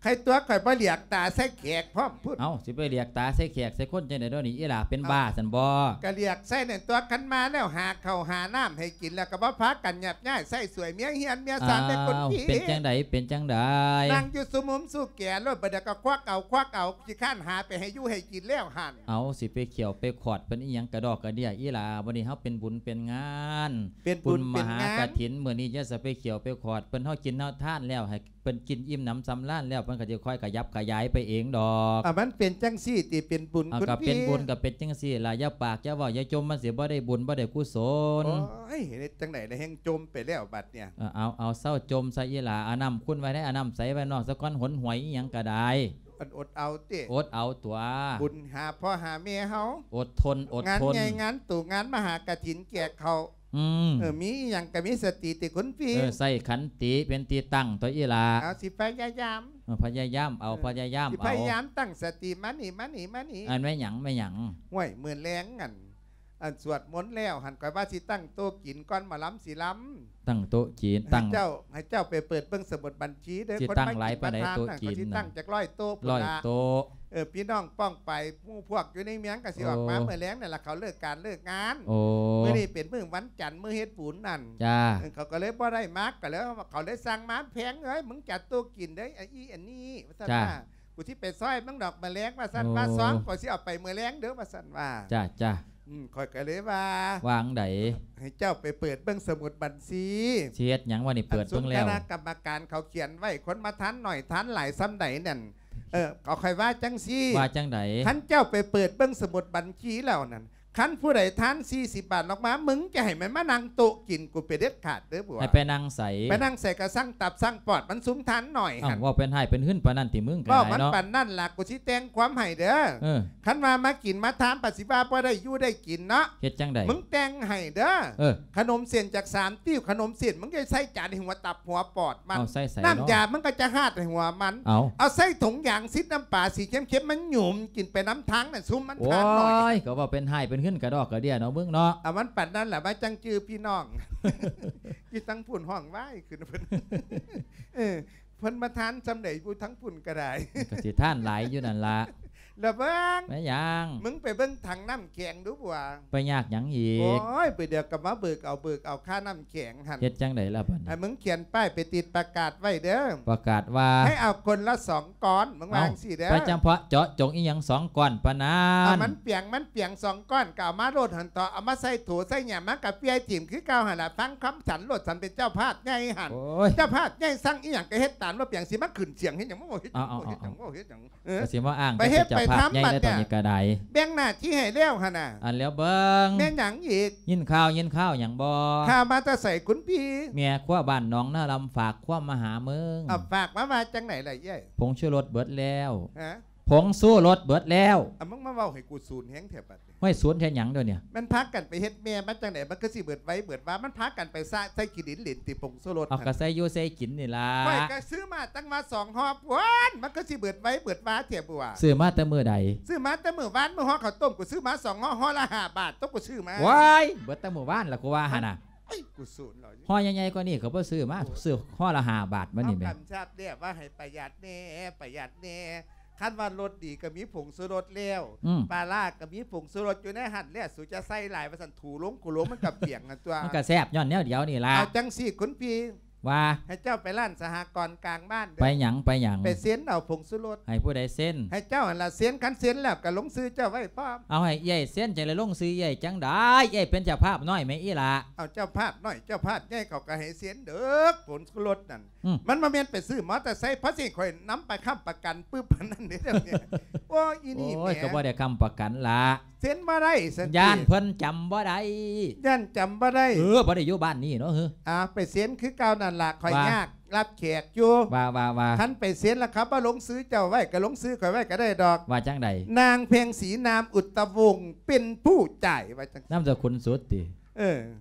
ໃຄຕົວະ ຂ້ອຍບໍ່ຫຼຽກຕາໃສ່ແຂກພ້ອມພຸ້ນ. ເອົ້າ ຊິໄປຫຼຽກຕາໃສ່ແຂກໃສ່ຄົນຈັ່ງໃດດຽວນີ້ ອີ່ຫຼ້າເປັນ ເອົ້າ ບ້າຊັ້ນບໍ່? ກະຫຼຽກໃສ່ນັ້ນຕົວະ ຄັນມາແລ້ວຫາເຂົ້າຫານ້ຳໃຫ້ກິນ ແລ້ວກໍບໍ່ພາກັນຫຍັບຍ້າຍໃຊ້ສວຍເມຍເຮືອນເມຍຊານໃນຄົນທີ່. ເອົ້າ ເປັນຈັ່ງໃດ ເປັນຈັ່ງໃດ? ນັ່ງຢູ່ສຸມຸມສຸແກໂລດ ບັດດຽວກໍຄວັກເອົາ ຄວັກເອົາ ຂີ້ຄ້ານຫາໄປໃຫ້ຢູ່ໃຫ້ກິນແລ້ວຫັ້ນ. ເອົາ ຊິໄປຂ້ຽວໄປຂອດເພິ່ນອີ່ຫຍັງກະດອກກະເດຍ ອີ່ຫຼ້າ. ບັດນີ້ເຮົາເປັນບຸນເປັນງານ ເປັນບຸນເປັນງານ ບຸນມະຫາກະຖິນ ມື້ນີ້ຢ່າສະໄປຂ້ຽວໄປຂອດເພິ່ນ ເຮົາກິນເຮົາທານແລ້ວ ໃຫ້ ເພິ່ນກິນອີ່ມໜຳສຳລານແລ້ວ ເພິ່ນກໍຊິຄ່ອຍຂະຫຍັບຂະຫຍາຍໄປເອງດອກ. ອາ ມັນເປັນຈັ່ງຊີ້ຕິ ເປັນບຸນ ເອົາ ຄຸນພີ່? ກໍເປັນບຸນ ກໍເປັນຈັ່ງຊີ້ລະ ຢ່າປາກຢ່າເວົ້າຢ່າຈົ່ມ ມັນຊິບໍ່ໄດ້ບຸນບໍ່ໄດ້ກຸສົນ. ໂອ້ຍ ເຮັດຈັ່ງໃດລະ ແຮ່ງຈົ່ມໄປແລ້ວບັດນີ້. ເອີ ເອົາ ເອົາ ເຊົາຈົ່ມຊະອີ່ຫຼ້າ ເອົານ້ຳຂຸ່ນໄວ້ໃນ ເອົານ້ຳໃສໄວ້ນອກສາກ່ອນ ຫົນຫວຍອີ່ຫຍັງກໍໄດ້. ອັນ ອົດເອົາຕິ ອົດເອົາຕົວະ ບຸນຫາພໍ່ຫາແມ່ເຮົາ ອົດທົນ ອົດທົນ ງານໃຫຍ່ງານໂຕ ງານມະຫາກະຖິນແຈກເຂົ້າ ອືມ ເອີ ມີອີ່ຫຍັງກໍມີສະຕິຕິຄຸນພີ່. ເອີ ໃຊ້ຂັນຕິເປັນທີ່ຕັ້ງຕົວະອີ່ຫຼ້າ. ເອົາ ຊິພະຍາຍາມ ເອີ ພະຍາຍາມເອົາ ເອີ ພະຍາຍາມ ຊິພະຍາຍາມ ເອົາ ຕັ້ງສະຕິ ມານີ້ ມານີ້ ມານີ້. ອັນແມ່ນຫຍັງ ແມ່ນຫຍັງ? ຫ້ວຍ ມື້ແລງ ອັນ ອັນສວດມົນແລ້ວຫັ້ນ ຂ້ອຍວ່າຊິຕັ້ງໂຕະກິນກ່ອນໝໍລຳຊິລຳ. ຕັ້ງໂຕະກິນ ໃຫ້ ຕັ້ງ ເຈົ້າ ໃຫ້ເຈົ້າໄປເປີດເບິ່ງສະໝຸດບັນຊີເດີ ຊິຕັ້ງຫຼາຍປານໃດໂຕະກິນ ຄົນມາກິນປະທານນັ້ນ ກໍຊິຕັ້ງຈັກຮ້ອຍໂຕະພຸ້ນລະ. ເອີ ພີ່ນ້ອງປ້ອງປາຍໝູ່ພວກຢູ່ໃນເມືອງກໍຊິອອກມາ ໂອ້ ມື້ແລງນັ້ນລະ ເຂົາເລີກການເລີກງານ. ໂອ້ ມື້ນີ້ເປັນມື້ວັນຈັນ ມື້ເຮັດບຸນນັ້ນ. ຈ້າ ເອີ ເຂົາກໍເລີຍບໍ່ໄດ້ມາ ກໍເລີຍ ເຂົາເລີຍສັ່ງມາ ແພງເອີຍ ມຶງຈັດໂຕະກິນເດີ ອັນນີ້ ອັນນີ້ ວ່າຊັ້ນ. ຈ້າ ວ່າ ກູຊິໄປຊ່ອຍມຶງດອກມື້ແລງ ວ່າຊັ້ນ. ໂອ້ ວ່າຊອງ ຂ້ອຍຊິເອົາໄປມື້ແລງເດີ ວ່າຊັ້ນວ່າ. ຈ້າ ຈ້າ ອືມ ຂ້ອຍກໍເລີຍວ່າ ວ່າຈັ່ງໃດ? ໃຫ້ເຈົ້າໄປເປີດເບິ່ງສະໝຸດບັນຊີ. ຊິເຮັດຫຍັງວະນີ້? ເປີດເບິ່ງແລ້ວ ອັນຊຸມຄະນະກຳມະການເຂົາຂຽນໄວ້ ຄົນມາທານໜ້ອຍທານຫຼາຍສ່ຳໃດນັ້ນ. ເອີ ເອົາ ຂ້ອຍວ່າຈັ່ງຊີ້. ວ່າຈັ່ງໃດ? ຄັນເຈົ້າໄປເປີດເບິ່ງສະໝຸດບັນຊີແລ້ວນັ້ນ ຄັນຜູ້ໃດທານສີ່ສິບບາດອອກມາ ມຶງຈະໃຫ້ມັນມານັ່ງໂຕະກິນກູເປັນເດັດຂາດເດີ ບົວ. ໃຫ້ໄປນັ່ງໃສ? ໄປນັ່ງໃສກໍຊ່າງຕັບຊ່າງປອດມັນ ຊຸມທານໜ້ອຍຫັ້ນ. ເວົ້າເປັນຮ້າຍເປັນຫືນປານນັ້ນຕິ ມຶງກໍ ເວົ້າມັນ ຫຼາຍເນາະ ປານນັ້ນລະ ກູຊິແຕ່ງຄວາມໃຫ້ເດີ. ເອີ ຄັນວ່າມາກິນມາທານ ປະສິວ່າບໍ່ໄດ້ຢູ່ໄດ້ກິນເນາະ. ເຮັດຈັ່ງໃດ? ມຶງແຕ່ງໃຫ້ເດີ. ເອີ ຂະໜົມເສັ້ນຈາກສາມຕິ້ວ ຂະໜົມເສັ້ນ ມຶງຈະໃສ່ຈານໃຫ້ຫົວຕັບຫົວປອດມັນ. ເອົາໃສ່ໃສເນາະ? ນ້ຳຢາມັນກໍຈະຮາດໃຫ້ຫົວມັນ. ເອົາ ເອົາໃສ່ຖົງຢາງຊິດນ້ຳປາສີເຄັມໆ ມັນຫຍຸມກິນໄປນຳທາງນັ້ນ ຊຸມມັນທານໜ້ອຍ. ໂອ້ຍ ກໍເວົ້າເປັນຮ້າຍເປັນຫືນກະດອກກະເດຍເນາະ ມຶງເນາະ. ເອົາ ມັນປານນັ້ນລະ ມາຈັ່ງຈື່ພີ່ນ້ອງ. ຢູ່ທາງພຸ້ນຮ້ອງວ້າຍຂຶ້ນເພິ່ນ. ເອີ ເພິ່ນມາທານສ່ຳໃດຢູ່ທາງພຸ້ນກໍໄດ້ ກໍຊິທານຫຼາຍຢູ່ນັ້ນລະ. ລະເບິ່ງ ແມ່ນຫຍັງ? ມຶງໄປເບິ່ງຖັງນ້ຳແຂງດູບົວ. ໄປຍາກຫຍັງອີກ? ໂອ້ຍ ບາດດຽວກໍມາເບີກເອົາ ເບີກເອົາຄ່ານ້ຳແຂງຫັ້ນ. ເຮັດຈັ່ງໃດລະບັດນີ້? ໃຫ້ມຶງຂຽນປ້າຍໄປຕິດປະກາດໄວ້ເດີ. ປະກາດວ່າ? ໃຫ້ເອົາຄົນລະສອງກ້ອນ ມຶງວ່າຈັ່ງຊີ້ເດີ. ໄປຈຳເພາະເຈາະຈົງອີ່ຫຍັງສອງກ້ອນປານນັ້ນ? ເອົາມັນປຽງ ມັນປຽງສອງກ້ອນ ກໍເອົາມາໂລດຫັ້ນເທາະ ເອົາມາໃສ່ໂຖໃສ່ຫຍັງ ມັນກໍປ່ຽຍຖິ້ມຄືເກົ່າຫັ້ນລະ. ຟັງຄຳສັນໂລດ ສັນເປັນເຈົ້າພາບໃຫຍ່ຫັ້ນ. ໂອ້ຍ ເຈົ້າພາບໃຫຍ່ສັ່ງອີ່ຫຍັງກໍເຮັດຕາມໂລດ. ປຽງຊິມາຂຶ້ນສຽງເຮັດຫຍັງ? ມາເວົ້າເຮັດຫຍັງ? ເອົາ ມາເວົ້າເຮັດຫຍັງ? ເອີ ກໍຊິມາອ້າງ ໄປເຮັດໄປທຳ ເປັນເຈົ້າພາບໃຫຍ່ໃນຕອນນີ້ກໍໄດ້. ແບ່ງໜ້າທີ່ໃຫ້ແລ້ວຫັ້ນນະ. ອັນແລ້ວເບິ່ງ ແມ່ນຫຍັງອີກ? ຍິນຂ່າວ ຍິນຂ່າວຫຍັງບໍ່? ຂ່າວມາແຕ່ໃສຄຸນພີ່? ແມ່ຄົວບ້ານໜອງນາລຳຝາກຄວາມມາຫາມຶງ. ເອົາ ຝາກມາວ່າຈັ່ງໃດລະເອື້ອຍ? ຜົງຊູລົດເບິດແລ້ວ. ຮະ? ຜົງຊູລົດເບິດແລ້ວ. ເອົາ ມຶງມາເວົ້າໃຫ້ກູສູນແຮງແທ້ບັດ. ຫ້ວຍ ສູນເຮັດຫຍັງດຽວນີ້? ມັນພາກັນໄປເຮັດແມ່ມາຈັ່ງໃດ ມັນຄືຊິເບິດໄວເບິດວາ? ມັນພາກັນໄປສະໃສ່ຂີ້ດິນເຫຼັ້ນຕິ ຜົງຊູລົດ. ເອົາ ຫັ້ນ ກໍໃສ່ຢູ່ໃສ່ກິນນີ້ລະ. ຂ້ອຍກໍຊື້ມາຕັ້ງວ່າສອງຫໍ້ພຸ້ນ ມັນຄືຊິເບິດໄວເບິດວາແທ້ບົວ. ຊື້ມາແຕ່ມື້ໃດ? ຊື້ມາແຕ່ມື້ວານ ມື້ຫໍ່ເຂົ້າຕົ້ມ ກູຊື້ມາສອງຫໍ້ ຫໍ່ລະຫ້າບາດ ຕົກກູຊື້ມາ. ວ້າຍ ເບິດແຕ່ມື້ວານລະ ກູວ່າຫັ້ນນະ. ເອີຍ ກູສູນເລີຍ. ຫໍ່ໃຫຍ່ໆກວ່ານີ້ກໍບໍ່ຊື້ມາ ຊື້ຫໍ່ລະຫ້າບາດ ມັນນີ້ແມ່ນ. ເຮົາກຳຊັບແລ້ວວ່າໃຫ້ປະຢັດແດ່ ປະຢັດແດ່. ຄັນວ່າລົດດີກໍມີຜົງຊູລົດແລ້ວ ອືມ ປາລ້າກໍມີຜົງຊູລົດຢູ່ໃນຫັ້ນແລ້ວ ສູຈະໃສ່ຫຼາຍວ່າຊັ້ນ ຖູລົງຂູລົງມັນກໍປຽງຫັ້ນຕົວະ. ມັນກໍແຊບຍ້ອນແນວດຽວນີ້ລະ. ເອົາຈັ່ງຊີ້ຄຸນພີ່ ວ່າ ໃຫ້ເຈົ້າໄປຮ້ານສະຫະກອນກາງບ້ານເດີ້ ໄປຫຍັງ ໄປຫຍັງ ໄປເຊັນເອົາຜົງຊູລົດ ໃຫ້ຜູ້ໃດເຊັນ ໃຫ້ເຈົ້າຫັ້ນລະເຊັນ ຄັນເຊັນແລ້ວກໍລົງຊື່ເຈົ້າໄວ້ພ້ອມ ເອົາ ໃຫ້ເອື້ອຍເຊັນ ຈັ່ງໄດ້ລົງຊື່ເອື້ອຍຈັ່ງໃດ ເອື້ອຍເປັນເຈົ້າພາບນ້ອຍແມ່ອີ່ຫຼ້າ ເອົາ ເຈົ້າພາບນ້ອຍເຈົ້າພາບໃຫຍ່ເຂົາກໍໃຫ້ເຊັນເດີ້ ຜົງຊູລົດນັ້ນ ອືມ ມັນບໍ່ແມ່ນໄປຊື້ມໍເຕີໄຊ ເພາະຊິຂ້ອຍນຳໄປຄ້ຳປະກັນປຶບປານນັ້ນເດ້ ໂອ້ຍ ອີນີ້ ໂອ້ຍ ແໝ ກໍບໍ່ໄດ້ຄ້ຳປະກັນລະ ເຊັນບໍ່ໄດ້ຊັ້ນຕິ ຢ້ານເພິ່ນຈຳບໍ່ໄດ້ ຢ້ານຈຳບໍ່ໄດ້ ເອີ ບໍ່ໄດ້ຢູ່ບ້ານນີ້ເນາະ ເອີ ອ່າ ໄປເຊັນຄືເກົ່ານັ້ນລະ ຂ້ອຍ ວ່າ ຍາກຮັບແຂກຢູ່ ວ່າ ວ່າ ວ່າ ຄັນໄປເຊັນລະເຂົາບໍ່ລົງຊື່ເຈົ້າໄວ້ ກໍລົງຊື່ຂ້ອຍໄວ້ກໍໄດ້ດອກ ວ່າຈັ່ງໃດ ນາງເພັງສີນາມອຸດຕະວົງ ເປັນຜູ້ຈ່າຍ ວ່າຈັ່ງ ນາມສະກຸນສຸດຕິ ເອີ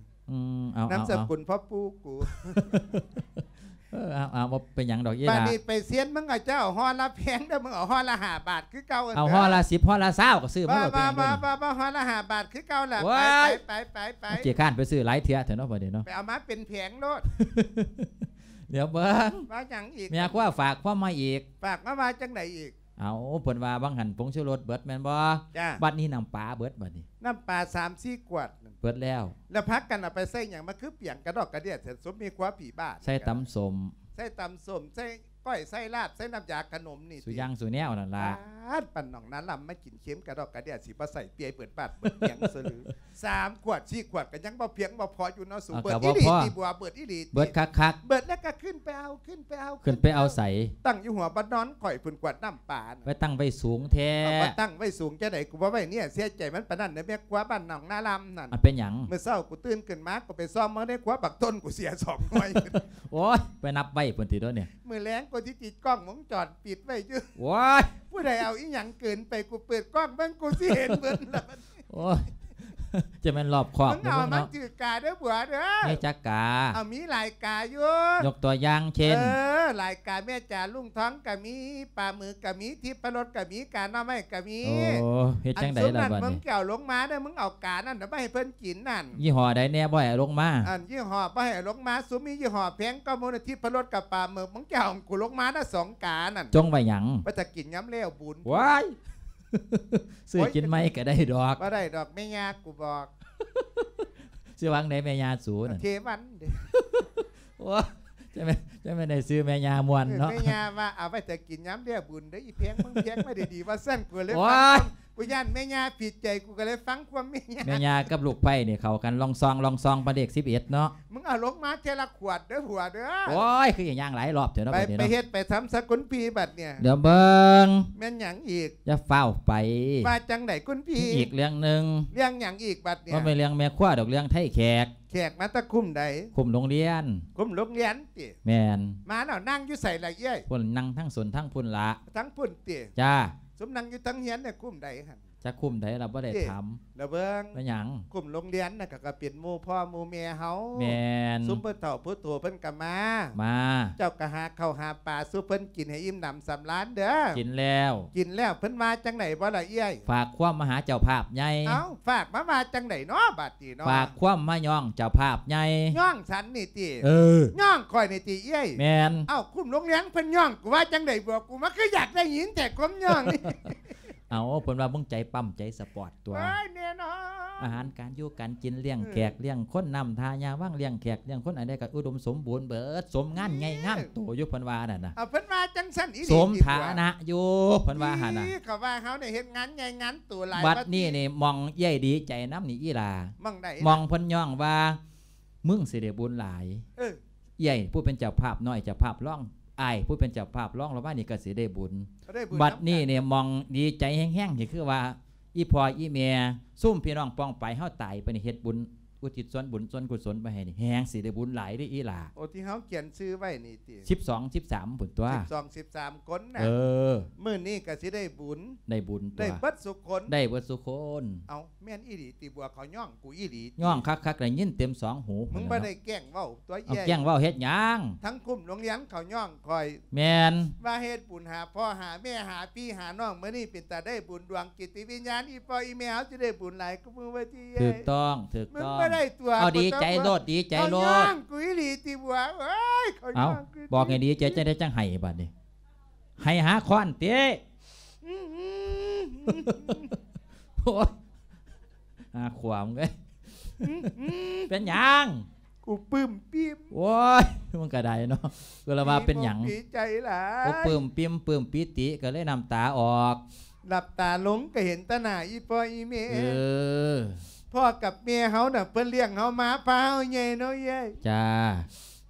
ອືມ ເອົາ ນາມສະກຸນພໍ່ປູ່ກູ ເອີ ເອົາ ເອົາ ບໍ່ເປັນຫຍັງດອກອີ່ຫຼ້າ ບາດນີ້ໄປເຊັນ ມຶງເອົາ ເຈົ້າເອົາຫໍ່ລະແພງເດີ້ ມຶງເອົາຫໍ່ລະຫ້າບາດຄືເກົ່າ ເອົາຫໍ່ລະສິບ ຫໍ່ລະຊາວກໍຊື້ມາໂລດ ບໍ່ ບໍ່ ບໍ່ ຫໍ່ລະຫ້າບາດຄືເກົ່າລະ ໄປ ໄປ ໄປ ໄປ ຂີ້ຄ້ານໄປຊື້ຫຼາຍເທື່ອແທ້ເນາະ ບັດນີ້ເນາະ ໄປເອົາມາເປັນແຜງໂລດ ດຽວເບິ່ງ ວ່າຫຍັງອີກ ແມ່ຄົວຝາກຄວາມມາອີກ ຝາກມາວ່າຈັ່ງໃດອີກ ເອົາ ເພິ່ນວ່າວ່າງຫັ້ນຜົງຊູລົດເບິດແມ່ນບໍ່ ຈ້າ ບັດນີ້ນ້ຳປາເບິດ ບັດນີ້ ນ້ຳປາສາມສີ່ຂວດ ເບິດແລ້ວ ແລ້ວພາກັນເອົາໄປໃສ່ຫຍັງ ມັນຄືປຽງກະດອກກະເດຍແທ້ ສົມມີຄົວຜີບ້ານ ໃສ່ຕຳສົ້ມ ໃສ່ຕຳສົ້ມ ໃສ່ກ້ອຍ ໃສ່ລາບ ໃສ່ນ້ຳຢາຂະໜົມນີ້ ສູ່ຢ່າງສູ່ແນວນັ້ນລະ ປາດ ປານໜອງນາລຳ ມາກິນເຄັມກະດອກກະເດຍ ຊິບໍ່ໃສ່ເປີຍເປີດບາດເປີດຫຍັງຊະຫຼື ສາມຂວດສີ່ຂວດກໍຍັງບໍ່ພຽງບໍ່ພໍຢູ່ເນາະສູ ເອົາ ເບິດອີ່ຫຼີຕິ ບົວ ເບິດອີ່ຫຼີຕິ ເບິດຄັກໆ ເບິດແລ້ວກໍຂຶ້ນໄປເອົາ ຂຶ້ນໄປເອົາ ຂຶ້ນໄປເອົາໃສ ຕັ້ງຢູ່ຫົວບ່ອນນອນຂ້ອຍພຸ້ນ ຂວດນ້ຳປານະ ໄປຕັ້ງໄວ້ສູງແທ້ ເອົາ ມາຕັ້ງໄວ້ສູງຈັ່ງໃດ ກູບໍ່ໄວ້ເນຍ ເສຍໃຈມັນປານນັ້ນເດີ້ ແມ່ຄົວບ້ານໜອງນາລຳນັ້ນ ມັນເປັນຫຍັງ ມື້ເຊົ້າກູຕື່ນຂຶ້ນມາ ກູໄປສ່ອງເບິ່ງໃນຄົວ ບັກຕົ້ນກູເສຍສອງໜ່ວຍ ໂອ້ຍ ໄປນັບໄວ້ພຸ້ນຕິໂດະນີ້ ມື້ແລງກູຊິຕິດກ້ອງວົງຈອນປິດໄວ້ຢູ່ ໂອ້ຍ ຜູ້ໃດເອົາອີ່ຫຍັງເກີນໄປ ກູເປີດກ້ອງເບິ່ງ ກູຊິເຫັນເບິດລະ ໂອ້ຍ ຈະແມ່ນລອບຄອບ ມຶງເອົາມາ ເນາະ ຖືກກາເດີ້ບົວເດີ້ ມີຈັກກາ ເອົາ ມີຫຼາຍກາຢູ່ ຍົກຕົວຢ່າງເຊັ່ນ ເອີ ຫຼາຍກາ ແມ່ຈາລຸງທອງກໍມີ ປາໝຶກກໍມີ ທິບພະລົດກໍມີ ກາໜໍ່ໄມ້ກໍມີ ໂອ້ ເຮັດຈັ່ງໃດລະບັດນີ້ ອັນຊຸມນັ້ນມຶງຈະເອົາລົງມາເດີ້ ມຶງເອົາການັ້ນນະ ມາໃຫ້ເພິ່ນກິນນັ້ນ ຍີ່ຫໍ້ໃດແດ່ບໍ່ໃຫ້ເອົາລົງມາ ອັນຍີ່ຫໍ້ບໍ່ໃຫ້ເອົາລົງມາ ຊຸມມີຍີ່ຫໍ້ແພງກວ່າໝູ່ນະ ທິບພະລົດກັບປາໝຶກ ມຶງຈະເອົາໃຫ້ກູລົງມານະສອງການັ້ນ ຈົ່ງໄວ້ຫຍັງ ໄວ້ຖ້າກິນຍາມແລ້ວບຸນ ວ້າຍ ຊື້ກິນໃໝ່ກໍໄດ້ດອກ ບໍ່ໄດ້ດອກ ແມ່ຍ່າກູບອກ ຊື່ວ່າຈັ່ງໃດແມ່ຍ່າສູນັ້ນ ເຄວັນເດ້ ໂອ້ ຈັ່ງແມ່ນ ຈັ່ງແມ່ນໄດ້ຊື່ແມ່ຍ່າມ່ວນເນາະ ເອີ ແມ່ຍ່າວ່າເອົາໄວ້ຖ້າກິນຍາມແລ້ວບຸນເດີ້ ອີ່ແພງ ມຶງແພງມາດີໆ ວ່າຊັ້ນ ກູເລີຍ ໂອ້ຍ ຟັງ ກູຢ້ານແມ່ຍ່າຜິດໃຈ ກູກໍເລີຍຟັງຄວາມແມ່ຍ່າ ແມ່ຍ່າກັບລູກໄພ້ນີ້ເຂົ້າກັນລອງຊອງລອງຊອງ ປານເລກສິບເອັດເນາະ ມຶງເອົາລົງມາເທື່ອລະຂວດເດີ້ຜົວເດີ້ ໂອ້ຍ ຄືຢ່າງຫຼາຍລອບແທ້ເນາະ ໄປ ບັດນີ້ເນາະ ໄປເຮັດໄປທຳຊະກຸນພີບັດນີ້ ດຽວເບິ່ງ ແມ່ນຫຍັງອີກ ຢ່າຟ້າວໄປ ວ່າຈັ່ງໃດຄຸນພີ ມີອີກເລື່ອງໜຶ່ງ ເລື່ອງຫຍັງອີກບັດນີ້ ບໍ່ແມ່ນເລື່ອງແມ່ຄົວດອກ ເລື່ອງໄທແຂກ ແຂກມາແຕ່ຄຸ້ມໃດ ຄຸ້ມໂຮງຮຽນ ຄຸ້ມໂຮງຮຽນຕິ ແມ່ນ ມາແລ້ວ ນັ່ງຢູ່ໃສລະເອື້ອຍ ພຸ້ນ ນັ່ງທາງສົນທາງພຸ້ນລະ ທາງພຸ້ນຕິ ຈ້າ ຊຸມນັ່ງຢູ່ທາງຮຽນນີ້ຄຸ້ມໃດຫັ້ນ ຈັກຄຸ້ມໃດລະ ບໍ່ໄດ້ຖາມ ລະເບິ່ງ ແມ່ນຫຍັງ ຄຸ້ມໂຮງຮຽນນະ ກໍ ກໍເປັນໝູ່ພໍ່ໝູ່ແມ່ເຮົາ ແມ່ນ ຊຸມຜູ້ເຖົ້າຜູ້ໂຕເພິ່ນກໍມາ ມາ ເຈົ້າກໍຫາເຂົ້າຫາປາສູ່ເພິ່ນກິນໃຫ້ອີ່ມໜຳສຳລານເດີ້ ກິນແລ້ວ ກິນແລ້ວ ເພິ່ນວ່າຈັ່ງໃດບໍ່ລະເອື້ອຍ ຝາກຄວາມມາຫາເຈົ້າພາບໃຫຍ່ ເອົ້າ ຝາກມາວ່າຈັ່ງໃດເນາະບາດນີ້ເນາະ ຝາກຄວາມມາຍ້ອງເຈົ້າພາບໃຫຍ່ ຍ້ອງສັນນີ້ຕິ ເອີ ຍ້ອງຂ້ອຍນີ້ຕິເອື້ອຍ ແມ່ນ ເອົ້າ ຄຸ້ມໂຮງຮຽນເພິ່ນຍ້ອງ ກູວ່າຈັ່ງໃດບໍ ກູມາຄືຢາກໄດ້ຍິນແທ້ຄວາມຍ້ອງນີ້ ເອົ້າ ເພິ່ນວ່າມຶງໃຈປ້ຳໃຈສະປອດຕົວະ ໂອ້ຍ ແນ່ນອນ ອາຫານການຢູ່ການກິນ ລ້ຽງແຂກ ເອີ ລ້ຽງຄົນ ນ້ຳທ່າຍາວັງ ລ້ຽງແຂກລ້ຽງຄົນ ອັນໃດກໍອຸດົມສົມບູນເບິດ ສົມງານໃຫຍ່ງານໂຕຢູ່ ເພິ່ນວ່ານັ້ນນະ ເອົາ ເພິ່ນວ່າຈັ່ງຊັ້ນອີ່ຫຼີ ສົມຖານະຢູ່ ເພິ່ນວ່າຫັ້ນນະ ເຂົາວ່າເຮົານີ້ເຮັດງານໃຫຍ່ງານໂຕຫຼາຍ ບັດນີ້ນີ້ ໝ່ອງເອື້ອຍດີໃຈນຳນີ້ອີ່ຫຼ້າ ໝ່ອງໃດ ໝ່ອງເພິ່ນຍ້ອງວ່າ ມຶງຊິໄດ້ບຸນຫຼາຍ ເອີ ເອື້ອຍຜູ້ເປັນເຈົ້າພາບນ້ອຍ ເຈົ້າພາບຮອງ ອ້າຍຜູ້ເປັນເຈົ້າພາບຮອງລະວ່ານີ້ກໍຊິໄດ້ບຸນ ກໍໄດ້ບຸນ ບັດນີ້ນີ້ໝ່ອງດີໃຈແຮງໆ ນີ້ຄືວ່າ ອີ່ພໍ່ອີ່ແມ່ ຊຸມພີ່ນ້ອງປ້ອງປາຍເຮົາຕາຍໄປນີ້ ເຮັດບຸນອຸທິດສ່ວນບຸນສ່ວນກຸສົນໄປໃຫ້ນີ້ ແຮງຊິໄດ້ບຸນຫຼາຍເດ້ອີ່ຫຼ້າ ໂອ້ ທີ່ເຮົາຂຽນຊື່ໄວ້ນີ້ຕິ ສິບສອງ ສິບສາມພຸ້ນຕົວະ ສິບສອງ ສິບສາມຄົນນະ ເອີ ມື້ນີ້ກໍຊິໄດ້ບຸນ ໄດ້ບຸນຕົວະ ໄດ້ເບິດສຸຄົນ ໄດ້ເບິດສຸຄົນ ເອົ້າ ແມ່ນອີ່ຫຼີຕິ ບົວ ເຂົາຍ້ອງ ກູອີ່ຫຼີຕິ ຍ້ອງຄັກໆ ໄດ້ຍິນເຕັມສອງຫູ ມຶງບໍ່ໄດ້ແກ້ງເວົ້າຕົວະ ເອົາ ເອື້ອຍ ແກ້ງເວົ້າເຮັດຫຍັງ ທັງຄຸ້ມໂຮງຮຽນເຂົາຍ້ອງຂ້ອຍ ແມ່ນ ວ່າເຮັດບຸນຫາພໍ່ຫາແມ່ຫາພີ່ຫານ້ອງ ມື້ນີ້ເປັນຕາໄດ້ບຸນດວງ ຈິດວິນຍານອີ່ພໍ່ອີ່ແມ່ເຮົາຊິໄດ້ບຸນຫຼາຍກວ່າມື້ວ່າຕິ ເອື້ອຍ ຖືກຕ້ອງ ຖືກຕ້ອງ ມຶງບໍ່ໄດ້ຕົວະ ເອົາ ດີໃຈໂລດ ດີໃຈໂລດ ເຂົາຍ້ອງກູອີ່ຫຼີຕິບົວເອີຍ ເຂົາ ເອົ້າ ຍ້ອງກູ ບອກໃຫ້ດີໃຈຈັ່ງໃດຈັ່ງໄຫ້ບັດນີ້ ໄຫ້ຫາຄ້ອນຕິ ອືມ ໂອ້ຍ ຫາຂວາມເອີຍ ອືມ ເປັນຫຍັງ? ກູປຶ້ມປິ້ມ. ໂອ້ຍ ມຶງກະໄດ້ເນາະ ກໍລະວ່າເປັນຫຍັງ ດີອົກດີໃຈຫຼາຍ ໂອ້ ປຶ້ມປິ້ມ ປຶ້ມປີຕິ ກໍເລີຍນ້ຳຕາອອກ ນ້ຳຕາລົງກໍເຫັນແຕ່ໜ້າອີ່ພໍ່ອີ່ແມ່. ເອີ ພໍ່ກັບແມ່ເຮົານະ ເພິ່ນລ້ຽງເຮົາມາ ພາເຮົາໃຫຍ່ເນາະເອື້ອຍ. ຈ້າ.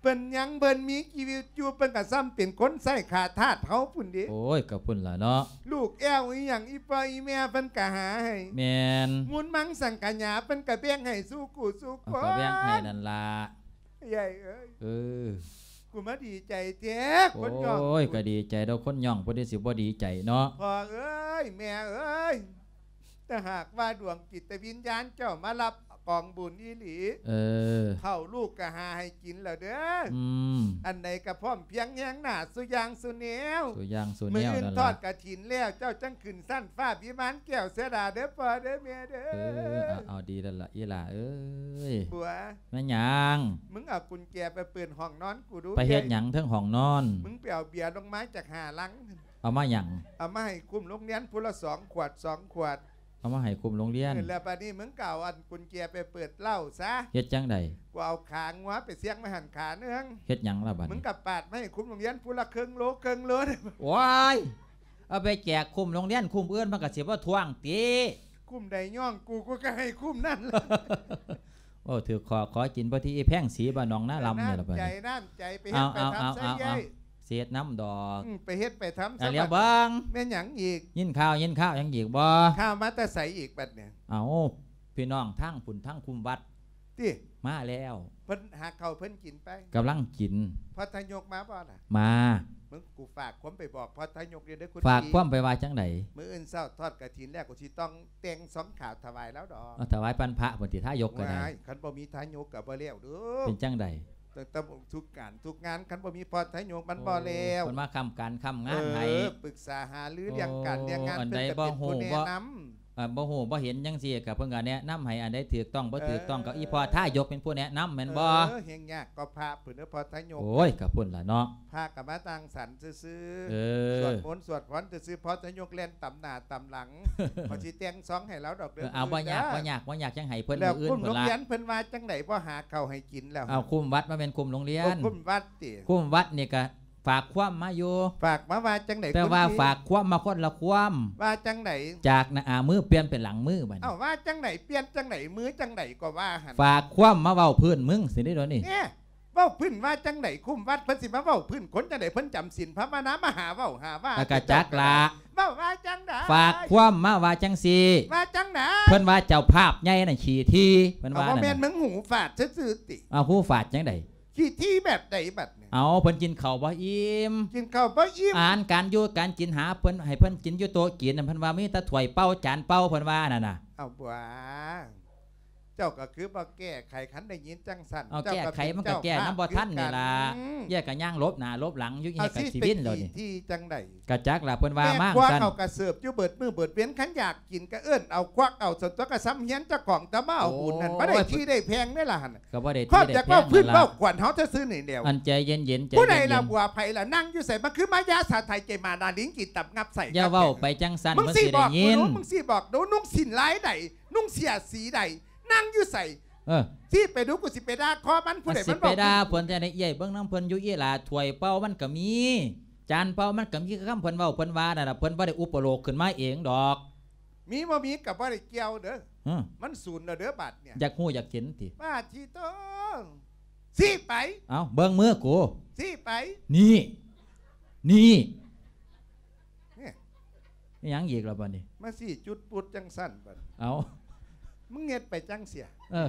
ເພິ່ນຍັງເພິ່ນມີຊີວິດຢູ່ ເພິ່ນກໍສ່ຳເປັນຄົນໃຊ້ຂາທາດເຮົາພຸ້ນເດ້. ໂອ້ຍ ກໍພຸ້ນລະເນາະ ລູກແອວອີ່ຫຍັງ ອີ່ພໍ່ອີ່ແມ່ເພິ່ນກໍຫາໃຫ້. ແມ່ນ. ມູນມັງສັງຂະຫຍາເພິ່ນກໍແບ່ງໃຫ້ສູ່ຄູ່ສູ່ຄົນ. ກໍແບ່ງໃຫ້ນັ້ນລະ ເອື້ອຍເອີຍ. ເອີ ກູມາດີໃຈແທ້ ຄົນຍ້ອງ. ໂອ້ຍ ກໍດີໃຈດອກ ຄົນຍ້ອງ ຜູ້ໃດຊິບໍ່ດີໃຈເນາະ. ພໍ່ເອີຍ ແມ່ເອີຍ ຖ້າຫາກວ່າດວງຈິດວິນຍານເຈົ້າມາຮັບກອງບຸນອີ່ຫຼີ ເອີ ເຂົ້າລູກກໍຫາໃຫ້ກິນແລ້ວເດີ. ອືມ ອັນໃດກໍພ້ອມພຽງແຮງໜ້າສູ່ຢ່າງສູ່ແນວ ສູ່ຢ່າງສູ່ແນວ. ມື້ອື່ນທອດກະຖິນແລ້ວ ເຈົ້າຈັ່ງຂຶ້ນຊັ້ນຟ້າວິມານແກ້ວເສຍດາເດີພໍ່ເດີແມ່ເດີ. ເອີ ເອົາ ເອົາ ດີແລ້ວລະອີ່ຫຼ້າເອີຍ. ບົວ ແມ່ນຫຍັງ? ມຶງເອົາກຸນແຈໄປເປີດຫ້ອງນອນກູດູ. ໄປເຮັດຫຍັງເທິງຫ້ອງນອນ? ມຶງໄປເອົາເບຍລົງມາຈັກຫ້າລັງ. ເອົາມາຫຍັງ? ເອົາມາໃຫ້ຄຸ້ມໂຮງຮຽນຜູ້ລະສອງຂວດ ສອງຂວດ. ເອົາມາໃຫ້ຄຸ້ມໂຮງຮຽນ. ເອີ ແລ້ວບາດນີ້ມຶງກໍເອົາອັນກຸນແຈໄປເປີດເຫຼົ້າຊະ. ເຮັດຈັ່ງໃດ? ກູເອົາຂາງົວໄປສ່ຽງມາຫັ້ນຂາໜຶ່ງ. ເຮັດຫຍັງລະບາດນີ້? ມຶງກໍປາດມາໃຫ້ຄຸ້ມໂຮງຮຽນຜູ້ລະເຄິ່ງໂລ ເຄິ່ງໂລ. ໂອ້ຍ ເອົາໄປແຈກຄຸ້ມໂຮງຮຽນ ຄຸ້ມອື່ນມັນກໍຊິບໍ່ທ້ວງຕິ? ຄຸ້ມໃດຍ້ອງກູ ກູກໍໃຫ້ຄຸ້ມນັ້ນ. ໂອ້ ຖືກຂໍ ຂໍກິນພໍດີ ອີ່ແພງສີບ້ານໜອງນາລຳນີ້ລະບາດນີ້. ນ້ຳໃຈ ນ້ຳໃຈ ໄປເຮັດໄປທຳຊະເອື້ອຍ. ເອົາ ເອົາ ເຮັດນຳດອກ ອືມ ໄປເຮັດໄປທຳຊະ. ແລ້ວເບິ່ງ ແມ່ນຫຍັງອີກ? ຍິນຂ່າວ ຍິນຂ່າວຫຍັງອີກບໍ່? ຂ່າວມາແຕ່ໃສອີກບັດນີ້? ເອົາ ພີ່ນ້ອງທາງພຸ້ນ ທາງຄຸ້ມວັດ ຕິ ມາແລ້ວ. ເພິ່ນຫາເຂົ້າເພິ່ນກິນໄປ? ກຳລັງກິນ. ພອດທະຍົກມາບໍ່ລະ? ມາ. ມຶງ ກູຝາກຄວາມໄປບອກພອດທະຍົກເດີ ຄຸນ. ຝາກຄວາມໄປວ່າຈັ່ງໃດ? ມື້ອື່ນເຊົ້າທອດກະຖິນແລ້ວ ກູຊິຕ້ອງແຕ່ງຊອງຂາວຖວາຍລາວດອກ. ເອົາ ຖວາຍພັນພະພຸ້ນຕິ ທາຍົກກໍໄດ້. ໂອ້ຍ ຄັນບໍ່ມີທາຍົກກໍບໍ່ແລ້ວເດີ. ເປັນຈັ່ງໃດ? ຕັ້ງແຕ່ທຸກການທຸກງານ ຄັນບໍ່ມີພອດທະຍົກມັນບໍ່ແລ້ວ. ໂອ້ ເພິ່ນມາຄ້ຳການຄ້ຳງານໃຫ້. ເອີ ປຶກສາຫາລື ໂອ້ ເລື່ອງການເລື່ອງງານ ອັນໃດບໍ່ຮູ້ ເພິ່ນກໍເປັນຜູ້ແນະນຳ. ເອີ ບໍ່ຮູ້ບໍ່ເຫັນຈັ່ງຊີ້ ກໍເພິ່ນກໍແນະນຳໃຫ້ ອັນໃດຖືກຕ້ອງບໍ່ຖືກຕ້ອງ ເອີ ກໍອີ່ພໍ່ທາຍົກເປັນຜູ້ແນະນຳແມ່ນບໍ່? ເອີ ແຮ່ງຍາກກໍພະພຸ້ນເດີ ພະທະຍົກ. ໂອ້ຍ ກໍພຸ້ນລະເນາະ ພະກໍມານັ່ງສັນຊື່ໆ. ເອີ ສວດມົນສວດພອນຊື່ໆ ພະທະຍົກແລ່ນຕຳໜ້າຕຳຫຼັງ. ເຂົາຊິແຕ່ງຊອງໃຫ້ລາວດອກເດີ. ເອີ ເອົາ ມື້ອື່ນ ບໍ່ຍາກ ເດີ ບໍ່ຍາກ ບໍ່ຍາກ ຈັ່ງໃຫ້ເພິ່ນ ແລ້ວ ມື້ອື່ນພຸ້ນລະ. ກຸ້ມໂຮງຮຽນເພິ່ນວ່າຈັ່ງໃດ ບໍ່ຫາເຂົ້າໃຫ້ກິນແລ້ວ? ເອົາ ຄຸ້ມວັດ ບໍ່ແມ່ນຄຸ້ມໂຮງຮຽນ. ໂອ້ ຄຸ້ມວັດ ຕິ ຄຸ້ມວັດນີ້ກະຝາກຄວາມມາຢູ່. ຝາກມາວ່າຈັ່ງໃດ? ແຕ່ວ່າ ຄຸນພີ່ ຝາກຄວາມມາຄົນລະຄວາມ. ວ່າຈັ່ງໃດ? ຈາກໜ້າມືປ່ຽນເປັນຫຼັງມືບັດນີ້. ເອົ້າ ວ່າຈັ່ງໃດ? ປ່ຽນຈັ່ງໃດ? ມືຈັ່ງໃດກໍວ່າຫັ້ນ. ຝາກຄວາມມາເວົ້າພື້ນມຶງຊີ້ເດດຽວນີ້. ເອີ ເວົ້າພື້ນວ່າຈັ່ງໃດ? ຄຸ້ມວັດເພິ່ນຊິມາເວົ້າພື້ນຄົນຈັ່ງໃດ? ເພິ່ນຈຳສິນພາວະນາມາຫາເວົ້າຫາວ່າ. ກໍກະຈັກລະ. ເຈົ້າກໍໄດ້ເວົ້າວ່າຈັ່ງໃດ? ຝາກຄວາມມາວ່າຈັ່ງຊີ້. ວ່າຈັ່ງໃດ? ເພິ່ນວ່າເຈົ້າພາບໃຫຍ່ນັ້ນຂີ້ຖີ່ ເພິ່ນວ່າ. ເອົາ ບໍ່ແມ່ນ ນັ້ນ ມຶງຫູຝາດຊື່ໆຕິ? ເອົາ ຫູຝາດຈັ່ງໃດ? ຂີ້ຖີ່ແບບໃດບັດນີ້? ເອົາ ເພິ່ນກິນເຂົ້າບໍ່ອີ່ມ. ກິນເຂົ້າບໍ່ອີ່ມ. ອາຫານການຢູ່ການກິນ ຫາເພິ່ນ ໃຫ້ເພິ່ນກິນຢູ່ໂຕະກິນນັ້ນ ເພິ່ນວ່າມີແຕ່ຖ້ວຍເປົ່າຈານເປົ່າ ເພິ່ນວ່ານັ້ນນະ. ເອົາ ບົວ ເຈົ້າກໍຄືບໍ່ແກ້ໄຂ ຄັນໄດ້ຍິນຈັ່ງຊັ້ນ. ເອົາ ເຈົ້າກໍ ແກ້ໄຂມັນກໍແກ້ນຳບໍ່ທັນນີ້ລະ. ເຈົ້າກໍເປັນເຈົ້າພາບຄືກັນ. ອືມ ເອື້ອຍກໍຍ່າງຫຼົບໜ້າຫຼົບຫຼັງຢູ່. ເອື້ອຍກໍຊິວິນແລ້ວນີ້. ຂີ້ຖີ່ຈັ່ງໃດ? ກະຈັກລະ ເພິ່ນວ່າມາຊັ້ນ. ແມ່ຄົວເຂົາກະເສີບຢູ່ເບິດມື້ເບິດເວັນ ຄັນຢາກ ກິນກໍເອີ້ນເອົາຄວັກເອົາ ສ່ວນຕົວກໍສ່ຳຮຽນເຈົ້າຂອງຕາມາເອົາບຸນນັ້ນ. ໂອ້ຍ ບໍ່ໄດ້ທີ່ໄດ້ແພງເດ້ລະຫັ້ນ. ກໍບໍ່ໄດ້ທີ່ໄດ້ແພງນັ້ນລະ. ຄອບຈາກເວົ້າພື້ນເວົ້າກວນເຮົາຊື່ໆນີ້ແລ້ວ. ອັນໃຈເຢັນໆ ໃຈເຢັນໆ. ຜູ້ໃດລະບົວ ໃຜລະ ນັ່ງຢູ່ໃສ? ມາຄືມາຢາສາໄທ ເຈມານາລິງ ກິນຕຳງັບໃສ່. ຢ່າເວົ້າໄປຈັ່ງຊັ້ນ. ມຶງຊິບອກ ມັນຊິໄດ້ຍິນ. ມຶງຊິບອກດູ ນຸ່ງສິ້ນລາຍໃດ? ນຸ່ງເສື້ອສີໃດ? ນັ່ງຢູ່ໃສ? ເອີ ຊີ້ໄປດູ ກູຊິໄປດ່າຄໍມັນ. ຜູ້ໃດມັນບອກ ຊິໄປດ່າເພິ່ນຈັ່ງໃດ? ເອື້ອຍເບິ່ງນຳເພິ່ນຢູ່ ອີ່ຫຼ້າ ຖ້ວຍເປົ່າມັນກໍມີ ຈານເປົ່າມັນກໍມີ. ຄືຄຳເພິ່ນເວົ້າ ເພິ່ນວ່ານັ້ນລະ ເພິ່ນບໍ່ໄດ້ອຸປະໂລກຂຶ້ນມາເອງດອກ. ມີບໍ່ມີກໍບໍ່ໄດ້ກ່ຽວເດີ. ຮະ? ມັນສູນແລ້ວເດີບາດນີ້. ຢາກຮູ້ຢາກເຫັນຕິ? ບາດທີໂຕ ຊີ້ໄປ. ເອົ້າ ເບິ່ງມືກູ. ຊີ້ໄປ. ນີ້ ນີ້ ນີ້ ອີ່ຫຍັງອີກລະບາດນີ້? ມາຊີ້ຈຸດປຸດຈັ່ງຊັ້ນບາດ. ເອົ້າ ມຶງເຮັດໄປຈັ່ງເສຍ. ເອີ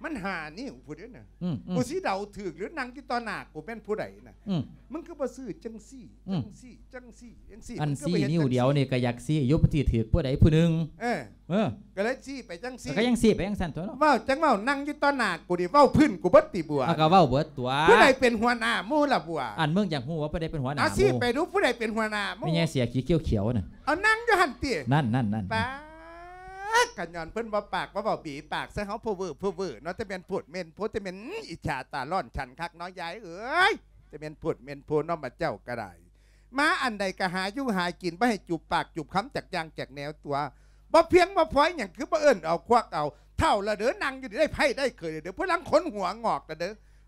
ມັນຫ້ານິ້ວພຸ້ນເດ້ນະ. ອືມໆ ກູຊິເດົາຖືກຫຼື ນັ່ງຢູ່ຕໍ່ໜ້າກູແມ່ນຜູ້ໃດນະ? ອືມ ມຶງຄືບໍ່ຊື້ຈັ່ງຊີ້ ອືມ ຈັ່ງຊີ້ ຈັ່ງຊີ້ ຈັ່ງຊີ້? ອັນຊີ້ນິ້ວດຽວນີ້ກໍຢາກຊີ້ຢູ່ ມັນຊິຖືກຜູ້ໃດຜູ້ໜຶ່ງ. ເອີ ເອີ ກໍເລີຍຊີ້ໄປຈັ່ງຊີ້. ກໍຍັງຊີ້ໄປຈັ່ງຊັ້ນຕົວະເນາະ. ເວົ້າຈັ່ງເວົ້າ ນັ່ງຢູ່ຕໍ່ໜ້າກູນີ້ ເວົ້າພື້ນກູເບິດຕິບົວ? ເອົາ ກໍເວົ້າເບິດຕົວະ. ຜູ້ໃດເປັນຫົວໜ້າໝູ່ລະບົວ? ອັນ ມຶງຢາກຮູ້ວ່າຜູ້ໃດເປັນຫົວໜ້າໝູ່? ຊີ້ໄປດູ ຜູ້ໃດເປັນຫົວໜ້າໝູ່? ແມ່ໃຫຍ່ເສື້ອຂີຂຽວໆນະ. ເອົາ ນັ່ງຢູ່ຫັ້ນຕິ. ນັ້ນໆໆ ປາດ ກະຍ້ອນເພິ່ນບໍ່ປາກ ບໍ່ເວົ້າ ບີປາກໃສ່ເຮົາ ເພີ້ເວີເພີ້ເວີເນາະ. ແຕ່ແມ່ນໂພດແມ່ນໂພ ແຕ່ແມ່ນອິດສາຕາຮ້ອນ ສັນຄັກເນາະ ຍາຍເອີຍ. ແຕ່ແມ່ນໂພດແມ່ນໂພເນາະ ບາດເຈົ້າກໍໄດ້. ມາອັນໃດກໍຫາຢູ່ຫາກິນ ບໍ່ໃຫ້ຈູບປາກຈູບຄຳຈັກຢ່າງຈັກແນວຕົວະ. ບໍ່ພຽງບໍ່ພໍຫຍັງ ຄືບໍ່ເອີ້ນເອົາຄວັກເອົາ. ເຖົ້າລະເດີ ນັ່ງຢູ່ໄດ້ໄພ້ໄດ້ເຂີຍລະເດີ ຜູ້ລັງຂົນຫົວງອກລະເດີ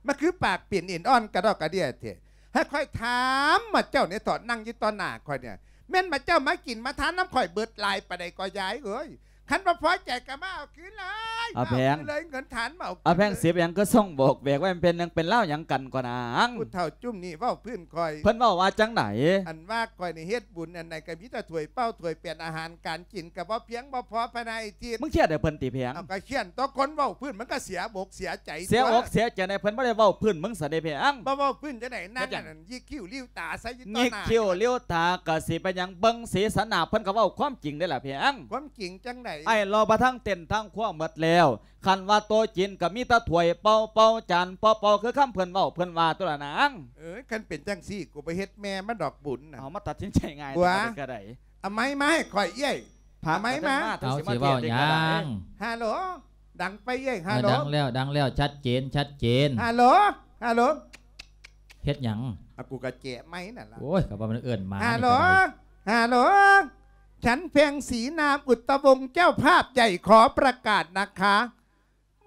ມາຄືປາກເປັນເອັນອ່ອນກະດອກກະເດຍແທ້. ໃຫ້ຂ້ອຍຖາມໝົດເຈົ້ານີ້ ຕອນນັ່ງຢູ່ຕໍ່ໜ້າຂ້ອຍນີ້ ແມ່ນໝົດເຈົ້າມາກິນມາທານນຳຂ້ອຍເບິດຫຼາຍປານໃດກໍຍາຍເອີຍ. ຄັນບໍ່ພໍໃຈກໍມາເອົາຄືນເລີຍ ເອົາແພງ ມາເອົາຄືນເລີຍ ເງິນທານມາເອົາຄືນ ເອົາແພງ ເລີຍ. ສິບຫຍັງຄືສົ່ງບອກແບກໄວ້ ມັນເປັນຫຍັງເປັນລາວຫຍັງກັນກ່ອນນາງ? ຜູ້ເຖົ້າຈຸ້ມນີ້ເວົ້າພື້ນຂ້ອຍ ເພິ່ນເວົ້າວ່າຈັ່ງໃດ? ອັນວ່າຂ້ອຍນີ້ເຮັດບຸນອັນໃດກໍມີແຕ່ຖ້ວຍເປົາຖ້ວຍແປນ ອາຫານການກິນກໍບໍ່ພຽງບໍ່ພໍພາຍໃນອາທິດ. ມຶງຄຽດໃຫ້ເພິ່ນຕິແພງ? ເອົາ ກໍຄຽດຕົວະ ຄົນເວົ້າພື້ນມັນກໍເສຍອົກເສຍໃຈ ເສຍອົກເສຍໃຈໃນເພິ່ນບໍ່ໄດ້ເວົ້າພື້ນມຶງຊັ້ນເດ້ແພງ. ບໍ່ເຍິ້າພື້ນຈັ່ງໃດ? ນັ້ນ ເຮັດຫຍັງ? ຍິກຄິ້ວຫຼິວຕາໃສ່ຢູ່ຕໍ່ໜ້າ ຍິກຄິ້ວຫຼິວຕາກໍຊິໄປຫຍັງ ເບິ່ງສີສັນໜ້າເພິ່ນກໍເວົ້າຄວາມຈິງເດ້ລະແພງ. ຄວາມຈິງຈັ່ງໃດ? ອ້າຍລໍມາທາງເຕັນທາງຄົວໝົດແລ້ວ ຄັນວ່າໂຕະຈີນກໍມີແຕ່ຖ້ວຍເປົາເປົາ ຈານເປົາເປົາ ຄືຄຳເພິ່ນເວົ້າເພິ່ນວ່າຕົວະລະນາງ. ເອີຍ ຄັນເປັນຈັ່ງຊີ້ ກູບໍ່ເຮັດແມ່ມັນດອກບຸນນະ. ເອົາ ມາຕັດສິນໃຈງ່າຍແທ້ກໍໄດ້. ເອົາໄມ້ມາໃຫ້ຂ້ອຍເອື້ອຍ ເອົາໄມ້ມາ. ເອົາ ຊິເວົ້າຫຍັງ? ຮາໂຫຼ ດັງໄປເອື້ອຍ ຮາໂຫຼ. ເອີ ດັງແລ້ວ ດັງແລ້ວ ຊັດເຈນ ຊັດເຈນ. ຮາໂຫຼ ຮາໂຫຼ ເຮັດຫຍັງ? ອາ ກູກະແຈະໄມ້ນັ້ນລະ. ໂອ້ຍ ກໍວ່າມັນເອີ້ນໝາ. ຮາໂຫຼ ຮາໂຫຼ ສັນແພງສີນາມອຸດຕະວົງ ເຈົ້າພາບໃຫຍ່ ຂໍປະກາດນະຄະ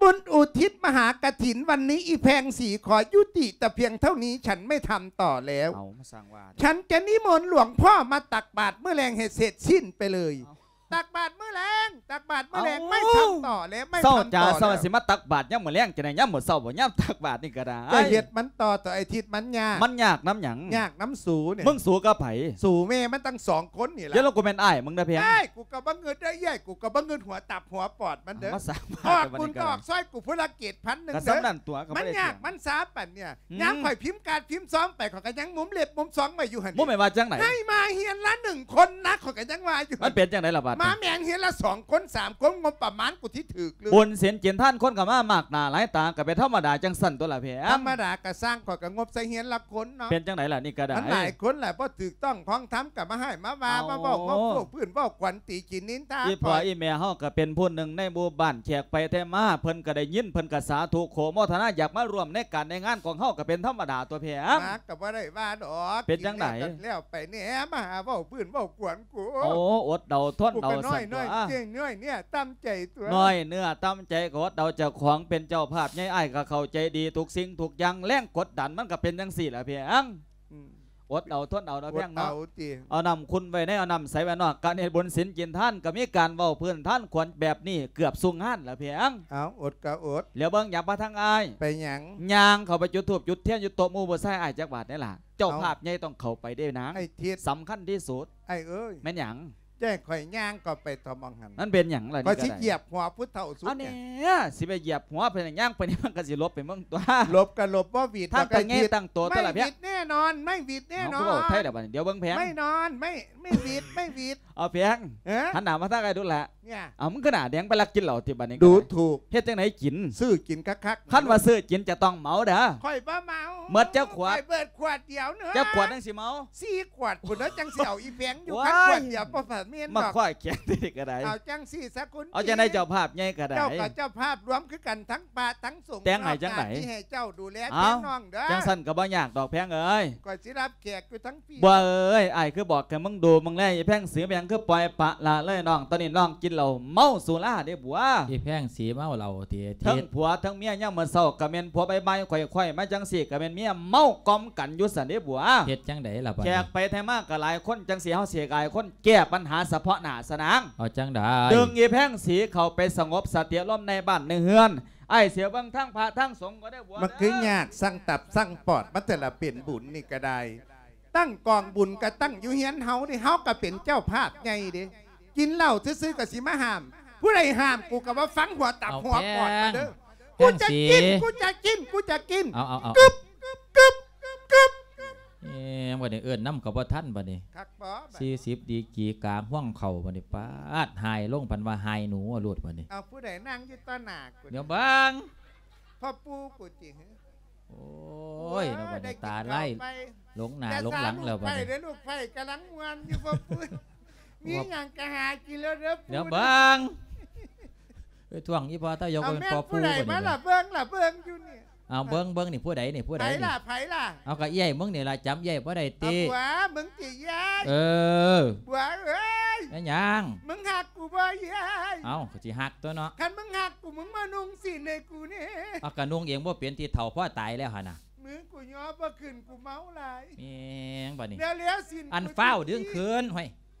ບຸນອຸທິດມະຫາກະຖິນວັນນີ້ ອີ່ແພງສີຂໍຍຸຕິແຕ່ພຽງເທົ່ານີ້ ສັນໄມ່ທຳຕໍ່ແລ້ວ. ເອົາ ມາສ້າງວ່າ ສັນຈະນິມົນຫຼວງພໍ່ມາຕັກບາດມື້ແລງໃຫ້ເສັດສິ້ນໄປເລີຍ. ເອົາ ຕັກບາດມື້ແລງ ຕັກບາດມື້ແລງ. ເອົ້າ ໄມ່ທຳຕໍ່ແລ້ວ ໄມ່ທຳຕໍ່ແລ້ວ. ເຊົ້າຈ້າ ເຊົ້າຊິມາຕັກບາດຍາມມື້ແລງຈັ່ງໃດ ຍາມມື້ເຊົ້າບໍ່ ຍາມຕັກບາດນີ້ກໍໄດ້. ກໍເຮັດມັນຕໍ່ ຕໍ່ອາທິດມັນຍາກ. ມັນຍາກນຳຫຍັງ? ຍາກນຳສູນີ້. ມຶງສູກັບໃຜ? ສູແມ່ມັນຕັ້ງສອງຄົນນີ້ລະ. ເຈົ້າລະກູແມ່ນອ້າຍມຶງເດີແພງ. ອ້າຍ ກູກໍບໍ່ງຶດເດີ ເອື້ອຍ ກູກໍບໍ່ງຶດຫົວຕັບຫົວປອດມັນເດີ. ມາສ້າງ ອອກບຸນກໍອອກຊ່ອຍກູຜູ້ລະເກດພັນໜຶ່ງເດີ. ມັນຍາກມັນສາປັນນີ້ ຍາມຂ້ອຍພິມກາດພິມຊອງໄປ ຂ້ອຍກໍຍັງມຸມເລັບມຸມຊອງໄວ້ຢູ່ຫັ້ນ. ມຸມໄປວ່າຈັ່ງໃດ? ໃຫ້ມາເຮືອນລະໜຶ່ງຄົນນະ ຂ້ອຍກໍຍັງວ່າຢູ່. ມັນເປັນຈັ່ງໃດລະບາດນີ້? ມາແມ່ນເຮືອນລະສອງຄົນສາມຄົນ ງົບປະມານກູທີ່ຖືກເລີຍ. ບຸນສິນກິນທານຄົນກໍມາມາກໜ້າຫຼາຍຕາ ກໍເປັນທຳມະດາຈັ່ງຊັ້ນຕົວລະແພງ. ທຳມະດາກໍຊ່າງ ຂ້ອຍກໍງົບໃສ່ເຮືອນລະຄົນເນາະ. ເປັນຈັ່ງໃດລະນີ້ກໍໄດ້? ມັນຫຼາຍຄົນລະ ບໍ່ຖືກຕ້ອງຄອງທຳ ກໍມາໃຫ້ມາວ່າ ມາເວົ້າ ມາໂອ້ ມາໂອ້ພື້ນເວົ້າຂວັນ ຕີຂີ້ນິນທາ. ອີ່ພໍ່ອີ່ແມ່ເຮົາກໍເປັນຜູ້ໜຶ່ງໃນໝູ່ບ້ານ ແຂກໄປແຕ່ມາ ເພິ່ນກໍໄດ້ຍິນ ເພິ່ນກໍສາທຸໂຄໂມທະນາ ຢາກມາຮ່ວມໃນການໃນງານຂອງເຮົາ ກໍເປັນທຳມະດາຕົວແພງ. ມາກໍບໍ່ໄດ້ວ່າດອກ. ເປັນຈັ່ງໃດ? ກິນແລ້ວກໍແລ້ວໄປແດ່ ມາຫາເວົ້າພື້ນເວົ້າຂວັນ ໂອ້ ອົດເອົາທົນເອົາ ນ້ອຍເນື້ອຕ່ຳໃຈຕົວະ ນ້ອຍເນື້ອຕ່ຳໃຈກໍອົດເອົາ. ເຈົ້າຂອງເປັນເຈົ້າພາບໃຫຍ່ ອ້າຍກໍເຂົ້າໃຈດີທຸກສິ່ງທຸກຢ່າງ ແຮງກົດດັນມັນກໍເປັນຈັ່ງຊີ້ລະແພງ. ອົດເອົາທົນເອົາເນາະແພງເນາະ. ເອົານ້ຳຂຸ່ນໄວ້ໃນ ເອົານ້ຳໃສໄວ້ນອກ. ການເຮັດບຸນສິນກິນທານກໍມີການເວົ້າພື້ນທານຂວັນແບບນີ້ເກືອບສູ່ງານລະແພງ. ເອົາ ອົດກໍອົດ. ແລ້ວເບິ່ງຫຍັງມາທາງອ້າຍ? ໄປຫຍັງ? ຍ່າງເຂົ້າໄປຈຸດທູບຈຸດທຽນຢູ່ໂຕະໝູ່ຜູ້ຊາຍ ອ້າຍຈັກບາດແດ່ລະ. ເຈົ້າພາບໃຫຍ່ຕ້ອງເຂົ້າໄປເດ້ນາງ ໄອ້ທິດ ສຳຄັນທີ່ສຸດ. ອ້າຍເອີຍ ແມ່ນຫຍັງ? ແຈ້ງຂ້ອຍຍ່າງເຂົ້າໄປຕໍ່ໝ່ອງຫັ້ນ ມັນເປັນຫຍັງລະ? ຂ້ອຍຊິຢຽບຫົວຜູ້ເຖົ້າສຸດ. ເອົາແນ່ ຊິໄປຢຽບຫົວເພິ່ນຫຍັງ? ຍ່າງໄປນີ້ມັນກໍຊິຫຼົບໄປເບິ່ງຕົວະ. ຫຼົບກໍຫຼົບ ບໍ່ຫວິດ ທາງກໍແງ່ຕັ້ງໂຕຕົວະລະແພງ. ໄມ່ຫວິດແນ່ນອນ ໄມ່ຫວິດແນ່ນອນ. ເອົາ ຄືເວົ້າໄທລະບາດນີ້? ດຽວເບິ່ງແພງ. ໄມ່ນອນ ໄມ່ ໄມ່ຫວິດ ໄມ່ຫວິດ. ເອົາແພງ ເອີ ຫັນໜ້າມາທາງອ້າຍດູລະ. ເອົາ ມຶງຄືໜ້າແດງ ໄປລັກກິນເຫຼົ້າຕິບາດນີ້? ດູຖູກ. ເຮັດຈັ່ງໃດກິນ? ຊື້ກິນຄັກໆ. ຄັນວ່າຊື້ກິນຈະຕ້ອງເໝົາເດີ້. ຂ້ອຍບໍ່ເໝົາ. ໝົດຈັກຂວດ? ຂ້ອຍເບີດຂວດດຽວເນາະ. ຈັກຂວດຈັ່ງຊິເໝົາ? ສີ່ຂວດພຸ້ນເນາະ ຈັ່ງຊິເອົາອີ່ແພງຢູ່. ໂອ້ຍ ຄັນຂວດດຽວບໍ່ພາດແມ່ນດອກ. ມາຂ້ອຍແຂນຕິກະໄດ້. ເອົາຈັ່ງຊີ້ຊະຄຸນ. ເອົາຈັ່ງໃດເຈົ້າພາບໃຫຍ່ກະໄດ້? ເຈົ້າກໍເຈົ້າພາບລວມຄືກັນ ທັງພະທັງສົງ. ແຕ່ງໃຫ້ຈັ່ງໃດ? ທີ່ໃຫ້ເຈົ້າດູແລແພງນ້ອງເດີ້. ເອົ້າ ຈັ່ງຊັ້ນກໍບໍ່ຍາກດອກແພງເອີຍ. ຂ້ອຍຊິຮັບແຂກຢູ່ທັງ ບົວເອີຍ ອ້າຍຄືບອກໃຫ້ມຶງດູມຶງແລ ອີ່ແພງສີ ແມ່ນຫຍັງຄືປ່ອຍປະລະເລີຍນ້ອງ. ຕອນນີ້ນ້ອງກິນເຫຼົ້າເມົາສຸລາເດ້ບົວ. ອີ່ແພງສີເມົາເຫຼົ້າຕິ? ເທິງຜົວເທິງເມຍ ຍາມມື້ເຊົ້າກໍແມ່ນຜົວ ບ່າຍໆຄ່ອຍໆມາຈັ່ງຊີ້ກໍແມ່ນເມຍເມົາກ່ອມກັນຢູ່ຊັ້ນເດ້ບົວ. ເຮັດຈັ່ງໃດລະບາດນີ້? ແຂກໄປແທ້ມາກໍຫຼາຍຄົນ ຈັ່ງຊີ້ເຮົາຊິໃຫ້ຫຼາຍຄົນແກ້ບັນຫາສະເພາະໜ້າຊະນາງ. ເອົາຈັ່ງໃດ? ດຶງອີ່ແພງສີເຂົ້າໄປສະຫງົບສະຕິອາລົມໃນບ້ານໃນເຮືອນ. ອ້າຍເສຍເບິ່ງທາງພະທາງສົງກໍໄດ້ບົວ. ມັນຄືຍາກ ເອີ ສ້າງຕັບສ້າງປອດມາແຕ່ລະເປັນບຸນນີ້ກໍໄດ້. ຕັ້ງກອງບຸນກໍຕັ້ງຢູ່ເຮືອນເຮົານີ້ ເຮົາກໍເປັນເຈົ້າພາບໃຫຍ່ເດ້. ກິນເຫຼົ້າຊື່ໆກໍຊິມາຫ້າມ. ຜູ້ໃດຫ້າມ ກູກໍບໍ່ຟັງ ຫົວຕັບຫົວປອດມາເດີ້. ເອົາແພງ ກູຈະກິນ ກູຈະກິນ ກູຈະກິນ. ເອົາໆໆ ກຶບ ກຶບ ກຶບ. ເອີ ບັດນີ້ເອີ້ນນຳກໍບໍ່ທັນບັດນີ້. ຄັກບໍ່? ສີ່ສິບດີກຣີກາງຮ່ວງເຂົ້າບັດນີ້. ປາດ ຫາຍລົງ ເພິ່ນວ່າຫາຍໜູໂລດບັດນີ້. ເອົາ ຜູ້ໃດນັ່ງຢູ່ຕໍ່ໜ້າກູ? ດຽວເບິ່ງ ພໍ່ປູ່ກູຕິ. ໂອ້ຍ ເນາະ ບັດນີ້ຕາໄລ່ ຫຼົງໜ້າຫຼົງຫຼັງແລ້ວບັດນີ້. ແຕ່ສາມລູກໄຟເດ້ ລູກໄຟກຳລັງມ່ວນຢູ່ ພໍ່ປູ່. ມີຫຍັງກໍຫາກິນແລ້ວເດີ ເດີເບິ່ງ. ເອີຍ ທ້ວງອີ່ພໍ່ຕາຢອກ ເອົາ ເປັນພໍ່ປູ່ບັດນີ້. ແມ່ນຜູ້ໃດມາລະເບິ່ງລະເບິ່ງຢູ່ນີ້? ເອົາ ເບິ່ງ ເບິ່ງນີ້ຜູ້ໃດນີ້ ຜູ້ໃດນີ້? ໃຜລະ ໃຜລະ? ເອົາ ກໍເອື້ອຍມຶງນີ້ລະ ຈຳເອື້ອຍບໍ່ໄດ້ຕິ? ເອົາ ຜົວມຶງຕິເອື້ອຍ? ເອີ ຜົວເອີຍ ແມ່ນຫຍັງ? ມຶງຮັກກູບໍ່ເອື້ອຍ? ເອົາ ກໍຊິຮັກຕົວະເນາະ. ຄັນມຶງຮັກກູ ມຶງມານຸ່ງສິ້ນໃຫ້ກູແດ່. ເອົາ ກໍນຸ່ງເອງບໍ່ເປັນ ທີ່ເຖົ້າພໍຕາຍແລ້ວຫັ້ນນະ. ມືກູຍໍບໍ່ຂຶ້ນ ກູເມົາຫຼາຍ. ແມ່ງບາດນີ້ ແລ້ວໆ ສິ້ນ ອັນ ກູ ຟ້າວດຶງຄືນ ຫ້ວຍ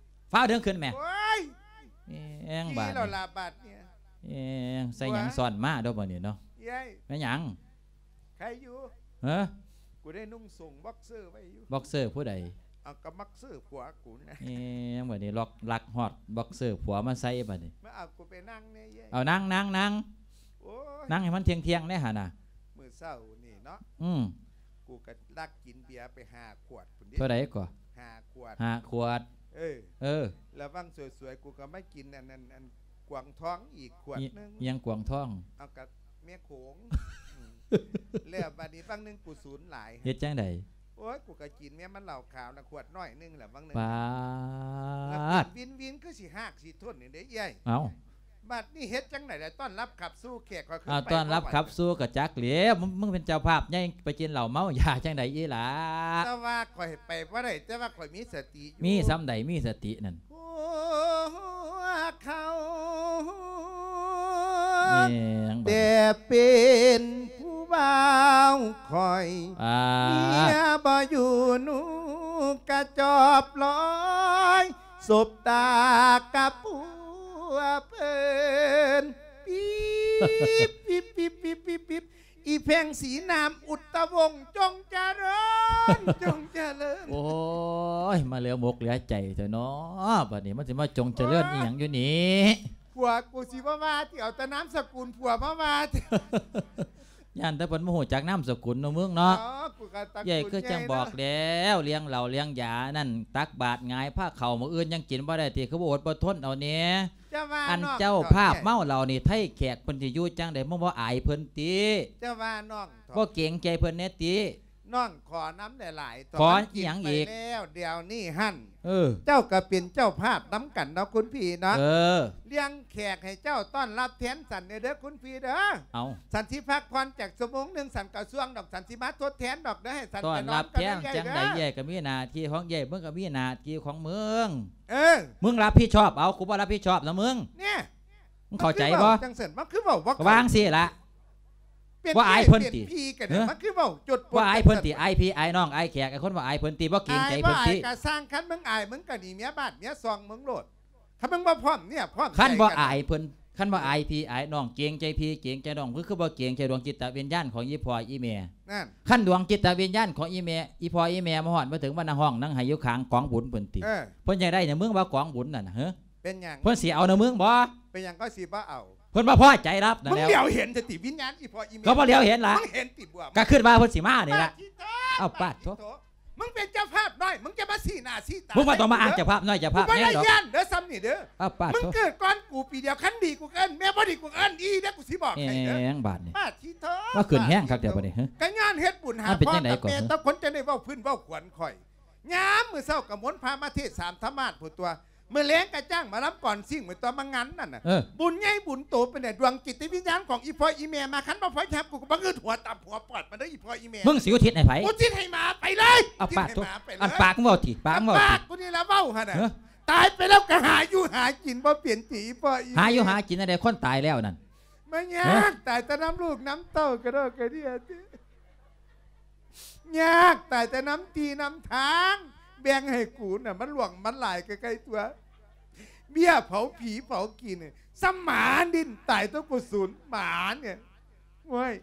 ຟ້າວດຶງຄືນແໝ່. ໂອ້ຍ ແມ່ງບາດນີ້ ແມ່ງ ໃສ່ຫຍັງຊ້ອນມາເດີ້ບາດນີ້ເນາະ. ເອື້ອຍ ແມ່ນຫຍັງ? ໃຄຢູ່ ຮະ? ກູໄດ້ນຸ່ງສົ້ງບັອກເຊີໄວ້ຢູ່. ບັອກເຊີຜູ້ໃດ? ເອົາ ກໍບັອກເຊີຜົວກູນະ. ແມ່ງບາດນີ້ ລັອກ ລັກຮອດບັອກເຊີຜົວມາໃສ່ບາດນີ້. ມາເອົາກູໄປນັ່ງແດ່ເອື້ອຍ. ເອົາ ນັ່ງ ນັ່ງ ນັ່ງ ໂອ້ຍ ນັ່ງໃຫ້ມັນທ່ຽງໆ ແດ່ຫັ້ນນະ. ມື້ເຊົ້ານີ້ເນາະ ອືມ ກູກໍລັກກິນເບຍໄປຫ້າຂວດພຸ້ນເດ້. ເທົ່າໃດກໍ? ຫ້າຂວດ ຫ້າຂວດ. ເອີ ເອີ ລະຫວ່າງສວຍໆ ກູກໍມາກິນອັນ ອັນ ອັນກວາງທອງອີກຂວດໜຶ່ງ. ອີຫຍັງກວາງທອງ? ເອົາ ກັບແມ່ໂຂງ. ແລ້ວບາດນີ້ຫວ່າງໜຶ່ງກູສູນຫຼາຍ. ເຮັດຈັ່ງໃດ? ໂອ້ຍ ກູກໍກິນແມ່ມັນເຫຼົ້າຂາວນະ ຂວດນ້ອຍໜຶ່ງແຫຼະຫວ່າງໜຶ່ງ. ປາດ ແລ້ວກິນວິນໆ ຄືຊິຮາກຊິທົນນີ້ເດ້ເອື້ອຍ. ເອົ້າ ບັດນີ້ເຮັດຈັ່ງໃດລະ ຕ້ອນຮັບຂັບສູ່ແຂກຂ້ອຍຄື ອ້າວ ໄປບໍ່ໄຫວ. ຕ້ອນຮັບຂັບສູ່ກໍຈັກແຫຼ້ວ ມຶງ ມຶງເປັນເຈົ້າພາບໃຫຍ່ ໄປກິນເຫຼົ້າເມົາຢາຈັ່ງໃດອີ່ຫຼ້າ? ແຕ່ວ່າຂ້ອຍໄປບໍ່ໄດ້ ແຕ່ວ່າຂ້ອຍມີສະຕິຢູ່. ມີສ່ຳໃດ ມີສະຕິນັ້ນ? ພວກເຂົາ ແມ່ນ ແຕ່ເປັນຜູ້ບ່າວຂ້ອຍ ອ່າ ເມຍບໍ່ຢູ່ໜູກະຈອບລອຍ ສົບຕາກັບຜົວເພິ່ນ ປິບ ປິບ ປິບ ປິບ ປິບ ປິບ ອີແພງສີນາມອຸດຕະວົງ ຈົ່ງຈະເລີນ ຈົ່ງຈະເລີນ. ໂອ້ຍ ມາເຫຼືອມົກເຫຼືອໃຈແທ້ເນາະ ບັດນີ້ມັນຊິມາຈົ່ງຈະເລີນອີ່ຫຍັງຢູ່ນີ້? ຜົວກູຊິບໍ່ວ່າຕິ ເອົາແຕ່ນາມສະກຸນຜົວມາວ່າຕິ. ຢ້ານແຕ່ເພິ່ນບໍ່ຮູ້ຈັກນາມສະກຸນເນາະ ມຶງເນາະ. ເອີ ກູກໍຕະກຸນ ເອື້ອຍຄືຈັ່ງບອກແລ້ວ ລ້ຽງເຫຼົ້າລ້ຽງຢານັ້ນ ຕັກບາດຫງາຍພາເຂົ້າ ມື້ອື່ນຍັງກິນບໍ່ໄດ້ຕິ ຄືບໍ່ອົດບໍ່ທົນເອົາແດ່? ອັນເຈົ້າພາບເມົາເຫຼົ້ານີ້ ໄທແຂກເພິ່ນຊິຢູ່ຈັ່ງໃດ ມຶງບໍ່ອາຍເພິ່ນຕິ? ເຈົ້າວ່ານ້ອງ ບໍ່ເກງໃຈເພິ່ນແດ່ຕິ? ນ້ອງຂໍນຳຫຼາຍໆ ຂໍອີ່ຫຍັງອີກ? ແລ້ວດຽວນີ້ຫັ້ນ ເອີ ເຈົ້າກໍເປັນເຈົ້າພາບນຳກັນເນາະຄຸນພີ່ເນາະ. ເອີ ລ້ຽງແຂກໃຫ້ເຈົ້າຕ້ອນຮັບແທນສັນແດ່ເດີຄຸນພີ່ເດີ. ເອົ້າ ສັນຊິພັກຜ່ອນຈັກຊົ່ວໂມງໜຶ່ງ ສັນກໍສ່ວງດອກ ສັນຊິມາທົດແທນດອກເດີ ໃຫ້ສັນໄປນອນກ່ອນເດີ. ຕ້ອນຮັບແທນຈັ່ງໃດເອື້ອຍ ເອື້ອຍກໍມີໜ້າທີ່ຂອງເອື້ອຍ ມຶງກໍມີໜ້າທີ່ຂອງມຶງ. ເອີ ມຶງຮັບຜິດຊອບເອົາ ກູບໍ່ຮັບຜິດຊອບນຳມຶງ. ແນ່ ມຶງເຂົ້າໃຈບໍ່? ຈັ່ງຊັ້ນມັນຄືເວົ້າບໍ່ ກໍວ່າຈັ່ງຊີ້ລະ. ບໍ່ອາຍເພິ່ນຕິ? ມັນຄືເວົ້າຈົດ ບໍ່ອາຍເພິ່ນຕິ? ອາຍພີ່ອາຍນ້ອງອາຍແຂກ ອາຍຄົນບໍ່ອາຍເພິ່ນຕິ? ບໍ່ເກງໃຈເພິ່ນຕິ? ອາຍບໍ່ອາຍກໍຊ່າງ ຄັນມຶງອາຍ ມຶງກໍໜີເມຍບ້ານເມຍຊ່ອງມຶງໂລດ. ຄັນມຶງບໍ່ພ້ອມເນຍ ພ້ອມ ຄັນບໍ່ອາຍເພິ່ນ ຄັນບໍ່ອາຍພີ່ອາຍນ້ອງ ເກງໃຈພີ່ເກງໃຈນ້ອງ ຄື ຄືບໍ່ເກງໃຈດວງຈິດຕະວິນຍານຂອງອີ່ພໍ່ອີ່ແມ່? ນັ້ນ ຄັນດວງຈິດຕະວິນຍານຂອງອີ່ແມ່ ອີ່ພໍ່ອີ່ແມ່ມາຮອດມາເຖິງ ມານັ່ງຮ້ອງນັ່ງໄຫ້ຢູ່ຂ້າງກອງບຸນພຸ້ນຕິ? ເອີ ເພິ່ນຢາກໄດ້ນຳມຶງບໍ່ກອງບຸນນັ້ນນະ? ເອີ ເປັນຫຍັງ? ເພິ່ນຊິເອົານຳມຶງບໍ່? ເປັນຫຍັງກໍຊິບໍ່ເອົາ? ເພິ່ນບໍ່ພໍໃຈລັບນັ້ນແຫຼ້ວ. ມຶງຫຼຽວເຫັນແຕ່ຕິ ວິນຍານອີ່ພໍ່ອີ່ແມ່ ກໍບໍ່ຫຼຽວເຫັນລະ. ມຶງເຫັນຕິບວກ? ກໍຄິດວ່າເພິ່ນຊິມານີ້ລະ. ປາດທິໂທ ເອົາ ປາດໂທ ປາດທິໂທ ມຶງເປັນເຈົ້າພາບນ້ອຍ ມຶງຈະມາຊີ້ໜ້າຊີ້ຕາ ມຶງບໍ່ຕ້ອງມາອ້າງເຈົ້າພາບນ້ອຍເຈົ້າພາບໃຫຍ່ດອກ. ກູບໍ່ໄດ້ຢ້ານເດີສ່ຳນີ້ເດີ. ເອົາ ປາດໂທ ມຶງເກີດກ່ອນກູປີດຽວ ຄັນດີກູເອີ້ນແມ່ ບໍ່ດີກູເອີ້ນອີເດ້ ກູຊິບອກໃຫ້ເດີ. ແມ່ງບາດນີ້ ປາດທິໂທ ມາຂຶ້ນແຮງຄັກແທ້ບັດນີ້. ກໍຍ້ອນເຮັດບຸນຫາພໍ່ກັບແມ່ ຕ້ອງຄົນຈະໄດ້ເວົ້າພື້ນເວົ້າຂວັນຂ້ອຍ. ຍາມມື້ເຊົ້າກໍມົນພະມາເທດສາມທຳມາດພຸ້ນຕົວະ ມື້ແລງກໍຈ້າງໝໍລຳກ່ອນຊິງໄປຕົວະ ມາງານນັ້ນນະ. ເອີ ບຸນໃຫຍ່ບຸນໂຕປານໃດ ດວງຈິດວິນຍານຂອງອີ່ພໍ່ອີ່ແມ່ມາ ຄັນບໍ່ພໍຮັບ ກູກໍບໍ່ງຶດຫົວຕຳຫົວປອດມັນເດີ ອີ່ພໍ່ອີ່ແມ່. ມຶງຊິອຸທິດໃຫ້ໃຜ? ອຸທິດໃຫ້ໝາໄປເລີຍ. ເອົາ ປາດໂທ ອັນປາກມຶງເວົ້າຕິ ປາກມຶງເວົ້າຕິ ປາກກູນີ້ລະເວົ້າຫັ້ນນະ. ຕາຍໄປແລ້ວກໍຫາຢູ່ຫາກິນບໍ່ເປັນຕິ ອີ່ພໍ່ອີ່ແມ່. ຫາຢູ່ຫາກິນອັນໃດ ຄົນຕາຍແລ້ວນັ້ນ? ມາຍາກ ຕາຍແຕ່ນຳລູກນຳເຕົ້າກະດອກກະເດຍຕິ. ຍາກ ຕາຍແຕ່ນຳທີ່ນຳທາງ ແບ່ງໃຫ້ກູນະ ມັນຫຼວງມັນຫຼາຍໃກ້ໆຕົວະ. ເບ້ຍເຜົາຜີເຜົາກີ່ນີ້ ສ່ຳໝາດິນຕາຍຕົວະ ກູສູນໝານີ້. ໂອ້ຍ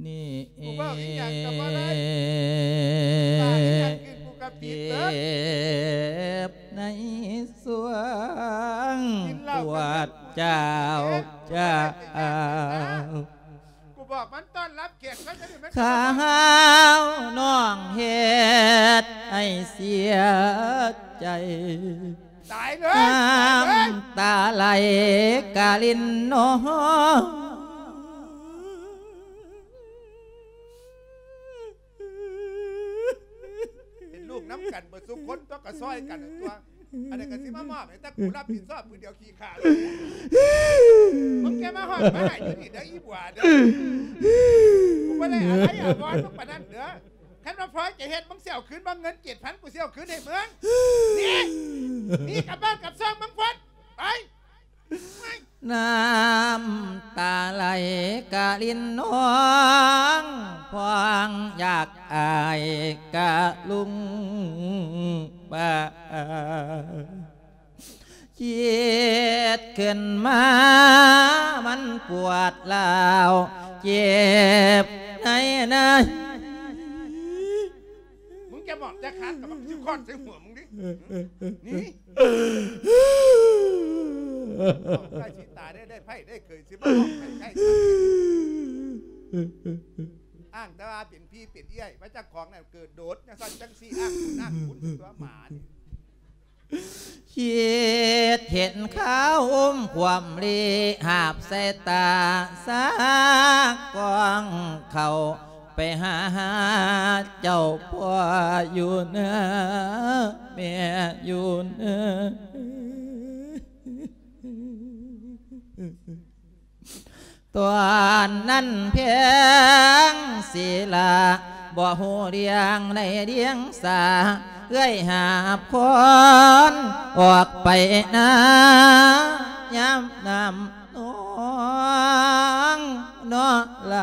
ນີ້ ກູເວົ້າອີ່ຫຍັງກໍບໍ່ໄດ້ ປາກອີ່ຫຍັງຄືກູກໍຜິດເບີດ. ໃນສວງ ກິນເຫຼົ້າ ປວດເຈົ້າ ເຈົ້າ ເຈັບ ເຈັບ ເຈັບ ເຈັບ ກູບອກມັນຕ້ອນຮັບແຂກ ມັນຈະໄດ້ ມັນຈະ ຂ້າວນ້ອງເຮັດໃຫ້ເສຍໃຈ ຕາຍເລີຍ ນ້ຳຕາໄຫຼກະລິນນ້ອງ. ເປັນລູກນຳກັນເບິດສູ່ຄົນຕົວະ ກໍຊ່ອຍກັນຕົວະ. ອັນນີ້ກໍຊິມາມອບໃຫ້ແຕ່ກູຮັບຜິດຊອບຜູ້ດຽວ ຂີ້ຂ້ານ. ມຶງຈະມາຮອດມາໃຫ້ຢູ່ນີ້ເດີ ອີ່ບົວເດີ. ບໍ່ໄດ້ອາໄລອາວອນມຶງປານນັ້ນເດີ້. ຄັນວ່າພໍ່ຈະເຮັດ ມຶງຊິເອົາຄືນບໍ່? ເງິນເຈັດພັນ ກູຊິເອົາຄືນໃຫ້ມຶງ. ໜີ ໜີກັບບ້ານກັບຊ່ອງມຶງພຸ້ນ ໄປ. ນ້ຳຕາໄຫຼກະລິນນອງ ພອງຢາກອາຍກະລຸງປາ ຄິດຂຶ້ນມາມັນປວດຮ້າວ ເຈັບໃນໃນ. ມຶງຈະໝອບຈະຄາດກັບບັກຊິຄອດໃສ່ຫົວມຶງດິ. ນີ້ ໃກ້ຊິຕາຍໄດ້ ໄດ້ໃຜໄດ້ເຄີຍຊິມາບອກໃຫ້ໃກ້. ອ້າງແຕ່ວ່າເປັນພີ່ເປັນເອື້ອຍ ວ່າເຈົ້າຂອງນັ້ນເກີດໂດດ ຈັ່ງຊັ້ນຈັ່ງຊີ້ ອ້າງບຸນອ້າງຄຸນຕົວະໝານີ້. ຄິດເຫັນຄາວອົມຄວາມລີ ຫາບໃສ່ຕາສາກອງເຂົ້າ ໄປຫາເຈົ້າພໍ່ຢູ່ເນີ ແມ່ຢູ່ເນີ. ຕອນນັ້ນແພງສີລາ ບໍ່ຮູ້ເລື່ອງໃນເລື່ອງສາ ເອື້ອຍຫາບຄອນອອກໄປນາ ຍາມນ້ຳນອງເນາະໄຫຼ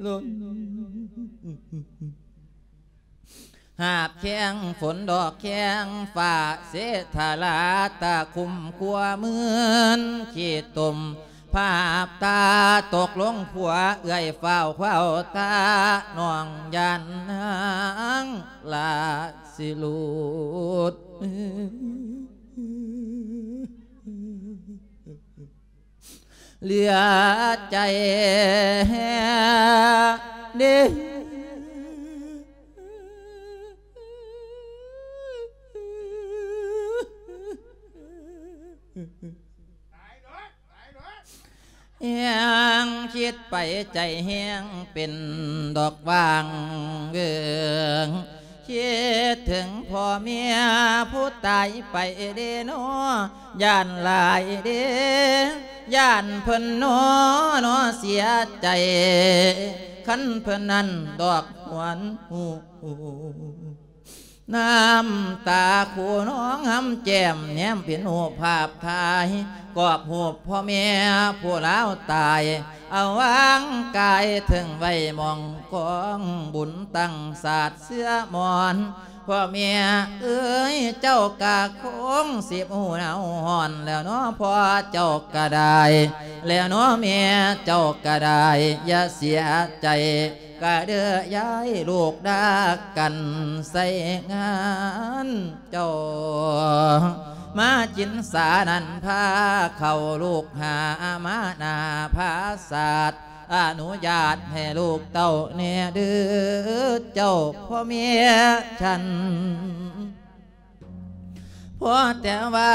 ຫຼົ່ນ. ຫາບແຂ້ງຝົນດອກແຂ້ງຟ້າ ເສດຖາລາຕາຄຸມຄົວ ມື່ນຂີ້ຕົມພາບຕາຕົກລົງຂົວ ເອື້ອຍຟ້າວຄວ້າວຕາ ນ້ອງຢ້ານນາງລາຊິຫຼຸດ. ເຫຼືອໃຈເດ້ ແຮງຄິດໄປໃຈແຮງເປັນດອກຫວ່າງເຫວີງ ຄິດເຖິງພໍ່ແມ່ຜູ້ຕາຍໄປເດ້ນໍ ຢ້ານຫຼາຍເດ້ ຢ້ານເພິ່ນນໍ ນໍເສຍໃຈ ຄັນເພິ່ນນັ້ນດອກຫວນຫູ ນ້ຳຕາຄູນອງຫຳແກ້ມ ແນມເປັນຮູບພາບຖ່າຍ ກອບຮູບພໍ່ແມ່ຜູ້ລາວຕາຍ ເອົາວາງກາຍເຖິງໄວ້ໝ່ອງກອງ ບຸນຕັ້ງສາດເຊື້ອມອນ ພໍ່ແມ່ເອີຍ ເຈົ້າກະຄົງຊິບໍ່ໜາວຮ້ອນແລ້ວເນາະ ພໍ່ເຈົ້າກະໄດ້ແລ້ວເນາະ ແມ່ເຈົ້າກະໄດ້ຢ່າເສຍໃຈ ກະເດີຍາຍລູກດາກັນໃສ່ງານເຈົ້າ ມາຈິນສານັ້ນພາເຂົ້າ ລູກຫາມາໜ້າຜາສາດ ອະນຸຍາດໃຫ້ລູກເຕົ້າແດ່ເດີ ເຈົ້າພໍ່ແມ່ຊັ້ນ. ພໍແຕ່ວ່າ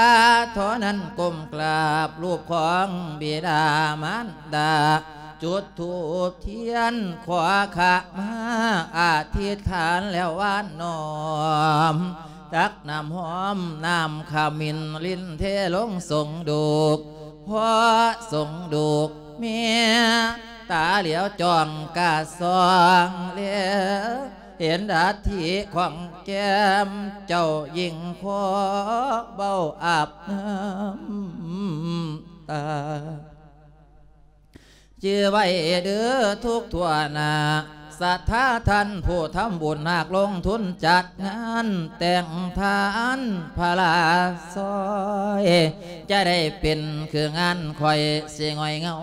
ທໍ່ນັ້ນກົ້ມກາບຮູບຂອງບິດາມານດາ ຈຸດທູບທຽນຂໍຂະມາອະທິຖານແລ້ວຫວານນ້ອມ ຕັກນ້ຳຫອມນ້ຳຂະມິນລິນເທລົງສົງໂດກ ພໍສົງໂດກແມ່ຕາຫຼຽວຈ້ອງກະສ່ອງແລ ເຫັນອັດຖິຂອງແກ້ມເຈົ້າຍິງຂໍເບົາອາບນ້ຳຕາ ຈື່ໄວ້ເດີທຸກທົ່ວໜ້າ ສັດທາທ່ານຜູ້ທຳບຸນ ຫາກລົງທຶນຈັດງານແຕ່ງທ່ານພະລາຊອຍ ຈະໄດ້ເປັນຄືງານຂ້ອຍ ຊິຫງອຍເຫງົາ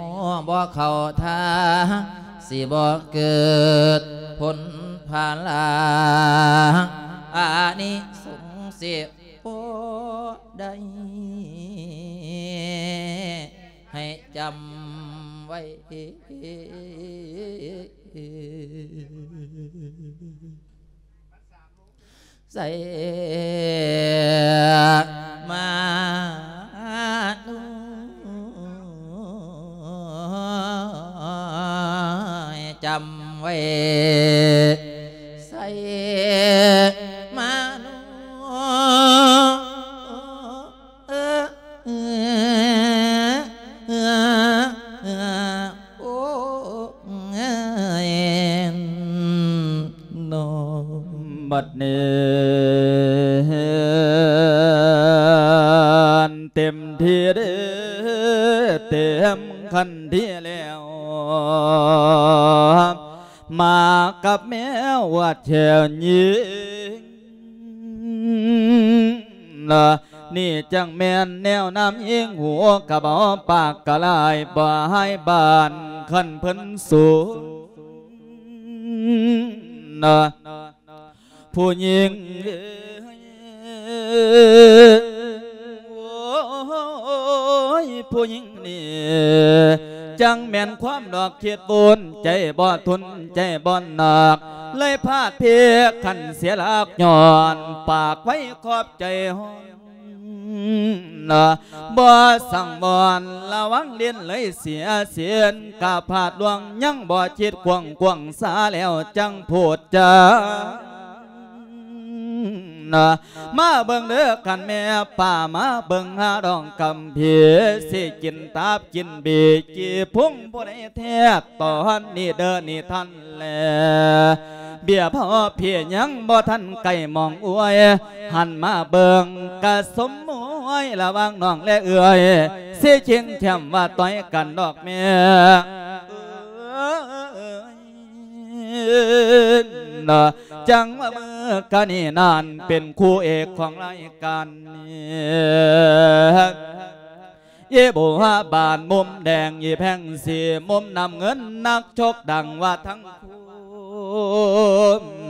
ບໍ່ເຂົ້າທ່າ ຊິບໍ່ເກີດຜົນພາລາ ອານິສົງສິບໍ່ໄດ້ ໃຫ້ຈຳໄວ້ ໃສ່ມາໂນຍ ຈຳໄວ້ ໃສ່ມາໂນຍ ໂອ້ ບັດນີ້ເຕັມທີ່ເດ້ ເຕັມຂັ້ນທີ່ແລ້ວ ມາກັບແມວອວດແຂນຍິງ ນະ ນີ້ຈັ່ງແມ່ນແນວນຳຍິງ ຫູກະເບົາປາກກະລາຍ ບໍ່ໃຫ້ບານຄັນເພິ່ນສູນນະ ຜູ້ຍິງເອີຍ ໂອ້ຍ ຜູ້ຍິງນີ້ ຈັ່ງແມ່ນຄວາມດອກຄິດບຸນ ໃຈບໍ່ທົນ ໃຈບໍ່ໜັກ ເລີຍພາດເພກຄັນເສຍຫຼັກ ຍ້ອນປາກໄວຂອບໃຈຮ້ອນ ນະ ບໍ່ສັງວອນລະວັງຫຼິ້ນເລີຍເສຍສິນ ກະພາດລ່ວງຍັງບໍ່ຄິດກວ້າງ ກວ້າງສາແລ້ວຈັ່ງພູດຈາ ນະ ມາເບິ່ງເດີຄັນແມ່ປ້າ ມາເບິ່ງຫາດອງກຳພີ ຊິກິນຕັບກິນບີ ຈີ່ພຸງຜູ້ໃດແທກ ຕອນນີ້ເດີນີ້ທ່ານ ແລ ເບ້ຍພໍ່ເພຍຍັງບໍ່ທັນໃກ້ມອງອວຍ ຫັນມາເບິ່ງກະສົມມວຍ ລະຫວ່າງນ້ອງແລເອື້ອຍ ຊິຈິງແຄມວ່າຕ່ອຍກັນດອກແມ່ ເອີຍ ນະ ຈັ່ງວ່າມື້ກະນີ້ນັ້ນ ເປັນຄູ່ເອກຂອງລາຍການນີ້ ອີ່ບົວບານມຸມແດງ ອີ່ແພງສີມຸມນ້ຳເງິນ ນັກຊົກດັງວ່າທັງຄູ່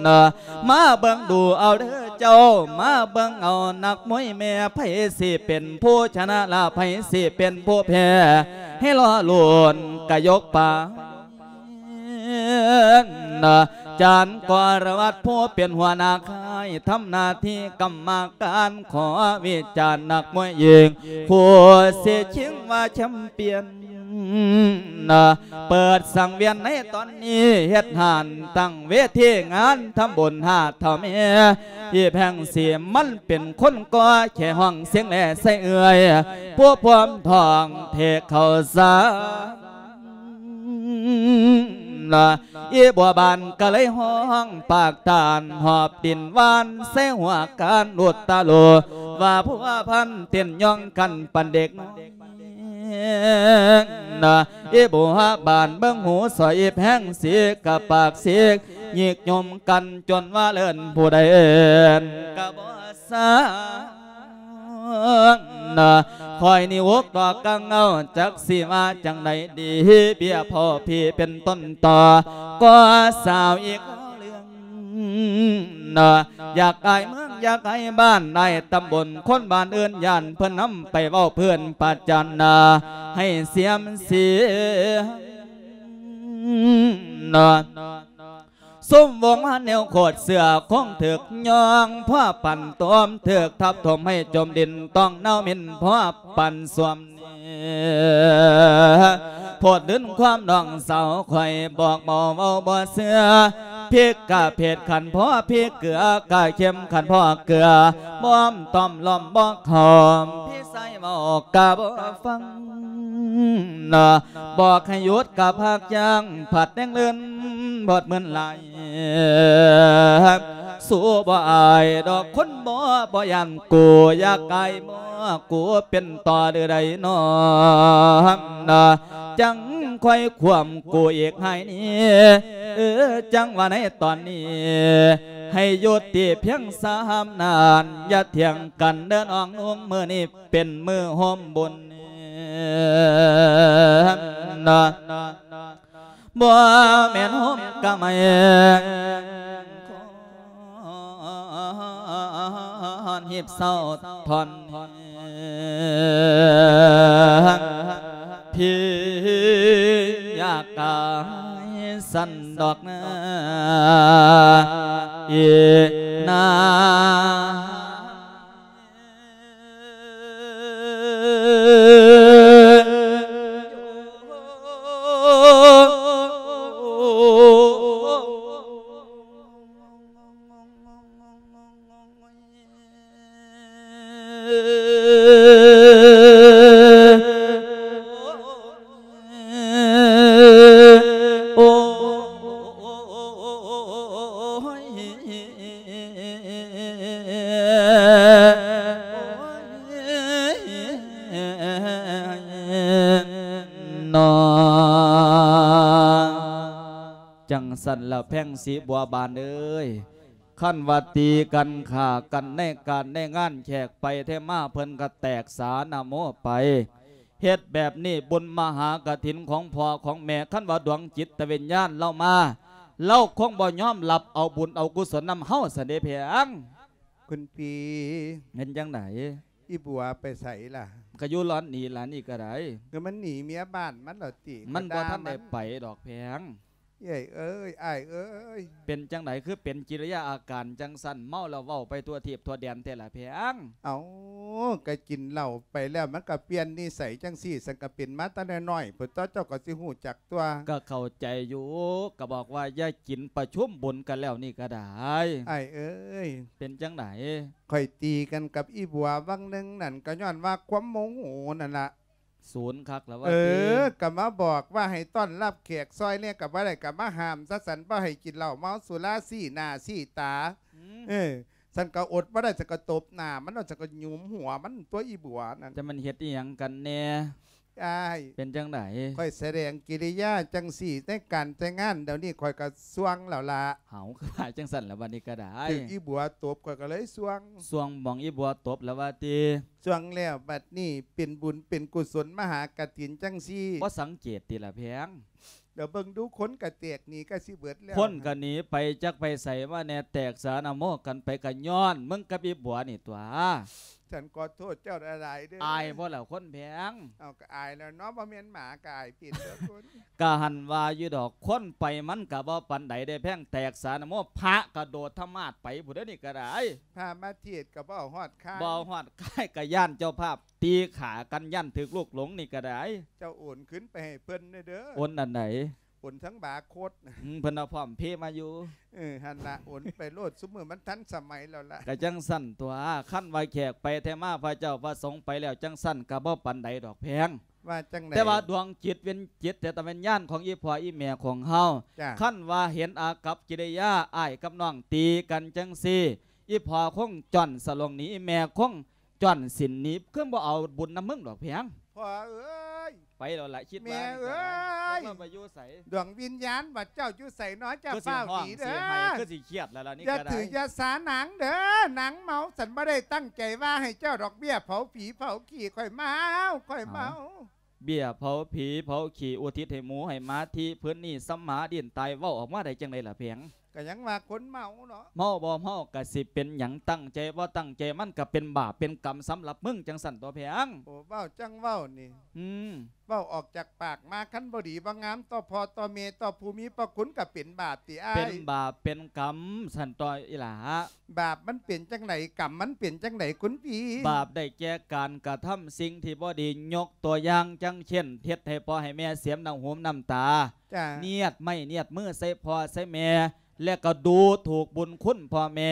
ນະ ມາເບິ່ງດູເອົາເດີເຈົ້າ ມາເບິ່ງເອົານັກມວຍແມ່ ໃຜຊິເປັນຜູ້ຊະນະລະ ໃຜຊິເປັນຜູ້ແພ້ ໃຫ້ລໍລຸ້ນກະຍົກປາ ນະ ຈານກໍລະວັດ ຜູ້ເປັນຫົວໜ້າຄ້າຍ ທຳໜ້າທີ່ກຳມະການ ຂໍວິຈານນັກມວຍຍິງ ຜູ້ຊິຊິງວ່າແຊມປຽນ ນະ ເປີດສັງວຽນໃນຕອນນີ້ ເຮັດຮ້ານຕັ້ງເວທີງານ ທຳບຸນຫາເຖົ້າແມ່ ອີ່ແພງສີມັນເປັນຄົນກໍ່ ແຄ່ຮ້ອງສຽງແລໃສ່ເອື້ອຍ ຜູ້ພວມທ້ອງເທກເຂົ້າສາ ນະ ອີ່ບົວບານກະເລີຍຮ້ອງປາກຕານ ຫອບດິນຫວານໃສ່ຫົວການ ອຸດຕະໂລ ວ່າພົວພັນເຕັ້ນຍ່ອງກັນປານເດັກນ້ອຍ ນະ ອີ່ບົວບານເບິ່ງຫູສອຍ ອີ່ແພງສີກະປາກສີກ ຍິກຍົມກັນຈົນວ່າເອີ້ນຜູ້ໃດເອີ້ນກະບໍ່ ສາງ ນະ ຂ້ອຍນີ້ອົກດອກກັງເອົາ ຈັກຊິວ່າຈັ່ງໃດດີ ເບ້ຍພໍ່ພີເປັນຕົ້ນຕໍ ກໍສາວອີກເລື່ອງ ນະ ຢາກອາຍເມືອງ ຢາກອາຍບ້ານ ອາຍຕຳບົນ ຄົນບ້ານອື່ນຢ້ານເພິ່ນນຳໄປເວົ້າເພື່ອນປະຈັນນາ ໃຫ້ເສຍມເສຍ ນະ ຊຸມວົງມາແນວໂຄດເສື້ອຄົງຖືກຍ່ອງ ພໍປັນຕົມຖືກທັບຖົມໃຫ້ຈົມດິນ ຕ້ອງໜາວເໝັນພໍປັນສວມນີ້ ໂພດລືນຄວາມນ້ອງສາວຂ້ອຍ ບອກເວົ້າເວົ້າບໍ່ເຊື່ອ ພິກກະເພດຂັນພໍພິກເກືອ ກະເຂັມຂັນພໍເກືອ ບອມຕ້ອມລ້ອມບໍ່ເຂົ້າ ພີ່ຊາຍເວົ້າກະບໍ່ຟັງ ນະ ບອກໃຫ້ຢຸດກະພາກຢ່າງ ພັດແຮງເລີນ ບອດເໝືອນຫຼາຍ ສູ້ບໍ່ອາຍດອກຄົນບໍ່ ບໍ່ຢ້ານກູ ຢາກອາຍບໍ່ ກູເປັນຕໍ່ຫຼືໃດນອ ນະ ຈັ່ງຄ່ອຍຄວາມກູອີກໃຫ້ນີ້ ເອີ ຈັ່ງວ່າໃນຕອນນີ້ ໃຫ້ຢຸດຕິພຽງສາມນານ ຢ່າຖຽງກັນເດີນ້ອງນຸ່ງ ມື້ນີ້ ເປັນມື້ໂຮມບຸນ ນະ ບໍ່ແມ່ນໂຮມກະໄໝ ຮີບເຊົາທ່ອນ ພີ່ຢາກກາຍສັນດອກນາ ອີນາ ລະແພງສີບົວບານເອີຍ ຄັນວ່າຕີກັນຂ້າກັນໃນການໃນງານ ແຂກໄປແທ້ມາເພິ່ນກໍແຕກສານະໂມໄປ. ເຮັດແບບນີ້ບຸນມະຫາກະຖິນຂອງພໍ່ຂອງແມ່ ຄັນວ່າດວງຈິດຕະວິນຍານລາວມາ ລາວຄົງບໍ່ຍອມຮັບເອົາບຸນເອົາກຸສົນນຳເຮົາຊັ້ນເດແພງ. ຄຸນພີ່ ເປັນຈັ່ງໃດ? ອີບົວໄປໃສລະ? ກະຢູ່ລອນນີ້ລະ ນີ້ກະໄດ້. ຄືມັນໜີເມຍບ້ານມັນລະຕິ? ມັນບໍ່ທັນໄດ້ໄປດອກແພງ. ເອື້ອຍເອີຍ ອ້າຍເອີຍ ເປັນຈັ່ງໃດ ຄືເປັນກິລິຍາອາການຈັ່ງຊັ້ນ? ເມົາແລ້ວເວົ້າໄປທົ່ວທີບທົ່ວແດນແທ້ລະແພງ. ເອົ້າ ກະກິນເຫຼົ້າໄປແລ້ວ ມັນກະປ່ຽນນິໄສຈັ່ງຊີ້ ຊັ້ນກະເປັນມາແຕ່ນ້ອຍໆ ພຸ້ນຕົວະ ເຈົ້າກະຊິຮູ້ຈັກຕົວະ. ກະເຂົ້າໃຈຢູ່ ກະບອກວ່າຢ່າກິນ ປະຊຸມບຸນກັນແລ້ວນີ້ກະໄດ້. ອ້າຍເອີຍ ເປັນຈັ່ງໃດ? ຂ້ອຍຕີກັນກັບອີບົວວັງໜຶ່ງນັ້ນ ກະຍ້ອນວ່າຄວາມໂມໂຫນັ້ນລະ. ສູນຄັກລະວ່າ ເອີ ຕິ ກະມາບອກວ່າໃຫ້ຕ້ອນຮັບແຂກຊ່ອຍແດ່ກະບໍ່ໄດ້ ກະມາຫ້າມຊະ ຊັ້ນບໍ່ໃຫ້ກິນເຫຼົ້າເມົາສຸລາ ຊີ້ໜ້າຊີ້ຕາ. ອືມ ເອີ ຊັ້ນກະອົດບໍ່ໄດ້ ຊັ້ນກະຕົບໜ້າມັນ ຊັ້ນກະຫຍຸມຫົວມັນຕົວະ ອີບົວນັ້ນ. ຈະແມ່ນເຮັດອີ່ຫຍັງກັນແດ່ ອ້າຍ? ເປັນຈັ່ງໃດ? ຂ້ອຍສະແດງກິລິຍາຈັ່ງຊີ້ ໃນການແຕ່ງງານດຽວນີ້ ຂ້ອຍກະສ່ວງແລ້ວລະ. ເອົ້າ ຄືວ່າຈັ່ງຊັ້ນລະ ບັດນີ້ກະໄດ້ ຖືກອີບົວຕົບ ຂ້ອຍກະເລີຍສ່ວງ. ສ່ວງໝ່ອງອີບົວຕົບລະວ່າຕິ? ຊ່ວງແລ້ວ ບັດນີ້ເປັນບຸນເປັນກຸສົນມະຫາກະຖິນຈັ່ງຊີ້ ບໍ່ສັງເກດຕິລະແພງ? ດຽວເບິ່ງດູ ຄົນກະແຕກໜີກະຊິເບິດແລ້ວ ຄົນກະໜີໄປຈັກໄປໃສມາແດ່ ແຕກສານະໂມກັນໄປ ກະຍ້ອນມຶງກັບອີບົວນີ້ຕົວະ. ສັນຂໍໂທດເຈົ້າຫຼາຍໆເດີ. ອາຍບໍ່ລະຄົນແພງ? ເອົາ ກະອາຍແລ້ວເນາະ ບໍ່ແມ່ນໝາກະອາຍເປັນເດີຄົນ. ກະຫັ້ນວ່າຢູ່ດອກ ຄົນໄປມັນກະບໍ່ປານໃດເດ້ແພງ ແຕກສານະໂມ ພະກະໂດດທະມາດໄປພຸ້ນເດີ ນີ້ກະໄດ້. ພະມາເທດກະບໍ່ເອົາຮອດຄ້າຍ ບໍ່ເອົາຮອດຄ້າຍ ກະຢ້ານເຈົ້າພາບ ຕີຂ້າກັນ ຢ້ານຖືກລູກຫຼົງນີ້ກະໄດ້. ເຈົ້າໂອນຄືນໄປໃຫ້ເພິ່ນແດ່ເດີ. ໂອນອັນໃດ? ໂອນທັງບາໂຄດນະ. ອືມ ເພິ່ນເອົາພ້ອມເພມາຢູ່. ເອີ ຫັ້ນລະ ໂອນໄປໂລດ ຊຸມມື້ມັນທັນສະໄໝແລ້ວລະ. ກະຈັ່ງຊັ້ນຕົວະ ຄັນວ່າແຂກໄປແທ້ມາ ພະເຈົ້າພະສົງໄປແລ້ວ ຈັ່ງຊັ້ນກະບໍ່ປານໃດດອກແພງ. ວ່າຈັ່ງໃດ? ແຕ່ວ່າດວງຈິດວິນຈິດ ແຕ່ຕະວິນຍານຂອງອີ່ພໍ່ອີ່ແມ່ຂອງເຮົາ ຈ້າ ຄັນວ່າເຫັນອາກັບກິລິຍາອ້າຍກັບນ້ອງຕີກັນຈັ່ງຊີ້ ອີ່ພໍ່ຄົງຈ້ອນສະຫຼົງໜີ ອີ່ແມ່ຄົງ ຈ້ອນສິນໜີ ຄືບໍ່ເອົາບຸນນຳມຶງດອກແພງ. ພໍ່ເອີຍ ໄປແລ້ວລະ ຄິດວ່າ ແມ່ເອີຍ ຈັກວ່າໄປຢູ່ໃສ? ດວງວິນຍານວ່າເຈົ້າຢູ່ໃສເນາະ ເຈົ້າຟ້າວໜີເດີ. ຄືຊິຮ້ອງ ຊິໄຫ້ ຄືຊິຄຽດແລ້ວລະນີ້. ຢ່າຖືຢ່າສານາງເດີ ນາງເມົາ ສັນບໍ່ໄດ້ຕັ້ງໃຈວ່າໃຫ້ເຈົ້າດອກ ເບ້ຍເຜົາຜີເຜົາຂີ້. ຂ້ອຍເມົາ ຂ້ອຍເມົາ. ເບ້ຍເຜົາຜີເຜົາຂີ້ ອຸທິດໃຫ້ໝູໃຫ້ໝາ ທີ່ພື້ນນີ້ສຳມາດິນຕາຍ ເວົ້າອອກມາໄດ້ຈັ່ງໃດລະແພງ? ກະຍັງວ່າຄົນເມົາເນາະ. ເມົາບໍ່ເມົາກະຊິເປັນຫຍັງ ຕັ້ງໃຈບໍ່ຕັ້ງໃຈ ມັນກະເປັນບາບເປັນກຳສຳລັບມຶງ ຈັ່ງຊັ້ນຕົວະແພງ. ໂອ້ ເວົ້າຈັ່ງເວົ້ານີ້. ອືມ ເວົ້າອອກຈາກປາກມາ ຄັນບໍ່ດີບໍ່ງາມຕໍ່ພໍ່ຕໍ່ແມ່ ຕໍ່ຜູ້ມີພະຄຸນ ກະເປັນບາບຕິອ້າຍ? ເປັນບາບເປັນກຳຊັ້ນຕົວະອີ່ຫຼ້າ. ບາບມັນເປັນຈັ່ງໃດ ກຳມັນເປັນຈັ່ງໃດຄຸນພີ່? ບາບໄດ້ແກ່ການກະທຳສິ່ງທີ່ບໍ່ດີ ຍົກຕົວຢ່າງ ຈັ່ງເຊັ່ນ ເຮັດໃຫ້ພໍ່ໃຫ້ແມ່ເສຍນ້ຳຫູນ້ຳຕາ ຈ້າ ນຽດໄມ້ນຽດມືໃສ່ພໍ່ໃສ່ແມ່ ແລະກະດູຖູກບຸນຄຸນພໍ່ແມ່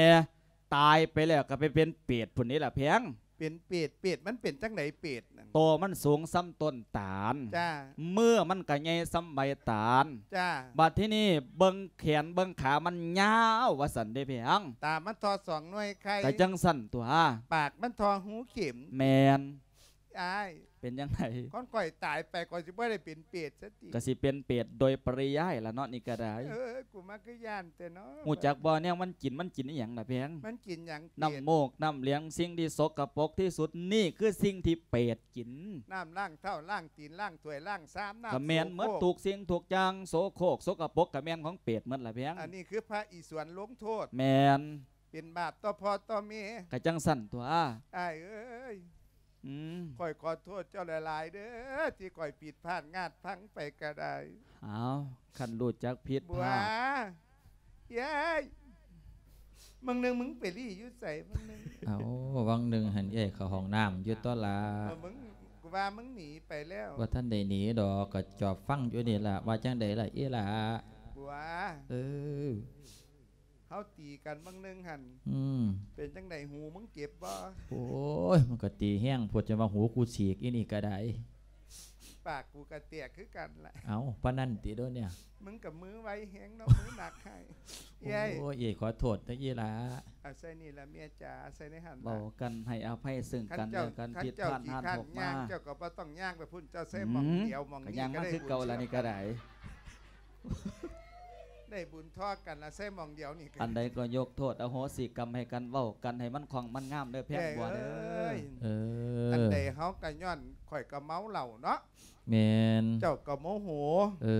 ຕາຍໄປແລ້ວກະໄປເປັນເປດພຸ້ນເດລະແພງ. ເປັນເປດ ເປດມັນເປັນຈັ່ງໃດເປດ? ໂຕມັນສູງສ່ຳຕົ້ນຕານ ຈ້າ ມືມັນກະໃຫຍ່ສ່ຳໃບຕານ ຈ້າ ບາດທີນີ້ເບິ່ງແຂນເບິ່ງຂາມັນຍາວວ່າຊັ້ນເດແພງ. ຕາມັນທໍ່ສອງໜ່ວຍໄຂ່ ກະຈັ່ງຊັ້ນຕົວະ. ປາກມັນທໍ່ຮູເຂັມ ແມ່ນ ອ້າຍ ເປັນຈັ່ງໃດ? ຄັນຂ້ອຍຕາຍໄປຂ້ອຍຊິບໍ່ໄດ້ເປັນເປດຊະຕິ? ກະຊິເປັນເປດໂດຍປະລິຍາຍລະເນາະ ນີ້ກະໄດ້. ເອີ ກູມາຄືຢ້ານແທ້ເນາະ. ຮູ້ຈັກບໍ່ແນວມັນກິນ ມັນກິນອີ່ຫຍັງລະແພງ? ມັນກິນຫຍັງເປດ? ນ້ຳມູກນ້ຳຫຼຽງ ສິ່ງທີ່ສົກກະປົກທີ່ສຸດ ນີ້ຄືສິ່ງທີ່ເປດກິນ. ນ້ຳລ້າງເທົ້າລ້າງຕີນລ້າງຖ້ວຍລ້າງຊາມ ນ້ຳ ກະແມ່ນໝົດ ໂສໂຄກ ທຸກສິ່ງທຸກຢ່າງ ໂສໂຄກສົກກະປົກກະແມ່ນຂອງເປດໝົດລະແພງ. ອັນນີ້ຄືພະອິສວນລົງໂທດ. ແມ່ນ. ເປັນບາບຕໍ່ພໍ່ຕໍ່ແມ່. ກະຈັ່ງຊັ້ນຕົວະ ອ້າຍເອີຍ. ອືມ ຂ້ອຍຂໍໂທດເຈົ້າຫຼາຍໆເດີ ທີ່ຂ້ອຍຜິດພາດງາດພັງໄປກະໄດ້. ອ້າວ ຄັນຮູ້ຈັກຜິດພາດ ບົວ ເອີຍ ມື້ໜຶ່ງມຶງໄປລີ້ຢູ່ໃສມື້ໜຶ່ງ? ເອົ້າ ວັງໜຶ່ງຫັ້ນເອື້ອຍເຂົ້າຫ້ອງນ້ຳຢູ່ຕົວະລະ. ເອີ ມຶງ ກູວ່າມຶງໜີໄປແລ້ວ. ບໍ່ທັນໄດ້ໜີດອກ ກະຈອບຟັງຢູ່ນີ້ລະ. ວ່າຈັ່ງໃດລະອີ່ຫຼ້າ? ບົວ ເອີ ເຮົາຕີກັນບາງໜຶ່ງຫັ້ນ ອືມ ເປັນຈັ່ງໃດ ຫູມຶງເຈັບບໍ່? ໂອ້ຍ ມັນກະຕີແຮງໂພດ ຈົນວ່າຫູກູສີກ ອີ່ນີ້ກະໄດ້. ປາກກູກະແຕກຄືກັນລະ. ເອົ້າ ປານນັ້ນຕິໂດນເນຍ? ມຶງກະມືໄວແຮງເນາະ ມືໜັກໃຫ້. ເອີຍ ໂອ້ຍ ເອີຍ ຂໍໂທດເດີອີ່ຫຼ້າ. ອາໄສນີ້ລະເມຍຈ໋າ ອາໄສໃນຫັ້ນລະ. ເວົ້າກັນໃຫ້ອະໄພເຊິ່ງກັນແລະກັນ ຜິດພາດຫາດຕົກມາ ເຈົ້າກະບໍ່ຕ້ອງຍ່າງໄປພຸ້ນ ເຈົ້າໃສ່ໝ່ອງດຽວ ອືມ ໝ່ອງນີ້ກະໄດ້ ກະຍ່າງມາຄືເກົ່າລະນີ້ກະໄດ້. ໄດ້ບຸນທໍ່ກັນລະ ໃສ່ໝ່ອງດຽວນີ້ ອັນໃດກໍຍົກໂທດອະໂຫສິກຳໃຫ້ກັນ ເວົ້າກັນໃຫ້ມັນຄ່ອງມັນງາມເດີແພງບົວເດີ. ເອີຍ ເອີ ອັນໃດເຮົາກໍຍ້ອນຂ້ອຍກໍເມົາເຫຼົ້າເນາະ. ແມ່ນ ເຈົ້າກໍໂມໂຫ. ເອີ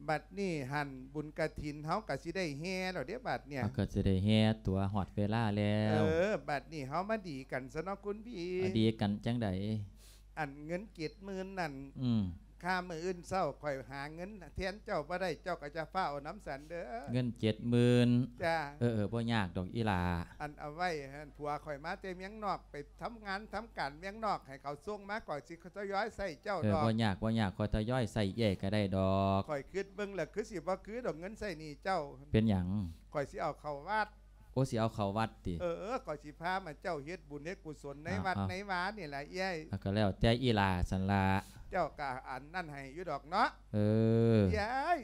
ບັດນີ້ຫັ້ນບຸນກະຖິນເຮົາກໍຊິໄດ້ແຫ່ແລ້ວເດ້ບັດເນີ້ຍ. ເຮົາກໍຊິໄດ້ແຫ່ຕົວະ ຮອດເວລາແລ້ວ. ເອີ ບັດນີ້ເຮົາມາດີກັນຊະເນາະຄຸນພີ່. ມາດີກັນຈັ່ງໃດ? ອັນເງິນເຈັດໝື່ນນັ້ນ ອືມ ຄ່າມື້ອື່ນເຊົ້າຂ້ອຍຫາເງິນແທນເຈົ້າບໍ່ໄດ້ ເຈົ້າກໍຈະຟ້າວເອົານຳສັນເດີ. ເງິນເຈັດໝື່ນ. ຈ້າ. ເອີໆ ບໍ່ຍາກດອກອີ່ຫຼ້າ. ອັນເອົາໄວ້ຫັ້ນ ຜົວຂ້ອຍມາແຕ່ເມືອງນອກ ໄປທຳງານທຳການເມືອງນອກ ໃຫ້ເຂົາສົ່ງມາ ຂ້ອຍຊິທະຍອຍໃຊ້ເຈົ້າດອກ. ເອີ ບໍ່ຍາກ ບໍ່ຍາກ ຂ້ອຍທະຍອຍໃຊ້ເອື້ອຍກໍໄດ້ດອກ. ຂ້ອຍຄິດເບິ່ງແລ້ວຄືຊິບໍ່ຄືດອກ ເງິນໃຊ້ໜີ້ເຈົ້າ. ເປັນຫຍັງ? ຂ້ອຍຊິເອົາເຂົ້າວັດ. ໂອ້ ຊິເອົາເຂົ້າວັດຕິ? ເອີ ຂ້ອຍຊິພາມາເຈົ້າເຮັດບຸນເຮັດກຸສົນໃນ ເອົາ ວັດ ເອົາ ໃນວານີ້ລະເອື້ອຍ. ເອົາ ກໍແລ້ວແຕ່ອີ່ຫຼ້າຊັ້ນລະ. ເຈົ້າກໍອັນນັ້ນໃຫ້ຢູ່ດອກເນາະ. ເອີ ເອື້ອຍ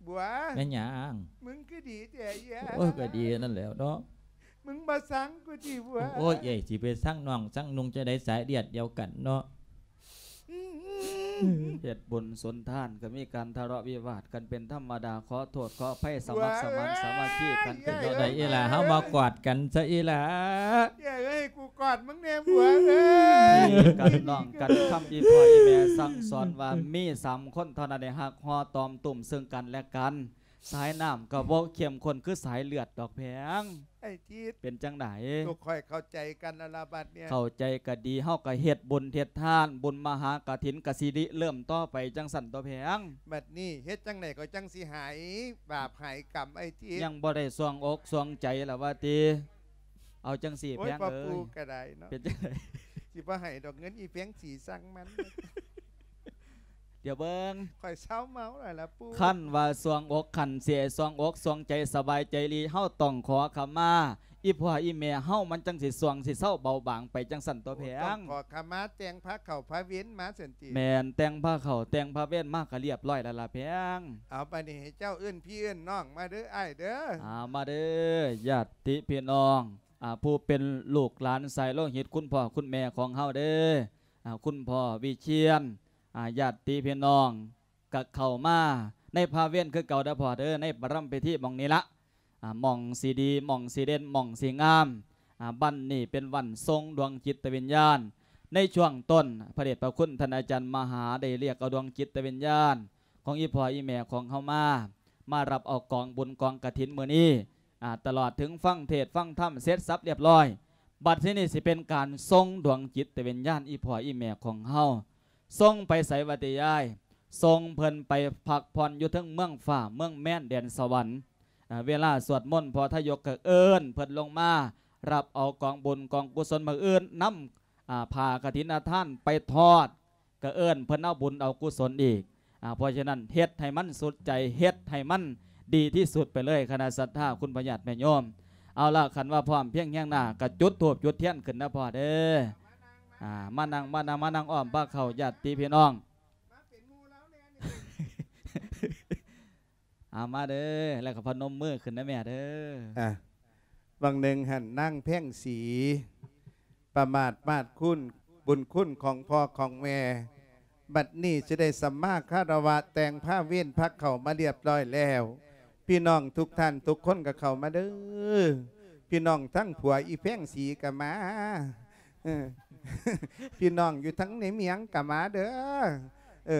ບົວ. ແມ່ນຫຍັງ? ມຶງຄືດີແທ້ເອື້ອຍ. ໂອ້ຍ ກໍດີນັ້ນແຫຼ້ວເນາະ. ມຶງບໍ່ຊັງກູຕິບົວ? ໂອ້ຍ ເອື້ອຍຊິໄປຊັງນ້ອງຊັງນຸ່ງຈັ່ງໃດ ສາຍເລືອດດຽວກັນເນາະ. ເຮັດບຸນສົນທານກໍມີການທະເລາະວິວາດກັນເປັນທຳມະດາ. ຂໍໂທດຂໍອະໄພ ສະໝັກສະໝານສາມັກຄີກັນເປັນແນວໃດອີ່ຫຼ້າ? ເຮົາມາກອດກັນຊະອີ່ຫຼ້າ. ເອື້ອຍເອີຍ ໃຫ້ກູກອດມຶງແດ່ບົວເອີຍ. ພີ່ກັນນ້ອງກັນ ຄຳອີ່ພໍ່ອີ່ແມ່ສັ່ງສອນວ່າມີສາມຄົນເທົ່ານັ້ນ ໄດ້ຮັກຫໍ່ຕອມຕຸ້ມເຊິ່ງກັນແລະກັນ. ສາຍນ້ຳກໍບໍ່ເຂັ້ມຂຸ້ນຄືສາຍເລືອດດອກແພງ. ໄອ້ຈິດ ເປັນຈັ່ງໃດ? ໂຕຂ້ອຍເຂົ້າໃຈກັນແລ້ວລະບັດເນີ້ຍ. ເຂົ້າໃຈກໍດີ ເຮົາກໍເຮັດບຸນເຮັດທານ ບຸນມະຫາກະຖິນກໍຊິລິເລີ່ມຕໍ່ໄປຈັ່ງຊັ້ນຕົວະແພງ. ບັດນີ້ເຮັດຈັ່ງໃດກໍຈັ່ງຊິຫາຍບາບຫາຍກຳ ໄອ້ຈິດ? ຍັງບໍ່ໄດ້ສ່ວງອົກສ່ວງໃຈລະວ່າຕິ? ເອົາຈັ່ງຊີ້ ໂອ້ຍ ແພງເອີຍ ພໍ່ປູ່ກໍໄດ້ເນາະ. ເປັນຈັ່ງໃດ? ຊິບໍ່ໃຫ້ດອກເງິນອີ່ແພງສີ ຊ່າງມັນ. ດຽວເບິ່ງ ຂ້ອຍເຊົາເມົາແລ້ວລະປູ່. ຄັນວ່າສ່ວງອົກ ຄັນຊິໃຫ້ສ່ວງອົກສ່ວງໃຈສະບາຍໃຈລີ ເຮົາຕ້ອງຂໍຂະມາອີ່ພໍ່ອີ່ແມ່ເຮົາ ມັນຈັ່ງຊິຊ່ວງຊິເຊົາເບົາບາງໄປຈັ່ງຊັ້ນຕົວະແພງ. ໂອ້ ຕ້ອງຂໍຂະມາ ແຕ່ງພາເຂົ້າພາເວັນມາຊັ້ນຕິ? ແມ່ນ ແຕ່ງພາເຂົ້າແຕ່ງພາເວັນມາກໍລຽບຮ້ອຍແລ້ວລະແພງ. ເອົາ ບາດນີ້ໃຫ້ເຈົ້າເອີ້ນພີ່ເອີ້ນນ້ອງມາເດີອ້າຍເດີ. ອ່າ ມາເດີຍາດຕິພີ່ນ້ອງ ອ່າ ຜູ້ເປັນລູກຫຼານສາຍໂລຫິດ ຄຸນພໍ່ຄຸນແມ່ຂອງເຮົາເດີ. ອ່າ ຄຸນພໍ່ວິຊຽນ ອ່າ ຍາດຕິພີ່ນ້ອງ ກະເຂົ້າມາໃນພາເວັນຄືເກົ່າເດີພໍ່ເດີ ໃນປະລຳພິທີໝ່ອງນີ້ລະ ອ່າ ໝ່ອງຊິດີ ໝ່ອງຊິເດັ່ນ ໝ່ອງຊິງາມ. ອ່າ ວັນນີ້ເປັນວັນສົ່ງດວງຈິດຕະວິນຍານ. ໃນຊ່ວງຕົ້ນ ພະເດດພະຄຸນທ່ານອາຈານມະຫາ ໄດ້ລຽກເອົາດວງຈິດຕະວິນຍານຂອງອີ່ພໍ່ອີ່ແມ່ຂອງເຮົາມາ ມາຮັບເອົາກອງບຸນກອງກະຖິນມື້ນີ້. ອ່າ ຕະຫຼອດເຖິງຟັງເທດຟັງທຳເສັດສັບລຽບຮ້ອຍ ບັດທີນີ້ຊິເປັນການສົ່ງດວງຈິດຕະວິນຍານອີ່ພໍ່ອີ່ແມ່ຂອງເຮົາ. ສົ່ງໄປໃສວະຕິຍາຍ? ສົ່ງເພິ່ນໄປພັກຜ່ອນຢູ່ເທິງເມືອງຟ້າເມືອງແມນແດນສະຫວັນ. ເວລາສວດມົນ ພໍ່ທະຍົກກໍເອີ້ນເພິ່ນລົງມາ ຮັບເອົາກອງບຸນກອງກຸສົນມື້ອື່ນ ນຳ ອ່າ ຜ້າກະຖິນນະທານໄປທອດ ກໍເອີ້ນເພິ່ນເອົາບຸນເອົາກຸສົນອີກ. ອ່າ ເພາະສະນັ້ນ ເຮັດໃຫ້ມັນສຸດໃຈ ເຮັດໃຫ້ມັນດີທີ່ສຸດໄປເລີຍ ຄະນະສັດທາ ຄຸນພໍ່ຍາດແມ່ໂຍມ. ເອົາລະ ຄັນວ່າພ້ອມພຽງຮຽງໜ້າ ກໍຈຸດທູບຈຸດທຽນຂຶ້ນນະພໍ່ເດີ. ອ່າ ມານັ່ງ ມານັ່ງ ມານັ່ງອ້ອມພາເຂົ້າຍາດຕິພີ່ນ້ອງ. ເອົາ ມາເດີ ແລ້ວກໍພະນົມມືຂຶ້ນນະແມ່ເດີ. ອ່ະ ຫວ່າງໜຶ່ງຫັ້ນນາງແພງສີປະໝາດມາດຄຸນບຸນຄຸນຂອງພໍ່ຂອງແມ່ ບັດນີ້ຊິໄດ້ສຳມາຄາລະວະແຕ່ງພາເວັນພາເຂົ້າມາລຽບຮ້ອຍແລ້ວ. ພີ່ນ້ອງທຸກທ່ານທຸກຄົນກໍເຂົ້າມາເດີ. ພີ່ນ້ອງທັງຜົວອີ່ແພງສີກໍມາ. ເອີ ພີ່ນ້ອງຢູ່ທັງໃນເມຍງກໍມາເດີ. ເອີ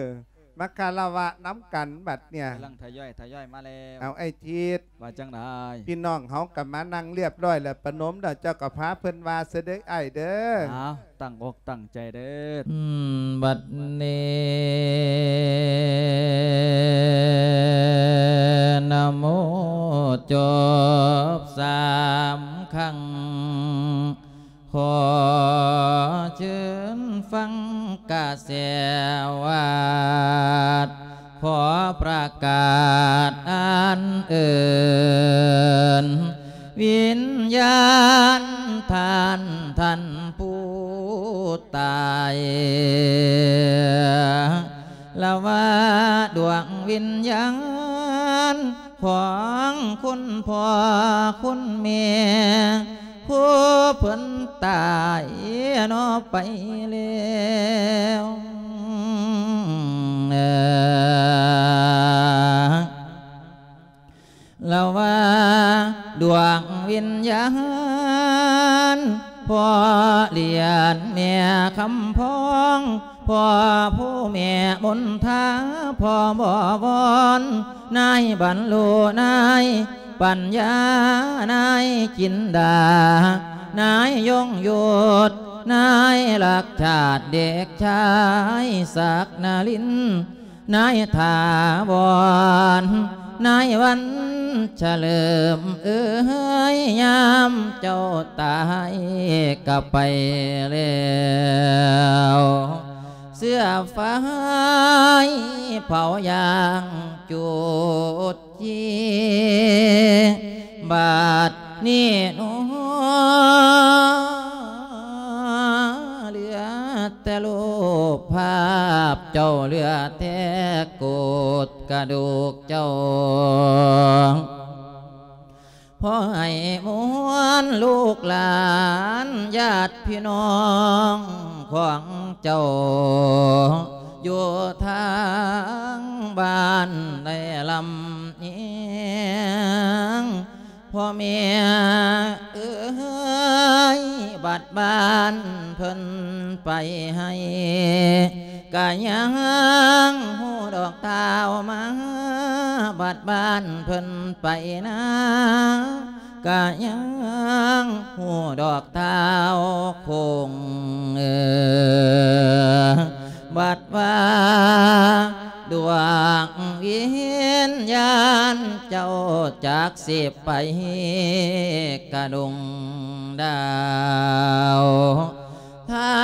ມາຄາລະວະນຳກັນບັດເນີ້ຍ. ກຳລັງທະຍອຍ ທະຍອຍມາແລ້ວ. ເອົາ ອ້າຍທິດ ວ່າຈັ່ງໃດ? ພີ່ນ້ອງເຮົາກໍມານັ່ງລຽບຮ້ອຍແລ້ວ ປະນົມແລ້ວ ເຈົ້າກໍພາເພິ່ນວ່າຊະເດີອ້າຍເດີ. ເອົາ ຕັ້ງອົກຕັ້ງໃຈເດີ. ອືມ ບັດນີ້ນະໂມຈົບສາມຄັ້ງ ຂໍເຊີນຟັງກະແສວາດ ຂໍປະກາດອັນເອີ້ນ ວິນຍານທ່ານ ທ່ານຜູ້ຕາຍ ລະວ່າດວງວິນຍານ ຂອງຄຸນພໍ່ຄຸນແມ່ ຜູ້ເພິ່ນຕາຍເນາະໄປແລ້ວ. ດວງວິນຍານ ພໍ່ຫຼຽນແມ່ຄຳພອງ ພໍ່ຜູ້ແມ່ມົນທາ ພໍ່ບໍວອນ ນາຍບັນລຸ ນາຍປັນຍາ ນາຍຈິນດາ ນາຍຍົງຍຸດ ນາຍລັກຊາດ ເດັກຊາຍສັກນະລິນ ນາຍຖາວອນ ນາຍວັນສະເຫຼີມເອີຍ ຍາມເຈົ້າຕາຍກະໄປແລ້ວ ເສື້ອຝາຍເຜົາຢ່າງຈູດຈີ ບາດນີ້ໜໍ ເຫຼືອແຕ່ຮູບພາບເຈົ້າ ເຫຼືອແຕ່ໂກດກະດູກເຈົ້າ ຂໍໃຫ້ມວນລູກຫຼານຍາດພີ່ນ້ອງຂອງເຈົ້າ ຢູ່ທາງບ້ານໄດ້ລຳອຽງ ພໍ່ແມ່ເອີຍ ບັດບ້ານເພິ່ນໄປໄຮ່ ກະຍັງຮູ້ດອກທ້າວມາ ບັດບ້ານເພິ່ນໄປນາ ກະຍັງຮູ້ດອກທ້າວຄົງ ເອີ ບັດວ່າດວງວິນຍານເຈົ້າຈັກຊິໄປກະດົງດາວ ທາ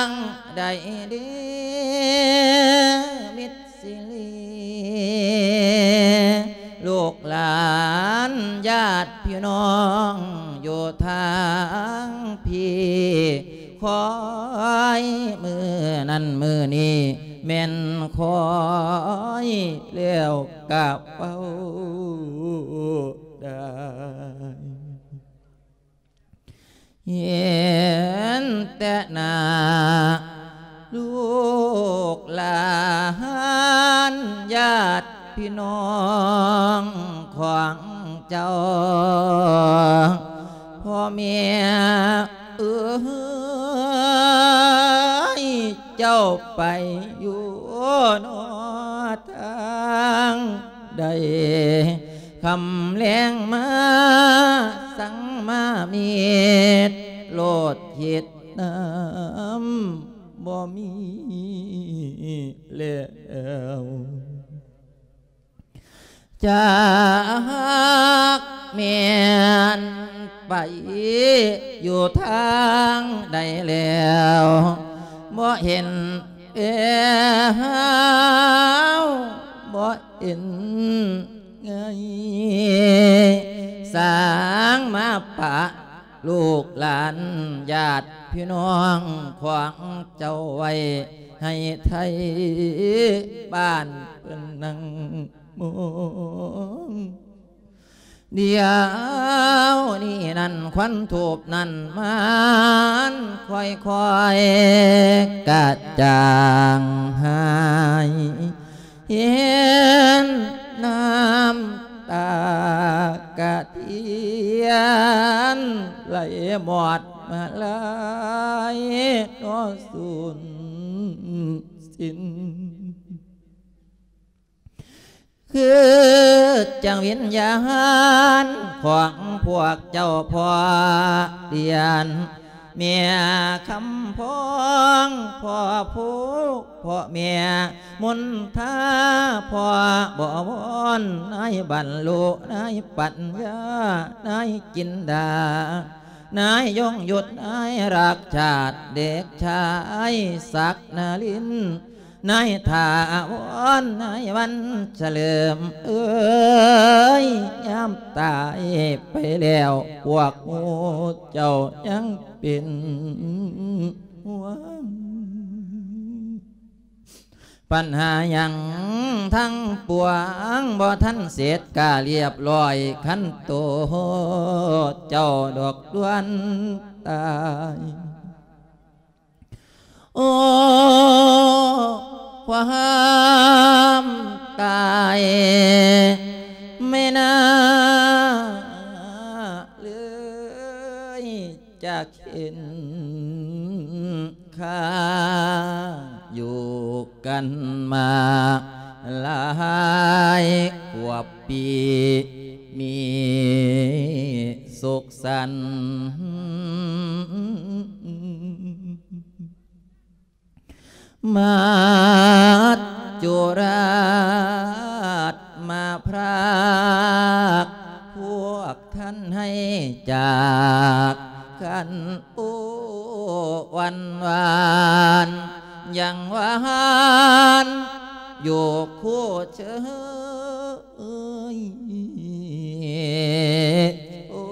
ງໃດເດ ມິດຊິລີ ລູກຫຼານຍາດພີ່ນ້ອງຢູ່ທາງພີ້ ຄອຍມື້ນັ້ນມື້ນີ້ ແມ່ນຄອຍແລ້ວກະເວົ້າໄດ້ ເຫັນແຕ່ໜ້າລູກຫຼານຍາດພີ່ນ້ອງຂອງເຈົ້າ ພໍ່ແມ່ເອີຍ ເຈົ້າໄປຢູ່ນອກທາງໃດ ຄ່ຳແລງມາສັງມາມີດ ໂລດຄິດນຳບໍ່ມີແລ້ວ ຈັກແມ່ນໄປຢູ່ທາງໃດແລ້ວ ບໍ່ເຫັນແລ້ວ ບໍ່ເຫັນໄງ ສ້າງມາປະ ລູກຫຼານຍາດພີ່ນ້ອງຂອງເຈົ້າໄວ້ໃຫ້ໄທບ້ານເພິ່ນນັ່ງມອງ ດຽວນີ້ນັ້ນຄວັນທູບນັ້ນມັນຄ່ອຍໆກະຈາງຫາຍ ເຫັນນ້ຳຕາກະທຽນໄຫຼໝົດມາລາຍເນາະສູນສິ້ນ ຄືຈັ່ງວິນຍານຂອງພວກເຈົ້າພໍ່ຫຼຽນ ແມ່ຄຳພອງ ພໍ່ພູ ພໍ່ແມ່ມົນທາ ພໍ່ບໍວອນ ນາຍບັນລຸ ນາຍປັນຍາ ນາຍຈິນດາ ນາຍຍົງຍຸດ ນາຍລັກຊາດ ເດັກຊາຍສັກນະລິນ ນາຍຖາວອນ ນາຍວັນສະເຫຼີມເອີຍ ຍາມຕາຍໄປແລ້ວ ພວກໝູ່ເຈົ້າຍັງເປັນຫ່ວງ ບັນຫາຫຍັງທັງປວງ ບໍ່ທັນເສັດກະລຽບລ້ອຍ ຄັນໂຕເຈົ້າດອກດ່ວນຕາຍ ໂອ້ ຄວາມຕາຍ ແມ່ນາເລີຍຈາກເຫັນ ຂ້າຢູ່ກັນມາຫຼາຍກວ່າປີ ມີສຸກສັນ ມາຈຸລາດມາພຣາກ ພວກທ່ານໃຫ້ຈາກກັນ ໂອ້ ວັນວານ ຍັງຫວານຢູ່ຄູ່ເຊີຍ ໂອ້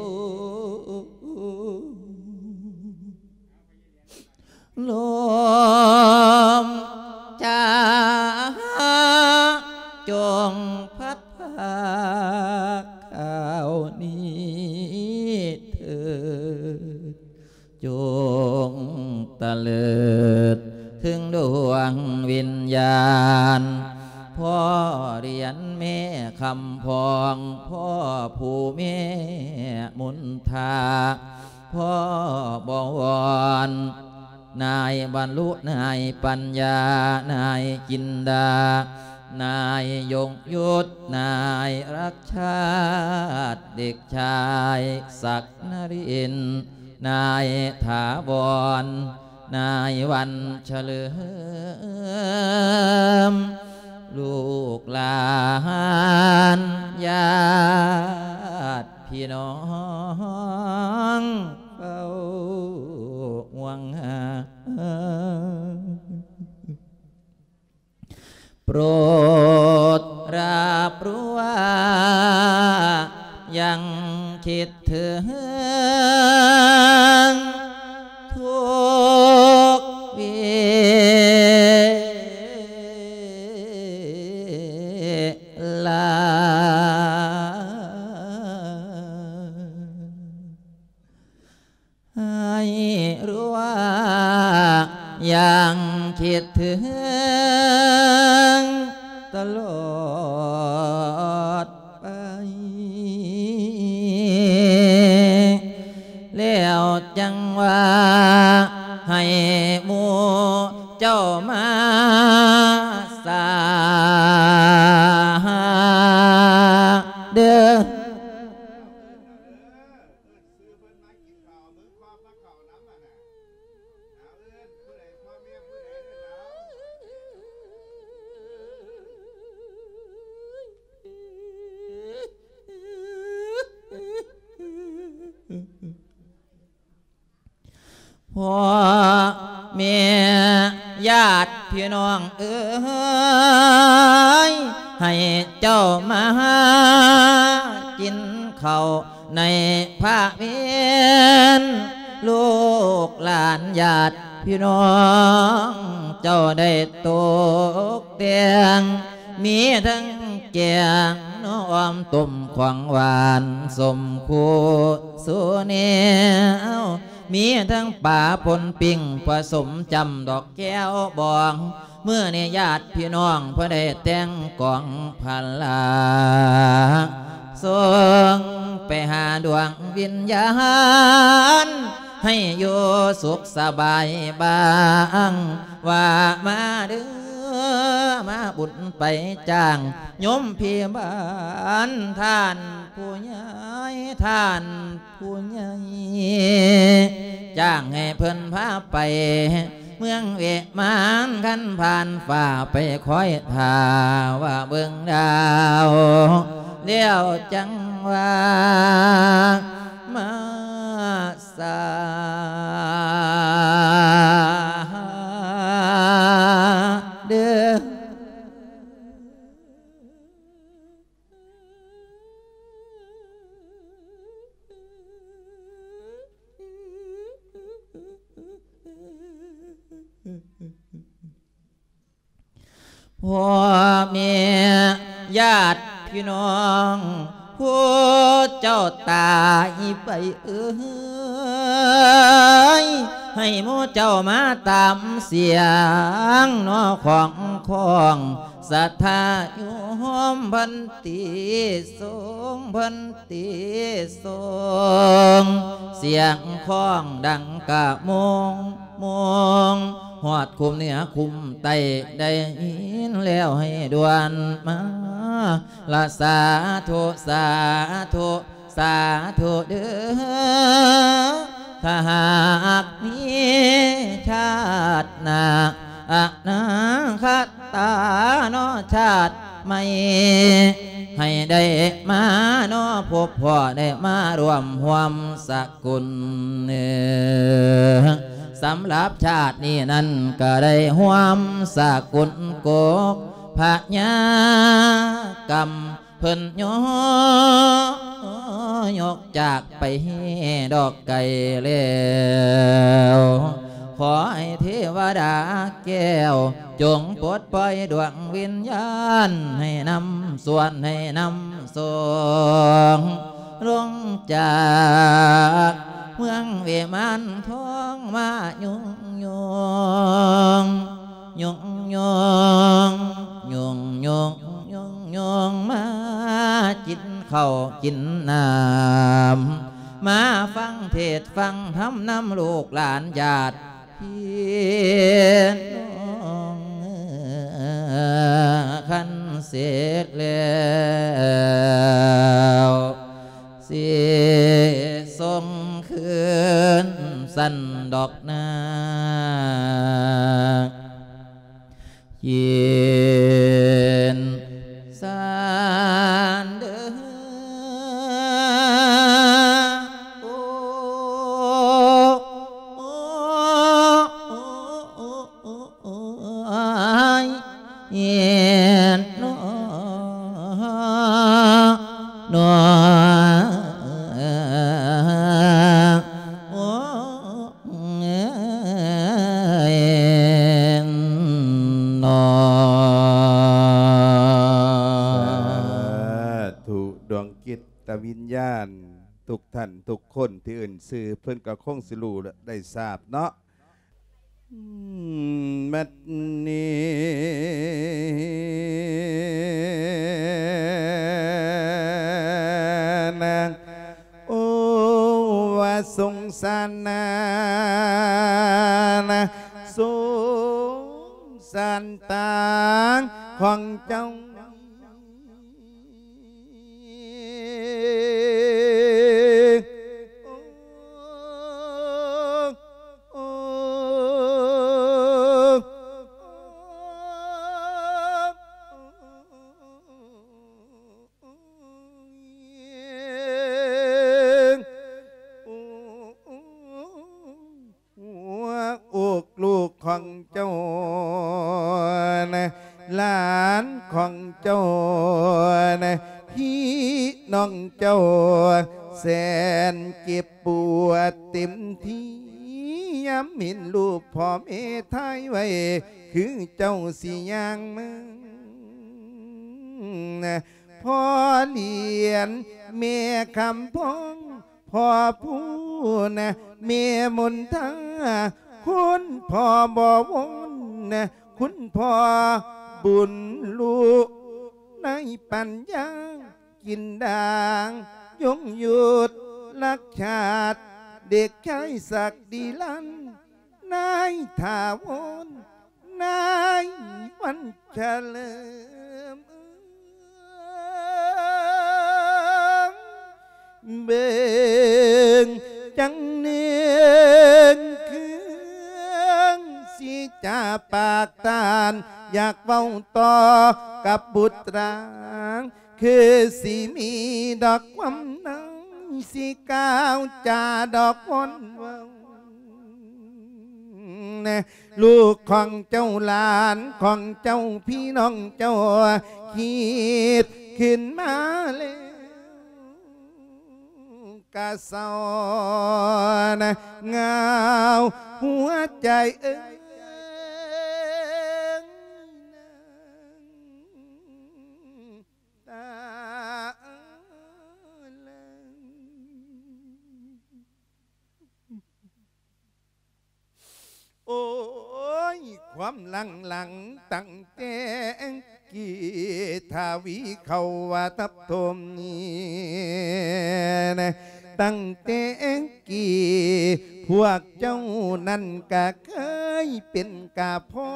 ລົມຈາ ຈົ່ງພັດພາກຂ່າວນີ້ເທີດ ຈົ່ງຕະເລີດເຖິງດວງວິນຍານ ພໍ່ຫຼຽນແມ່ຄຳພອງ ພໍ່ຜູ້ແມ່ມົນທາ ພໍ່ບໍວອນ ນາຍບັນລຸ ນາຍປັນຍາ ນາຍຈິນດາ ນາຍຍົງຍຸດ ນາຍລັກຊາດ ເດັກຊາຍສັກນະລິນ ນາຍຖາວອນ ນາຍວັນສະເຫຼີມ ລູກຫຼານຍາດ ພີ່ນ້ອງເຝົ້າຫ່ວງຫາ ໂປດຮັບຮູ້ວ່າ ຍັງຄິດເຖິງທຸກເວລາ. ໃຫ້ຮູ້ວ່າຍັງຄິດເຖິງຕະຫຼອດໄປ ແລ້ວຈັ່ງວ່າໃຫ້ໝູ່ເຈົ້າມາສາເດີ. ພໍ່ແມ່ຍາດພີ່ນ້ອງເອີຍ ໃຫ້ເຈົ້າມາຫາກິນເຂົ້າ ໃນພະເວັນ ລູກຫຼານຍາດພີ່ນ້ອງເຈົ້າໄດ້ຕົກແຕ່ງ ມີທັງແກງໜໍ່ອອມ ຕົ້ມຂອງຫວານ ສົ້ມຄູ່ສູ່ແນວ ມີທັງປາປົນປີ້ງ ປະສົມຈ້ຳດອກແກ້ວບອງ ມື້ນີ້ຍາດພີ່ນ້ອງເພິ່ນໄດ້ແຕ່ງກອງພະລາ ສົ່ງໄປຫາດວງວິນຍານ ໃຫ້ຢູ່ສຸກສະບາຍບາງ ວ່າມາເດີ ມາບຸນໄປຈ້າງ ໂຍມພີ່ບ້ານ ທ່ານຜູ້ໃຫຍ່ ທ່ານ ຜູ້ໃຫຍ່ຈ້າງໃຫ້ເພິ່ນພາໄປເມືອງວິມານ ຄັນຜ່ານຟ້າໄປຄອຍຖ້າວ່າເບິ່ງດາວ ແລ້ວຈັ່ງວ່າມາສາເດີ. ພໍ່ແມ່ຍາດພີ່ນ້ອງ ຜູ້ເຈົ້າຕາຍໄປເອີຍ ໃຫ້ໝູ່ເຈົ້າມາຕາມສຽງໜໍ່ຂອງຂອງ ສັດທາໂຍມ ພັນຕິສົງ ພັນຕິສົງ ສຽງຄ້ອງດັງກະໂມງໂມງ ຮອດຄຸ້ມເໜືອຄຸ້ມໃຕ້ ໄດ້ຍິນແລ້ວໃຫ້ດ່ວນມາລະ ສາທຸ ສາທຸ ສາທຸເດີ້ ຖ້າຫາກມີຊາດໜ້າ ອະນາຄະຕາເນາະ ຊາດໃໝ່ ໃຫ້ໄດ້ມາເນາະ ພົບພໍ້ໄດ້ມາຮ່ວມຮ່ວມສະກຸນ ສຳລັບຊາດນີ້ນັ້ນ ກໍໄດ້ຮ່ວມສະກຸນກົກພະຍາກຳ ເພິ່ນໂຍ ຍົກຈາກໄປແຮດອກໄກແລ້ວ ຂໍໃຫ້ເທວະດາແກ້ວ ຈົ່ງປົດປ່ອຍດວງວິນຍານ ໃຫ້ນຳສ່ວນ ໃຫ້ນຳສົ່ງ ລົງຈາກເມືອງວິມານທອງ ມາຍຸງຍົງ ຍຸງຍົງ ຍຸງຍົງ ຍຸງຍົງ ມາກິນເຂົ້າກິນນ້ຳ ມາຟັງເທດຟັງທຳນຳລູກຫຼານຍາດພີ່ນ້ອງ ຄັນເສັດແລ້ວ ຊິສົ່ງຄືນຊັ້ນດອກນາ ເຢັນຊານເດີ ໂອ້ ໂອ້ ໂອ້ ໂອ້ ໂອ້ຍ ເຮັດເນາະ ເນາະ ໂອ້ ເອີຍ ເນາະ ສາທຸ ດວງຈິດຕະວິນຍານ ທຸກທ່ານທຸກຄົນທີ່ເອີ້ນຊື່ ເພິ່ນກໍຄົງຊິຮູ້ ແລະ ໄດ້ຊາບເນາະ. ອືມ ບັດນີ້ນະ ໂອ້ ວ່າສົງສານນາ ສົງສານຕາຂອງເຈົ້າ. ຫົວອົກລູກຂອງເຈົ້ານະ ຫຼານຂອງເຈົ້ານະ ພີ່ນ້ອງເຈົ້າແສນເຈັບປວດເຕັມທີ່ ຍາມເຫັນຮູບພໍ່ແມ່ຖ່າຍໄວ້ ຄືເຈົ້າຊິຍ່າງມາ ພໍ່ຫຼຽນ ແມ່ຄຳພອງ ພໍ່ພູນະ ແມ່ມົນທາ ຄຸນພໍ່ບໍວົນນະ ຄຸນພໍ່ບຸນລຸ ນາຍປັນຍາ ກິນດາງ ຍົງຍຸດ ລັກຊາດ ເດັກຊາຍສັກດີລັນ ນາຍຖາວົນ ນາຍວັນສະເຫຼີມ ເບິ່ງຈັ່ງເໜືອງເຄືອງ ຊິຈາປາກຕານ ຢາກເວົ້າຕໍ່ກັບບຸດຕາ ຄືຊິມີດອກຄວາມໃນ ຊິກ່າວຈາດອກວອນເວົ້າ ແນ່ ລູກຂອງເຈົ້າ ຫຼານຂອງເຈົ້າ ພີ່ນ້ອງເຈົ້າ ຄິດຂຶ້ນມາແລ້ວກະເສົ້ານະ ຫງາວຫົວໃຈເອີຍ ຕາເອີຍ ໂອ້ຍ ຄວາມຫຼັງໆ ຕັ້ງແຕ່ ກີທະວີເຂົ້າວ່າທັບຖົມນີ້ນະ ຕັ້ງແຕ່ກີ້ພວກເຈົ້ານັ້ນກະເຄີຍເປັນກະພໍ່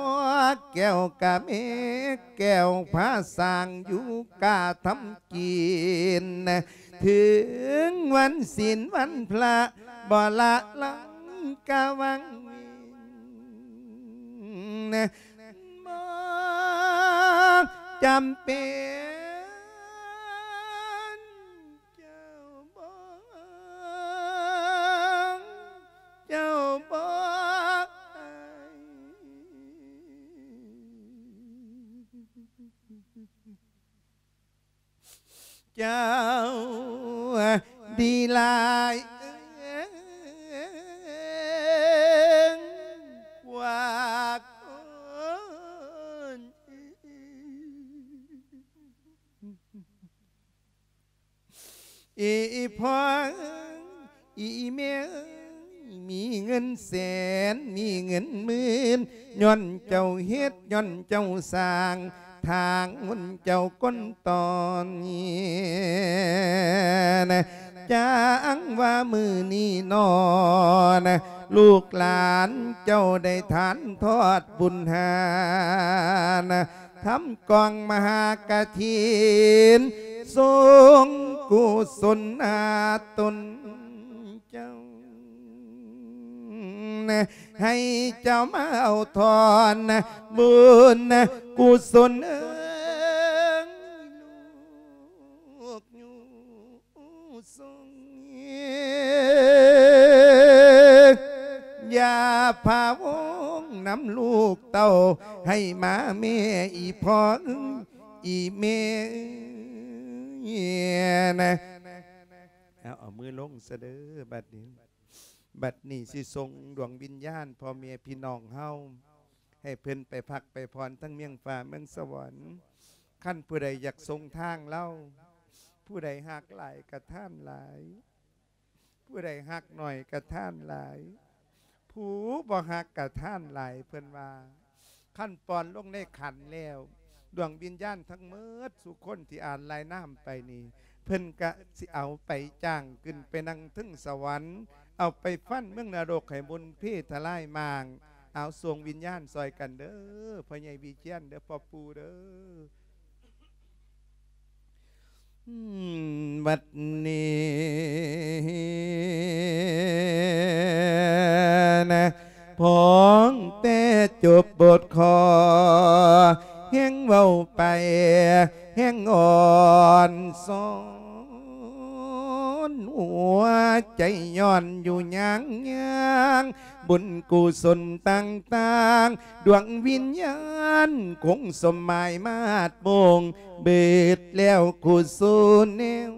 ແກ້ວກະແມ່ແກ້ວພາສ້າງຢູ່ກະທຳກິນ ເຖິງວັນສິນວັນພະບໍ່ລະລັງກະວັງເວງ ບໍ່ຈຳເປັນ ເຈົ້າບໍ່ ເຈົ້າບໍ່ ເຈົ້າດີຫຼາຍກວ່າຄົນ ອີ່ພໍ່ເອີຍ ອີ່ແມ່ເອີຍ ມີເງິນແສນ ມີເງິນໝື່ນ ຍ້ອນເຈົ້າເຮັດ ຍ້ອນເຈົ້າສ້າງ ທາງບຸນເຈົ້າກົ້ນຕອນນີ້ນະ ຈັ່ງວ່າມື້ນີ້ນໍນະ ລູກຫຼານເຈົ້າໄດ້ທານທອດບຸນຫານະ ທຳກອງມະຫາກະຖິນ ສົ່ງກຸສົນຫາຕົນເຈົ້າ ໃຫ້ເຈົ້າມາເອົາທອນບຸນກຸສົນເອີຍ ລູກຢູ່ ຊົງ ຢ່າພະວົງນຳລູກເຕົ້າ ໃຫ້ມາແມ່ອີ່ພໍ່ເອີຍ ອີ່ແມ່ເອີຍນະ ເອົາ ເອົາມືລົງຊະເດີ ບັດນີ້ ບັດນີ້ຊິສົ່ງດວງວິນຍານພໍ່ແມ່ພີ່ນ້ອງເຮົາ ໃຫ້ເພິ່ນໄປພັກໄປຜ່ອນທັງເມືອງຟ້າເມືອງສະຫວັນ. ຄັນຜູ້ໃດຢາກສົ່ງທາງລາວ ຜູ້ໃດຮັກຫຼາຍກະທານຫຼາຍ ຜູ້ໃດຮັກໜ້ອຍກະທານຫຼາຍ ຜູ້ບໍ່ຮັກກະທານຫຼາຍ ເພິ່ນວ່າ. ຄັນປ່ອນລົງໃນຂັນແລ້ວ ດວງວິນຍານທັງໝົດສູ່ຄົນທີ່ອ່ານລາຍນາມໄປນີ້ ເພິ່ນກະຊິເອົາໄປຈ້າງຂຶ້ນໄປນັ່ງເທິງສະຫວັນ ເອົາໄປຟັນເມືອງນະລົກໃຫ້ບຸນເພທະລາຍມ້າງ. ເອົາ ສົ່ງວິນຍານຊ່ອຍກັນເດີ ພໍ່ໃຫຍ່ວິຈຽນເດີ ພໍ່ປູ່ເດີ. ອືມ ບັດນີ້ນະ ພ້ອມແຕ່ຈົບບົດຂໍ ແຮ່ງເວົ້າໄປ ແຮ່ງອ່ອນຊອນຫົວໃຈ ຍ້ອນຢູ່ຍາງຍາງ ບຸນກຸສົນຕ່າງໆ ດວງວິນຍານຄົງສົມໝາຍມາດມົງ ເບີດແລ້ວກຸສົນແນວ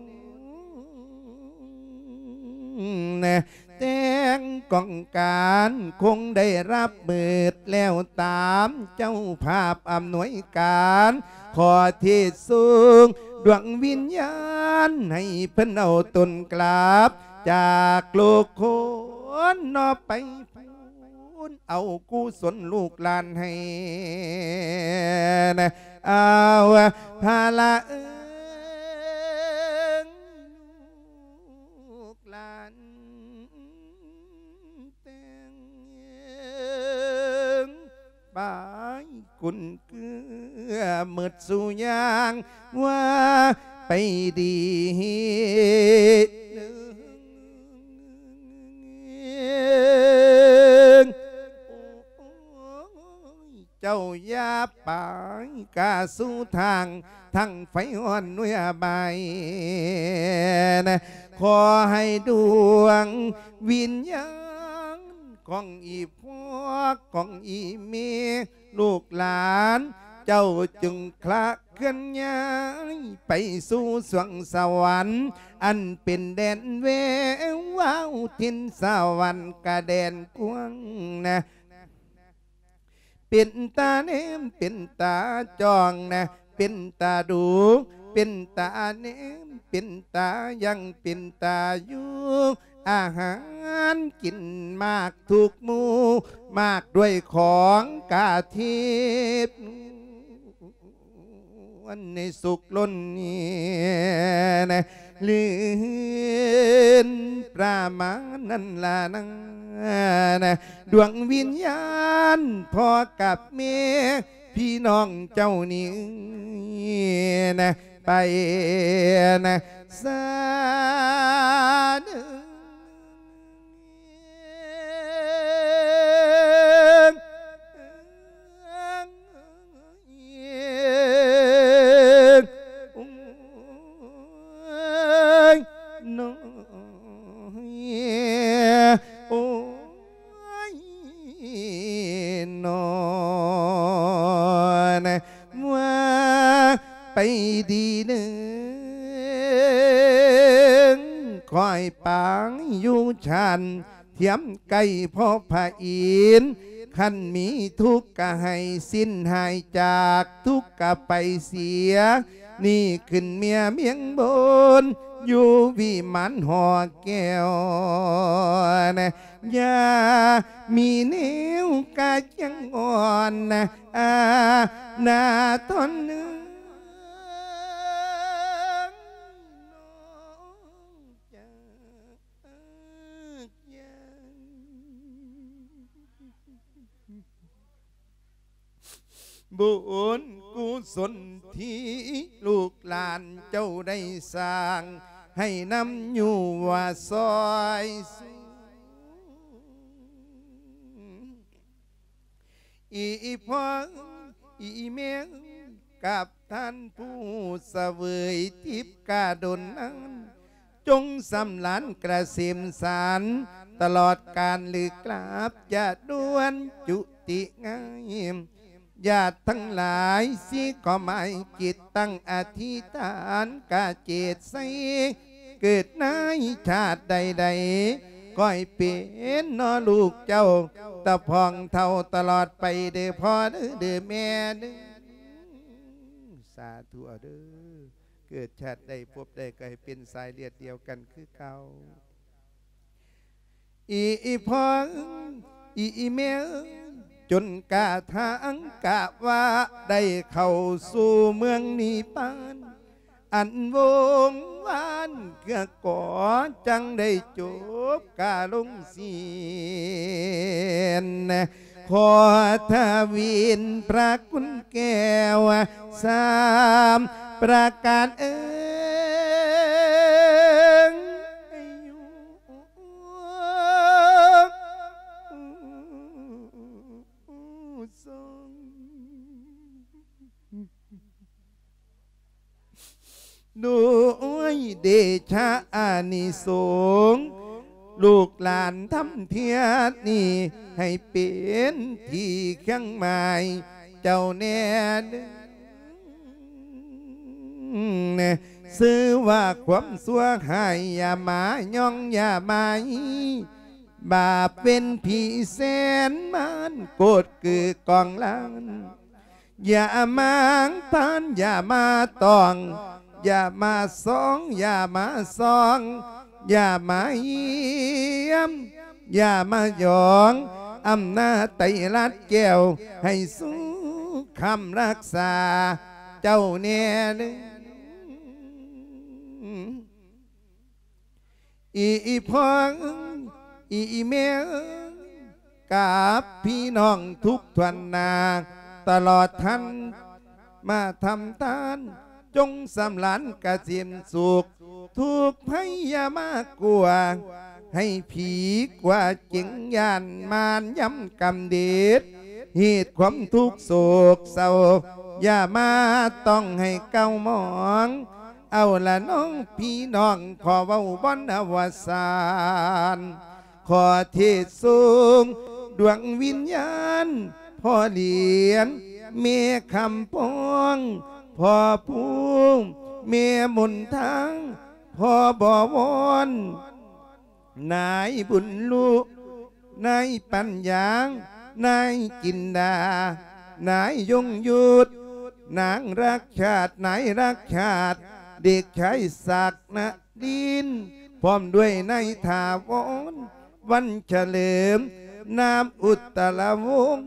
ແຕ່ງກອງການ ຄົງໄດ້ຮັບເບີດແລ້ວຕາມເຈົ້າພາບອຳນວຍການ ຂໍເທດສົ່ງດວງວິນຍານ ໃຫ້ເພິ່ນເອົາຕົນກລັບຈາກໂລກຄົນເນາະ ໄປ ເອົາກຸສົນລູກຫຼານໃຫ້ນະ ເອົາພະລະເອີຍ ລູກຫຼານແຕ່ງ ບາຍກຸນເກືອໝົດສູ່ຢ່າງວ່າໄປດີ. ເຈົ້າຢ່າໄປກະສູ່ທາງ ທັງໄຟອ່ອນເວຍບາຍນະ ຂໍໃຫ້ດວງວິນຍານຂອງອີ່ພໍ່ ຂອງອີ່ແມ່ ລູກຫຼານເຈົ້າຈົ່ງຄລະເຄື່ອນຍ້າຍໄປສູ່ສວງສະຫວັນ ອັນເປັນແດນແວວວາວ ຖິ່ນສະຫວັນກະແດນກວ້າງນະ ເປັນຕາແນມ ເປັນຕາຈ້ອງນະ ເປັນຕາດູ ເປັນຕາແນມ ເປັນຕາຍັງ ເປັນຕາຢູ່ ອາຫານກິນມາກທຸກມື້ ມາກດ້ວຍຂອງກະທິບ ນໃນສຸກລົ້ນນີ້ນະ ລື່ນປຣາມານນັ້ນລະນະ ດວງວິນຍານພໍ່ກັບແມ່ ພີ່ນ້ອງເຈົ້ານີ້ນະ ໄປນະ ສາເດີ. ໂອ້ຍ ໂອ້ຍ ນອນ ວ່າໄປດີເນີ ຂ້ອຍປາງຢູ່ຊານ ທຽມໃກ້ພໍ່ພະອິນ ຄັນມີທຸກກະໃຫ້ສິ້ນຫາຍຈາກທຸກກະໄປເສຍ ນີ້ຂຶ້ນເມຍມຽງບົນ ຢູ່ວິມານຫໍແກ້ວນະ ຢ່າມີແນວກະຈັງອ່ອນນະ ອານາຕອນເອີຍ ນ້ອງຈາກ ຍັງບຸນກຸສົນທີ່ລູກຫຼານເຈົ້າໄດ້ສ້າງ ໃຫ້ນຳຢູ່ວ່າຊອຍສູງ ອີ່ພໍ່ ອີ່ແມ່ ກັບທ່ານຜູ້ສະເຫວີຍທິບກາດົນນັ້ນ ຈົ່ງສຳລານກະເສມສານ ຕະຫຼອດການຫຼືກາບ ຢ່າດ່ວນຈຸຕິງ່າຍ ຍາດທັງຫຼາຍ ສີຂໍໝາຍຈິດຕັ້ງອະທິຖານ ກະເຈດໃສ ເກີດໃນຊາດໃດໆ ຂ້ອຍເປັນເນາະລູກເຈົ້າ ຕາພອງເຖົ້າຕະຫຼອດໄປເດີພໍ່ເດີ ເດີແມ່ເດີ ສາທຸເອົາເດີ ເກີດຊາດໃດພົບໃດ ກໍໃຫ້ເປັນສາຍເລືອດດຽວກັນຄືເກົ່າ ອີ່ພໍ່ ອີ່ແມ່ ຈົນກະທັງກະວ່າໄດ້ເຂົ້າສູ່ເມືອງນິບພານ ອັນວົງວານເກືອກໍຈັ່ງໄດ້ຈົບກາລົງສິ້ນ ຂໍທະວິນພະຄຸນແກ້ວສາມປະການເອີຍ ດ້ວຍເດຊະອານິສົງ ລູກຫຼານທຳເທື່ອນີ້ ໃຫ້ເປັນທີ່ຄຽງໝາຍເຈົ້າແນ່ເດີ ຊື່ວ່າຄວາມຊົ່ວຮ້າຍ ຢ່າມາຍ້ອງ ຢ່າມາ ບາບເວນຜີແສນມານ ໂກດກືກອງລ້ານ ຢ່າມາພານ ຢ່າມາຕ້ອງ ຢ່າມາຊອງ ຢ່າມາຊອງ ຢ່າມາຢ້ຽມ ຢ່າມາຢອງ ອຳນາດໄຕລັດແກ້ວ ໃຫ້ສຸກຄຳລັກສາເຈົ້າແນ່ເດີ. ອີ່ພໍ່ ອີ່ແມ່ ກັບພີ່ນ້ອງທຸກຖ້ວນໜ້າ ຕະຫຼອດທ່ານມາທຳທານ ຈົ່ງສຳລານກະສິມສຸກ ທຸກໄພຢ່າມາກົວ ໃຫ້ຜີກົວເຈັງຢ້ານ ມານຢຳກຳເດດ ເຫດຄວາມທຸກໂສກເສົ້າ ຢ່າມາຕ້ອງໃຫ້ເກົ້າໝອງ ເອົາລະນ້ອງພີ່ນ້ອງ ຂໍເວົ້າບ່ອນອະວະສານ ຂໍເທດສົ່ງດວງວິນຍານ ພໍ່ຫຼຽນ ແມ່ຄຳປອງ ພໍ່ພູມ ແມ່ມົນທາງ ພໍ່ບໍວອນ ນາຍບຸນລຸ ນາຍປັນຍາ ນາຍຈິນດາ ນາຍຍົງຍຸດ ນາງລັກຊາດ ນາຍລັກຊາດ ເດັກຊາຍສັກນະລິນ ພ້ອມດ້ວຍນາຍຖາວອນ ວັນສະເຫຼີມ ນາມອຸດຕະລະວົງ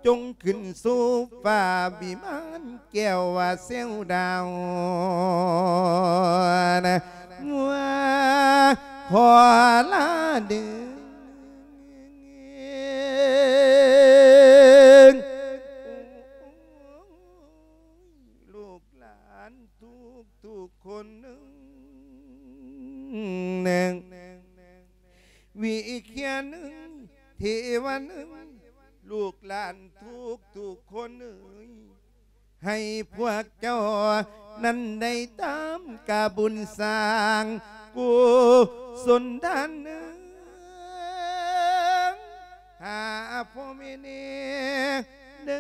ຈົ່ງຂຶ້ນສູ່ຟ້າວິມານແກ້ວວ່າແຊວດາວນະ ວ່າຂໍລາເດີ ລູກຫຼານທຸກໆຄົນເອີຍ ວິເຄຍນເອີຍ ເທວະເອີຍ ລູກຫຼານທຸກໆຄົນເອີຍ ໃຫ້ພວກເຈົ້ານັ້ນໄດ້ຕາມກະບຸນສ້າງກຸສົນທານເອີຍ ຫາພໍ່ແມ່ແນ່ເດີ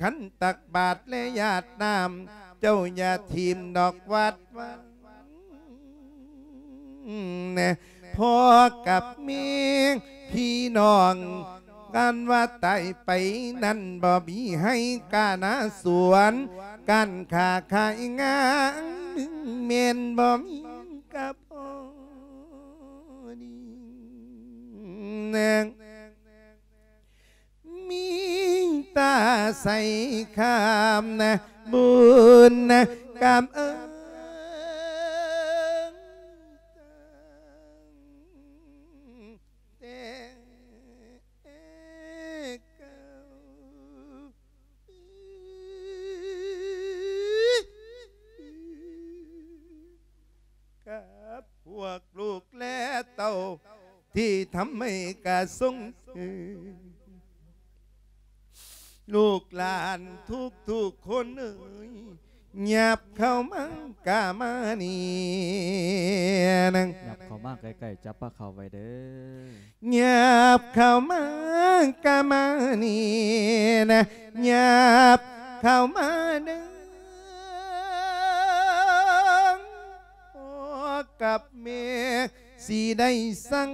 ຄັນຕັກບາດແລະຢາດນ້ຳ ເຈົ້າຢ່າຖິ້ມດອກວັດວາ ພໍ່ກັບແມ່ພີ່ນ້ອງ ການວ່າຕາຍໄປນັ້ນ ບໍ່ມີໄຮ່ການາສວນ ການຄ້າຂາຍງານ ແມ່ນບໍ່ມີກະພໍດີ ມີແຕ່ໃສ່ຄຳນະ ບຸນນະກຳເອີງ ແຕ່ເກົ່າ ກັບພວກລູກແລະເຕົ້າ ທີ່ທຳໃຫ້ກະຊົງເອີຍ ລູກຫຼານທຸກໆຄົນເອີຍ ຫຍັບເຂົ້າມາກະມານີ້ນະ ຫຍັບເຂົ້າມາໃກ້ໆ ຈັບປາເຂົ້າໄວ້ເດີ ຫຍັບເຂົ້າມາກະມານີ້ນະ ຫຍັບເຂົ້າມາເດີ ພໍ່ກັບແມ່ຊິໄດ້ສັ່ງ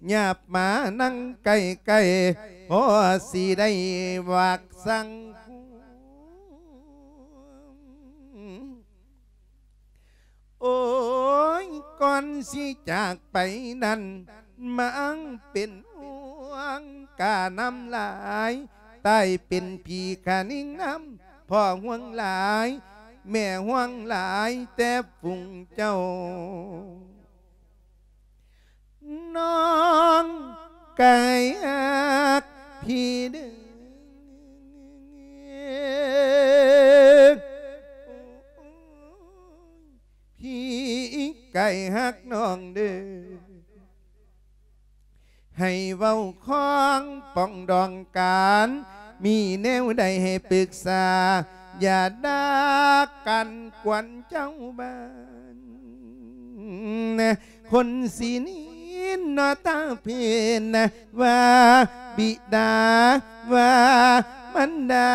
ຫຍັບມານັ່ງໃກ້ໆ ພໍ່ຊິໄດ້ວາກສັ່ງ ໂອ້ຍ ກ່ອນຊິຈາກໄປນັ້ນ ມາເປັນຫ່ວງກະນຳຫຼາຍ ຕາຍເປັນຜີກະຍິງນຳ ພໍ່ຫ່ວງຫຼາຍ ແມ່ຫ່ວງຫຼາຍ ແຕ່ຝູງເຈົ້າ ນ້ອງໄກ່ຮັກພີ່ເດີ ພີ່ໄກ່ຮັກນ້ອງເດີ ໃຫ້ເວົ້າຂອງປອງດອງກັນ ມີແນວໃດໃຫ້ປຶກສາ ຢ່າດ່າກັນກວນເຈົ້າບ້ານ ຄົນຊິນິນນະຕາເພິ່ນນະ ວ່າບິດາ ວ່າມັນດາ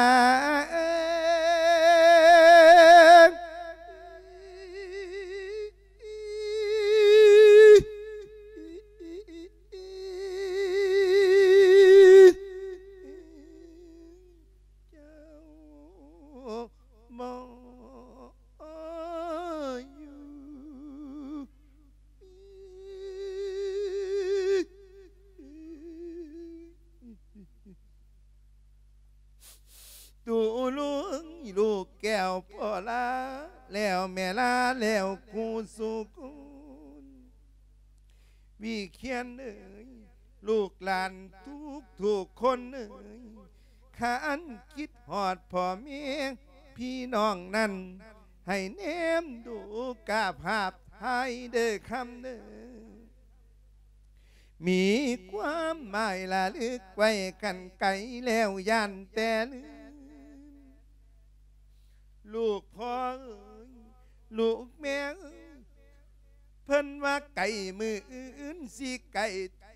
ເຈົ້າ ບໍ່ຢູ່ ຕູລຸງລູກແກ້ວ ພໍ່ລາແລ້ວແມ່ລາແລ້ວຄູ່ສູ່ຄົນ ວິຂຽນເອີຍ ລູກຫຼານທຸກໆຄົນເອີຍ ຄັນຄິດຮອດພໍ່ແມ່ພີ່ນ້ອງນັ້ນ ໃຫ້ແນມດູກາບຫາບຖ່າຍເດີຄຳເດີ ມີຄວາມໝາຍລະລຶກໄວ້ກັນໄກແລ້ວ ຢ້ານແຕ່ລືມ ລູກພໍ່ເອີຍ ລູກແມ່ເອີຍ ເພິ່ນວ່າໄກມື້ອື່ນຊິໄກ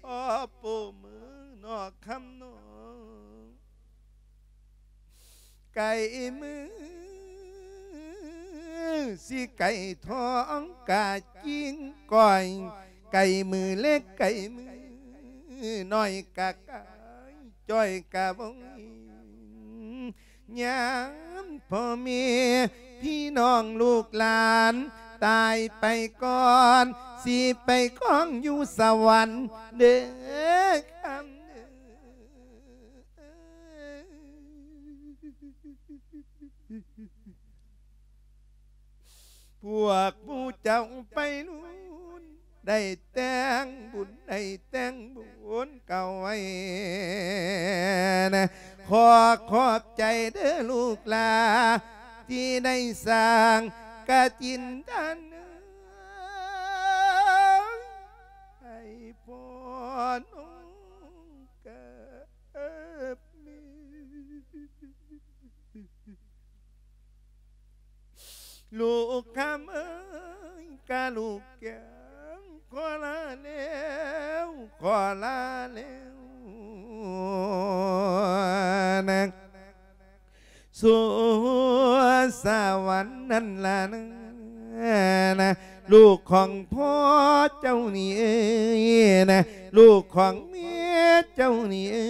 ທໍ່ໂປມື້ນອກຄຳນອງ ໄກມື້ຊິໄກທອງກະຈິງກ້ອຍ ໄກມື້ເລັກໄກມື້ນ້ອຍກະກາຍຈ້ອຍກະວົງ ຍາມພໍ່ແມ່ພີ່ນ້ອງລູກຫຼານຕາຍໄປກ່ອນ ຊິໄປຄອງຢູ່ສະຫວັນເດີຄຳເດີ. ພວກໝູ່ເຈົ້າໄປລຸນ ໄດ້ແຕ່ງບຸນ ໄດ້ແຕ່ງບຸນເກົ່າໄວ້ນະ ຂໍຂອບໃຈເດີລູກຫຼາ ທີ່ໄດ້ສ້າງກະຈິນທະນາ ໃຫ້ພໍ່ນ້ອງກັບແມ່ ລູກຄຳເອີຍ ກະລູກແກ້ວ ຂໍລາແລ້ວ ຂໍລາແລ້ວນະ ສູ່ສະຫວັນນັ້ນລະນະ ລູກຂອງພໍ່ເຈົ້ານີ້ເອີຍນະ ລູກຂອງແມ່ເຈົ້ານີ້ເອີ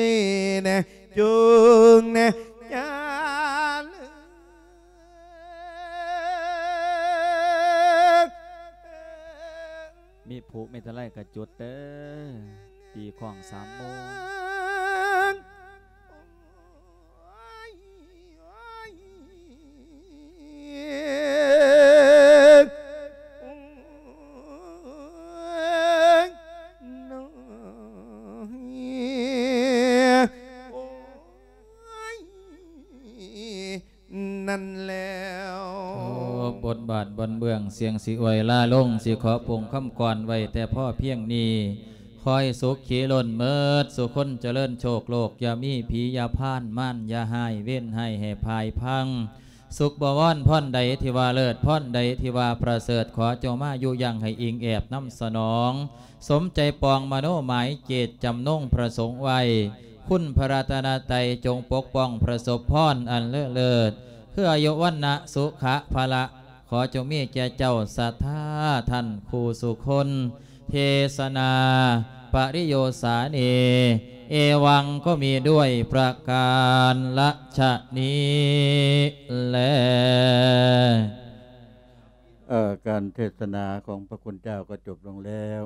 ຍນະ ຈົ່ງນະ ຢ່າເລີກ ມີຜຸມີຕະໄລກະຈຸດເດີ ຕີຂ້ອງສາມໂມງ ນັ້ນແລ້ວ ໂອ້ ບົດບາດບ່ອນເບື້ອງ ສຽງຊິອວຍລາລົງ ຊິຂໍປົງຄຳກອນໄວ້ແຕ່ພໍພຽງນີ້ ຂໍໃຫ້ສຸຂີລົ້ນເໝິດ ສຸຄົນຈະເລີນໂຊກໂລກ ຢ່າມີຜີຢ່າພານ ມານຢ່າຮ້າຍ ເວນຮ້າຍໃຫ້ພາຍພັງ ສຸກບໍວອນ ພອນໃດທີ່ວ່າເລີດ ພອນໃດທີ່ວ່າປະເສີດ ຂໍຈົ່ງມາຢູ່ຢັ້ງໃຫ້ອີງແອບນຳສະໜອງ ສົມໃຈປອງມະໂນໝາຍເຈດຈຳນົງປະສົງໄວ້ ຄຸນພະລັດຕະນະໄຕຈົ່ງປົກປ້ອງປະສົບພອນອັນເລີດເລີດ ຄືອາຍຸວັນນະສຸຂະພະລະ ຂໍຈົ່ງມີແກ່ເຈົ້າສັດທາທ່ານຄູ່ສູ່ຄົນ ເທສະນາປະລິໂຍສານີ ເອວັງກໍມີດ້ວຍປະການລະຊະນີ້ແລ. ເອີ ການເທສະນາຂອງພະຄຸນເຈົ້າກໍຈົບລົງແລ້ວ.